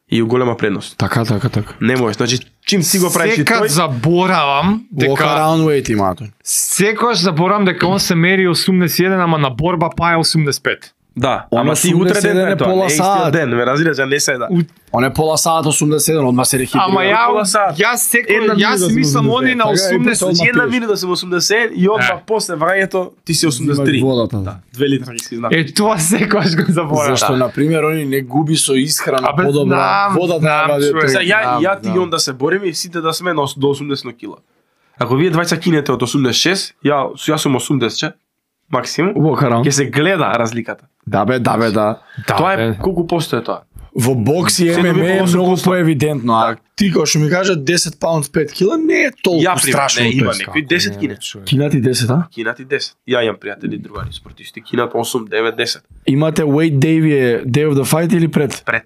И у голема предност. Така, така, така. Не можеш, значи чим си го правиш и Секад тој, заборавам Walk дека around weight има тој. секогаш заборавам дека он се мери осумдесет и еден, ама на борба па е осумдесет и пет. да, Он ама ти утре осумдесет и еден ден е е тоа, пола не е истиот сат. ден, ме разбираш, а не се да. Он е пола саат осумдесет и еден, одма се рехитрира. Ама ја, пола сат. јас секој, Една јас минута мислам сум они на Така, и осумдесет. после Значи една пиеш. минута сум осумдесет и одма Е. после врањето ти си осумдесет и три. Взимаш водата, да. две литра ги си знам. Е, тоа секогаш го заборавам. Зашто, на пример, они не губи со исхрана Абе, подобра. знам, Вода знам, треба да човек. Сега ја, Знам, ја ти знам. и он да се бориме и сите да сме на ос- до осумдесет кила. Ако вие двајца кинете од осумдесет и шест, ја, јас сум осумдесет максимум, Walk around. ќе се гледа разликата. Да бе, да бе, да. Да, Тоа е бе. колку постои тоа. Во бокс и Се ем ем доби е по осум многу проценти. поевидентно, а ти кога што ми кажа десет паунд пет кила, не е толку Ја пример, страшно. не, има тој. некои десет кине. Кинати десет, а? Кинати десет. Ја имам пријатели другари спортисти, кинат осум, девет, десет. Имате weight day вие day of the fight или пред? Пред.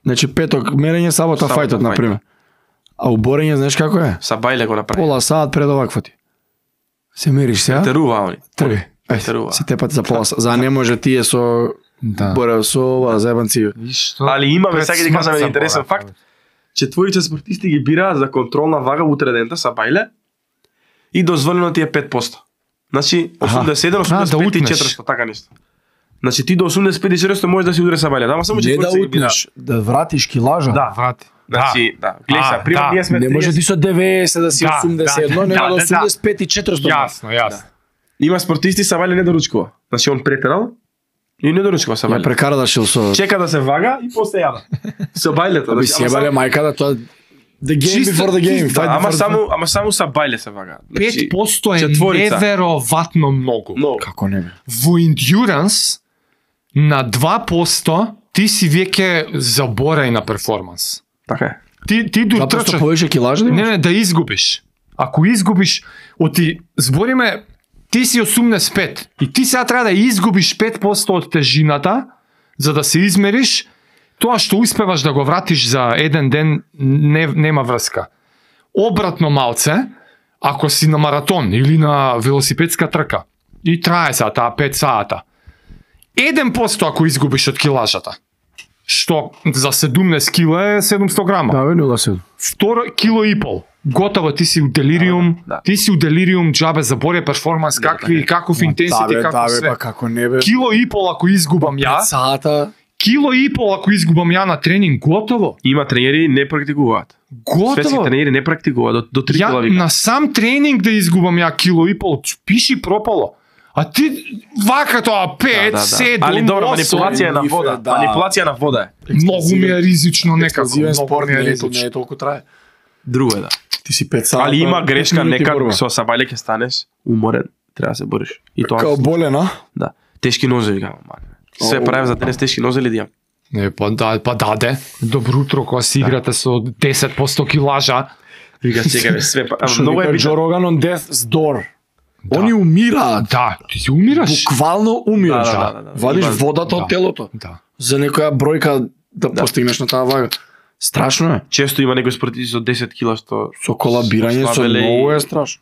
Значи петок мерење, сабота Сабота фајтот фајт. на пример. А у борење знаеш како е? Са бајле го направи. Пола саат пред овакво ти. Се мериш сега? Терува они. Тргај. Терува. Ајде, се тепат за пола саат. За не може тие со Да. боре со ова заебанци. Али имаме, сега ќе ти кажам еден интересен факт. Четворица спортисти ги бираат за контролна вага утре дента са бајле и дозволено ти е пет проценти. Значи осумдесет и еден, А, да осумдесет и пет и утнеш. четиристо, така нешто. Значи ти до осумдесет и пет и четиристо можеш да си удари са бајле, ама само Не да четворица ги бираат. утнеш, да вратиш килажа. Да. Врати. Значи, да. Гледај А, сега, пример да. ние сме Не може ти со деветдесет да си Да, осумдесет и едно, да, нема да, да да, осумдесет и пет и четиристо. Јасно, јасно. Има спортисти са бајле не доручкува. Значи он претерал и не доручкува са Ја бајле. прекара да шил со... Чека да се вага и после јада. Со бајлето. Аби значи, си ама ебале само- мајка да тоа... The game Чисто- before the game. чисто, fight Да, ама before the само fight. ама само са бајле се вага. Значи, пет проценти е четворица. невероватно многу. Но Како не бе? Во endurance на два проценти ти си веќе заборај на перформанс. така е. Ти ти до Два проценти трчаш. повеќе килажа да Не, имаш? не, да изгубиш. Ако изгубиш, оти збориме ти си осумдесет и пет и ти сега треба да изгубиш пет проценти од тежината за да се измериш, тоа што успеваш да го вратиш за еден ден не, нема врска. Обратно малце, ако си на маратон или на велосипедска трка и трае сега таа пет сата. еден проценти ако изгубиш од килажата. Што за седумдесет кила е седумсто грама. Да, бе, нула седум. Второ кило и пол. Готово, ти си у делириум, Да. ти си у делириум, џабе заборе перформанс, какви, каков интенсити, Да, бе, како да, бе, све. па како не бе? Кило и пол ако изгубам ја, Пет сата. кило и пол ако изгубам ја на тренинг, готово. Има тренери не практикуваат. Светски Готово. тренери не практикуваат до, до три кила Ја вика. на сам тренинг да изгубам ја кило и пол, пиши пропало. А ти вака тоа пет, седум, Али добро, осум. манипулација е на вода. Да. Манипулација на вода е. Многу ми е ризично некако. Експлозивен Многу спорт ми е не е, ризично. не е толку трае. Друго е да. Ти си пет сата. Али има пет грешка минути некад борба. со сабајле ќе станеш уморен, треба да се бориш. И тоа Као болен, а? да. Тешки нозеви кажам, мане. Се Оу. правев за денес тешки нозели да имам. Не, па да, па даде. Добро утро кога си играте со десет проценти килажа. Вика чекаме све па. ама Што Многу е вика битно. Джо Роган on death's door. Они умираат. Да, ти си умираш. Буквално умираш. Да, да, да, да. Вадиш Има- водата да. од телото. Да. За некоја бројка да, Да. постигнеш на таа вага. Страшно е. Често има некои спортисти со десет кила што Со колабирање со слабеле и- многу е страшно.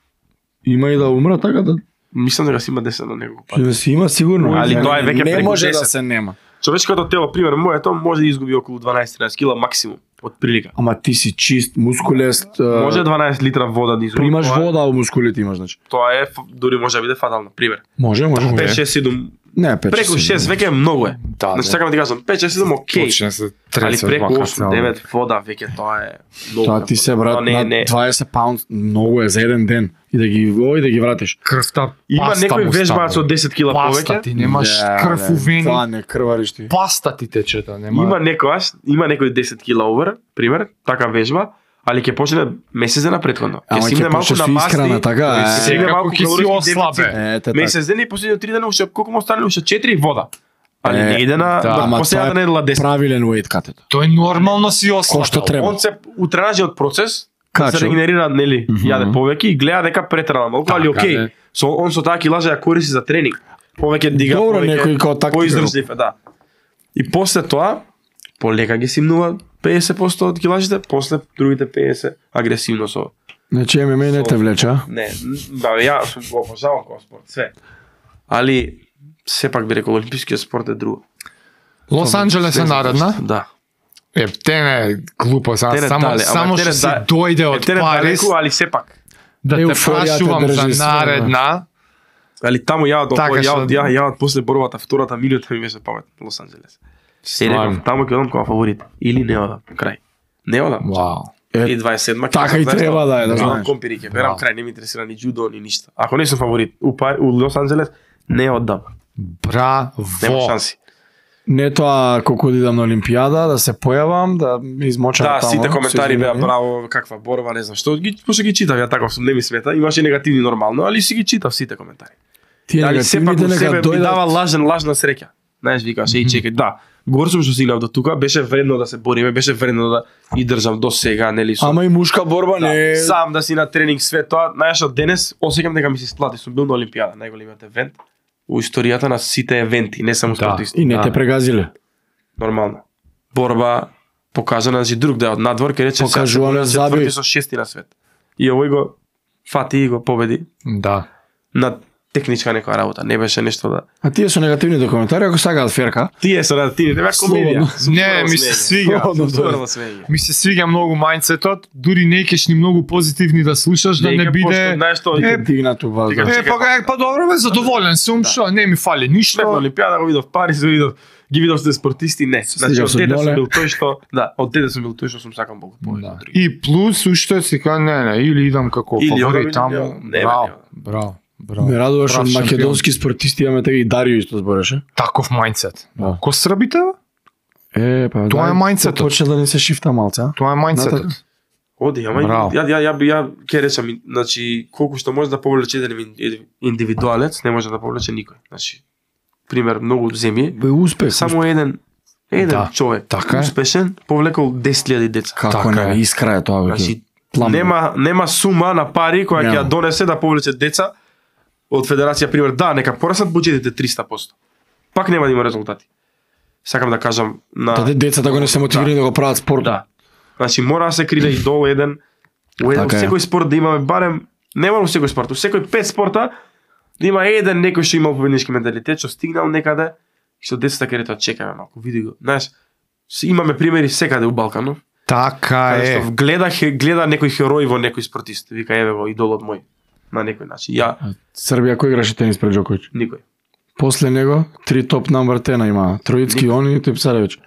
Има и да умра така да Мислам дека си има десет на неколку пати. да си има сигурно. Али Не, тоа е веќе не преку може да десет. се нема. Човечкото тело, пример, моето може да изгуби околу дванаесет-тринаесет кила максимум од прилика. Ама ти си чист, мускулест. Може дванаесет литра вода да изгуби. примаш тоа е- вода, а мускулите имаш значи. Тоа е ф- дури може да биде фатално, пример. Може, може, пет може. шест седум Не, пет преку шест веќе многу е. Да, Значи да. сакам да ти кажам, пет шест седум окей. Почне се Али тресе преку вака осум цела. девет вода веќе тоа е многу. Тоа ти се Тоа брат не, на не. дваесет паунд многу е за еден ден и да ги ој да ги вратиш. Крвта Има паста некои му вежбаат става. со десет кила Паста повеќе. ти немаш Да, крв бе, у вени. Тоа не крвариш ти. Паста ти тече, да нема. Има некојаш, има некој десет кила овер, пример, така вежба, али ќе почне месец дена претходно. Ама си ќе имне малку почнеш на со масти, исхрана, така, ќе е. си имне Секако малку ќе си калориски ослабе. дефицит. Ете така. Месец дена и последните три дена уште колку му останали уште четири вода. Али Е, не иде на да, да, ама последната тоа е недела десет. Правилен weight cut. Тој нормално си ослабел. Ко што треба. Он се утренажиот процес Качо. се регенерира, нели, Мгм. јаде повеќе и гледа дека претерана малку, али Така, окей. да. Со он со таа килажа ја користи за тренинг. Повеќе дига, Добро, некој повеќе како тактика. поиздржлив е, да. И после тоа полека ги симнува педесет проценти од килажите, после другите педесет агресивно со Значи ем ем а не те влече, а? не, да, ја сум го обожавам кој спорт, све. Али сепак би рекол олимпискиот спорт е друго. Лос Анџелес е наредна. Да. Е, тене глупо, са, Тене само дале, ама само тене што се да- дојде од Етере Париз далеку, али сепак. да те Еуфоријата прашувам држи за све, наредна. Али таму ја од Така ја што- од ја ја од после борбата втората минута ми беше памет Лос Анџелес. Се реков таму ќе одам како фаворит или не одам крај. Не одам. Вау. И дваесет и седма ќе така одам, и знаеш треба што? да е, да Ќе знаеш. одам компири, ќе берам Да. крај, не ми интересира ни џудо ни ништо. Ако не сум фаворит у Пар- у Лос Анџелес не одам. Нема Браво. шанси. Не тоа колку да идам на Олимпијада, да се појавам, да ми измочам Да, таму. сите коментари се беа извинувам. браво, каква борба, не знам што. Ги пошто ги читав ја таков сум, не ми смета. Имаше и негативни нормално, али си ги читав сите коментари. Тие Али сепак негативните у себе нека ми дава дојдат. лажен лажна среќа. Знаеш, викаш, еј чекај, да. Гор сум што стигнав до тука, беше вредно да се бориме, беше вредно да и држам до сега, нели со. Ама и мушка борба Да, не е... сам да си на тренинг све тоа, знаеш, од денес осеќам дека ми се сплати, сум бил на Олимпијада, најголемиот евент у историјата на сите евенти, не само Да. спортисти. И не Да. те прегазиле. Нормално. Борба покажана, значи друг дел од надвор, каде че Покажуваме заби. четврти со шести на свет. И овој го фати и го победи Да. на техничка некоја работа, не беше нешто да. А тие со негативните коментари, ако сакаат ферка, Тие се на тие, беа комедија. Слободно. Сум Не, стварно ми се смење. свига. Сум стварно смење. Ми се свиѓа многу мајндсетот, дури не кеш ни многу позитивни да слушаш, да не биде... знаеш што, Е, е дигнато вазда. Дека- Е, па, е, па добро бе, задоволен сум, Да. што, не ми фали Шлеп на ништо. Олимпијада го видов Париз, го видов, ги видов сте спортисти, не. Значи Стигав од со дете доле. сум бил тој што, да, од дете сум бил тој што сум сакам Бог повеќе Да. од други. И плюс уште си ка не, не, или идам како Или одам, фаворит или таму. не одам. Не, бе, Браво, не одам. браво, браво. Ме радуваш Прав од шампион. македонски спортисти, имаме така и Дарио исто збореше. Таков мајндсет. Да. Ко србите? бе? Е, па Тоа е дај, мајндсетот. Почне да ни се шифта малце, а? Тоа е мајндсетот. Натака. Оди, ама и- Браво. ја ја ја би ја ќе речам, значи колку што може да повлече еден ин- индивидуалец, не може да повлече никој. Значи пример многу земји, Бе успех. само еден еден Да, човек така е. успешен повлекол десет илјади деца. Како Така не, е. искра е тоа веќе. Значи Плам. нема нема сума на пари која ќе Нема. ја донесе да повлече деца од федерација, пример, да, нека пораснат буџетите триста проценти. Пак нема да има резултати. Сакам да кажам на Таде децата го не се мотивирани да го прават спорт. Да. Значи мора да се криде и долу еден у еден Така е. секој спорт да имаме барем не мора у секој спорт, у секој пет спорта да има еден некој што има победнички менталитет, што стигнал некаде и што децата ќе речат чекаме малку, види го. Знаеш, си- имаме примери секаде у Балканов. Така Каде е. што гледа хе- гледа некој херој во некој спортист, вика еве го идолот мој на некој начин. Ја Србија кој играше тенис пред Джоковиќ? никој. После него три топ номер тена има. Троицки они и Тепсаревич.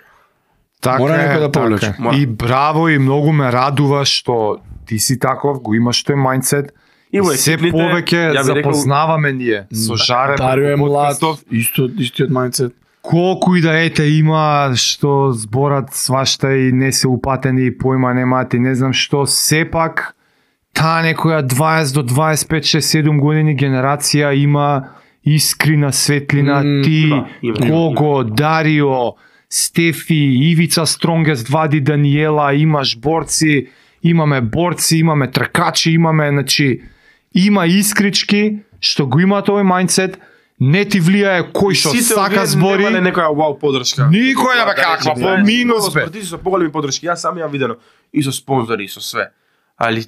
Така Мора е, некој да така повлече. е. Мора. И браво и многу ме радува што ти си таков, го имаш тој мајндсет. И во се екипните, повеќе ја би рекол, запознаваме ние со Жаре. Дарио е преку млад, подкастов. исто истиот мајндсет. Колку и да ете има што зборат свашта и не се упатени и појма немаат и не знам што, сепак таа некоја дваесет до дваесет и пет шест седум години генерација има искрина светлина, М, ти, да, има, има, Кого, Дарио, Стефи, Ивица Стронгест, Вади Даниела, имаш борци, имаме борци, имаме тркачи, имаме, значи, има искрички што го има тој мајндсет, не ти влијае кој што сака збори. Немале некоја вау подршка. Никој не бе каква, по минус бе. Спортисти со поголеми подршки, јас сам ја видено и со спонзори и со све. Али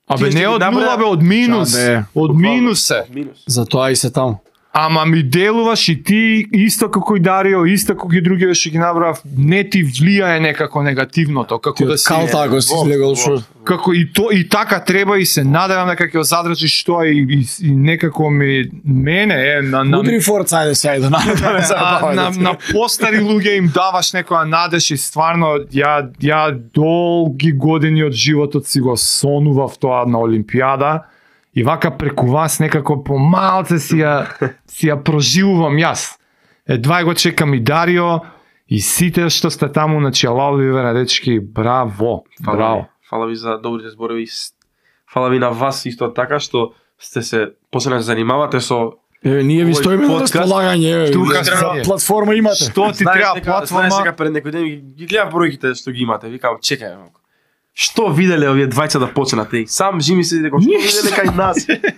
Абе не од нула бе, од минус. Од минус се. Затоа и се таму. Ама ми делуваш и ти исто како и Дарио, исто како и другиве што ги набрав, не ти влијае некако негативното, како да си Кал тако си слегал шо. Како и то и така треба и се надевам дека ќе го задржиш тоа и, и, и некако ми мене е на на Удри форца, ајде се ајде на, на, на постари луѓе им даваш некоја надеж и стварно ја ја долги години од животот си го сонував тоа на Олимпијада. И вака преку вас некако помалце си ја, си ја проживувам јас. Едва го чекам и Дарио и сите што сте таму, значи алал ви вере дечки, браво, Фала браво. ви. Фала ви за добрите зборови. Фала ви на вас исто така што сте се посебно се занимавате со Еве ние ви Овој стоиме на подкаст. располагање, еве. Тука за сте. платформа имате. Што ти Знаеш треба дека- знаеш платформа? сега пред некој ден ги- ги гледав бројките што ги имате. Викам, чекај малку. Што виделе овие двајца да почнат и сам Жими се дека што виделе кај нас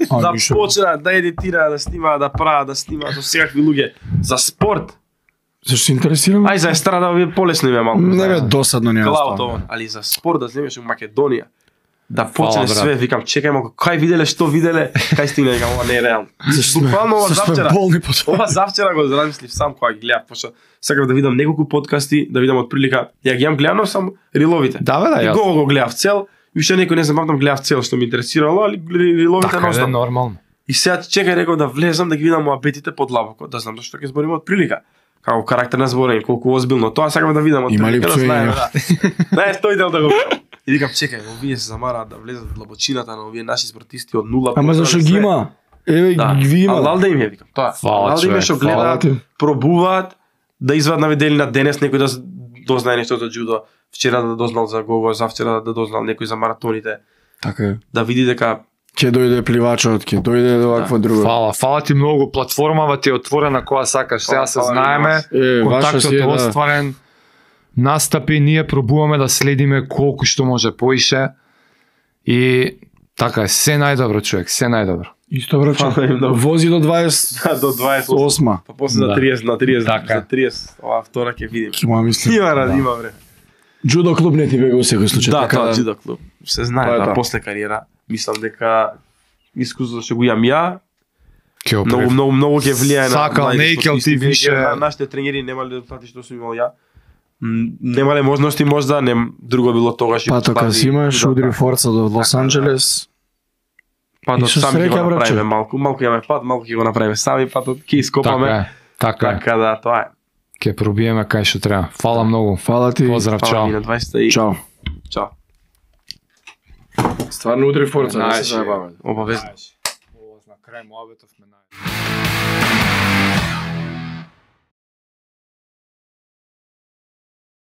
А, да ништо. почнат да едитираат, да снимаат, да прават, да снимаат со секакви луѓе за спорт. Зашто се интересирам? Ај за естрада овие полесно им е малку. Не бе досадно ни Клаут остава. овон, али за спорт да снимаш у Македонија. Да почне брат. све, викам, чекај малку, кај виделе, што виделе, кај стигне, викам, ова не е реално. Зашто сме- Буквално ова зашто сме завчера. болни по тоа. Ова завчера го размислив сам кога ги гледав, пошто сакав да видам неколку подкасти, да видам од прилика. Ја ги имам гледано сам риловите. Да бе, да, И јас. го го гледав цел, и уште некој не знам, памтам гледав цел што ми интересирало, али риловите Така е носно. нормално. И сега чекај реков да влезам да ги видам муабетите подлабоко, да знам зашто ќе збориме од прилика. Како карактер на зборење, колку озбилно. Тоа сакам да видам од Има ли прилика, да пцуење? знаеме, да. Знаеш, тој дел да го видам. И викам, чекај, овие се замараат да влезат во длабочината на овие наши спортисти од нула. Ама зашто ги има? Еве Да, ги има. алал да им е, викам, тоа. Фала, Алал да им е човек, што фала гледаат, ти. пробуваат, да извадат на виделина денес некој да дознае нешто за джудо, вчера да дознал за гого, завчера да дознал некој за маратоните, Така е. да види дека Ќе дојде пливачот, ќе дојде до вакво друго. Фала, фала ти многу, платформава ти е отворена кога сакаш. Сега се Фала, фала знаеме, Е, ваша си контактот е, е да. остварен. Настапи, ние пробуваме да следиме колку што може поише. И така е, се најдобро човек, се најдобро. Исто брачо. Фала им, да. Вози до дваесет до дваесет и осма. осма. Па после за Да. триесет на триесет, Така. за триесет, ова втора ќе видиме. Ќе му мислам. Има ради, има време. Джудо клуб не ти бега во секој случај. Да, така тоа джудо клуб. Се знае, Тоа е да, тоа. после кариера, мислам дека искуството што го имам ја, Ќе многу многу многу ќе влијае на Сакал, младите не икел спортисти, ти веќе више. на- Нашите тренери немале резултати што сум имал ја. М, Немале можности можда, не друго било тогаш. и Па тоа постави си имаш джудо, удри да. форца до Лос Така, да. Анџелес. Патот И со сам ќе среќа, го братче. направиме малку, малку имаме пат, малку ќе го направиме сами патот, ќе ископаме. Така е, така е. Така да, тоа е. Ќе пробиеме кај што треба. Фала многу. Фала ти. Поздрав, Фала чао. ви на дваесет и Чао. чао. Стварно удри форца, не се заебаваме. Обавезно. На крај муабетов ме најде.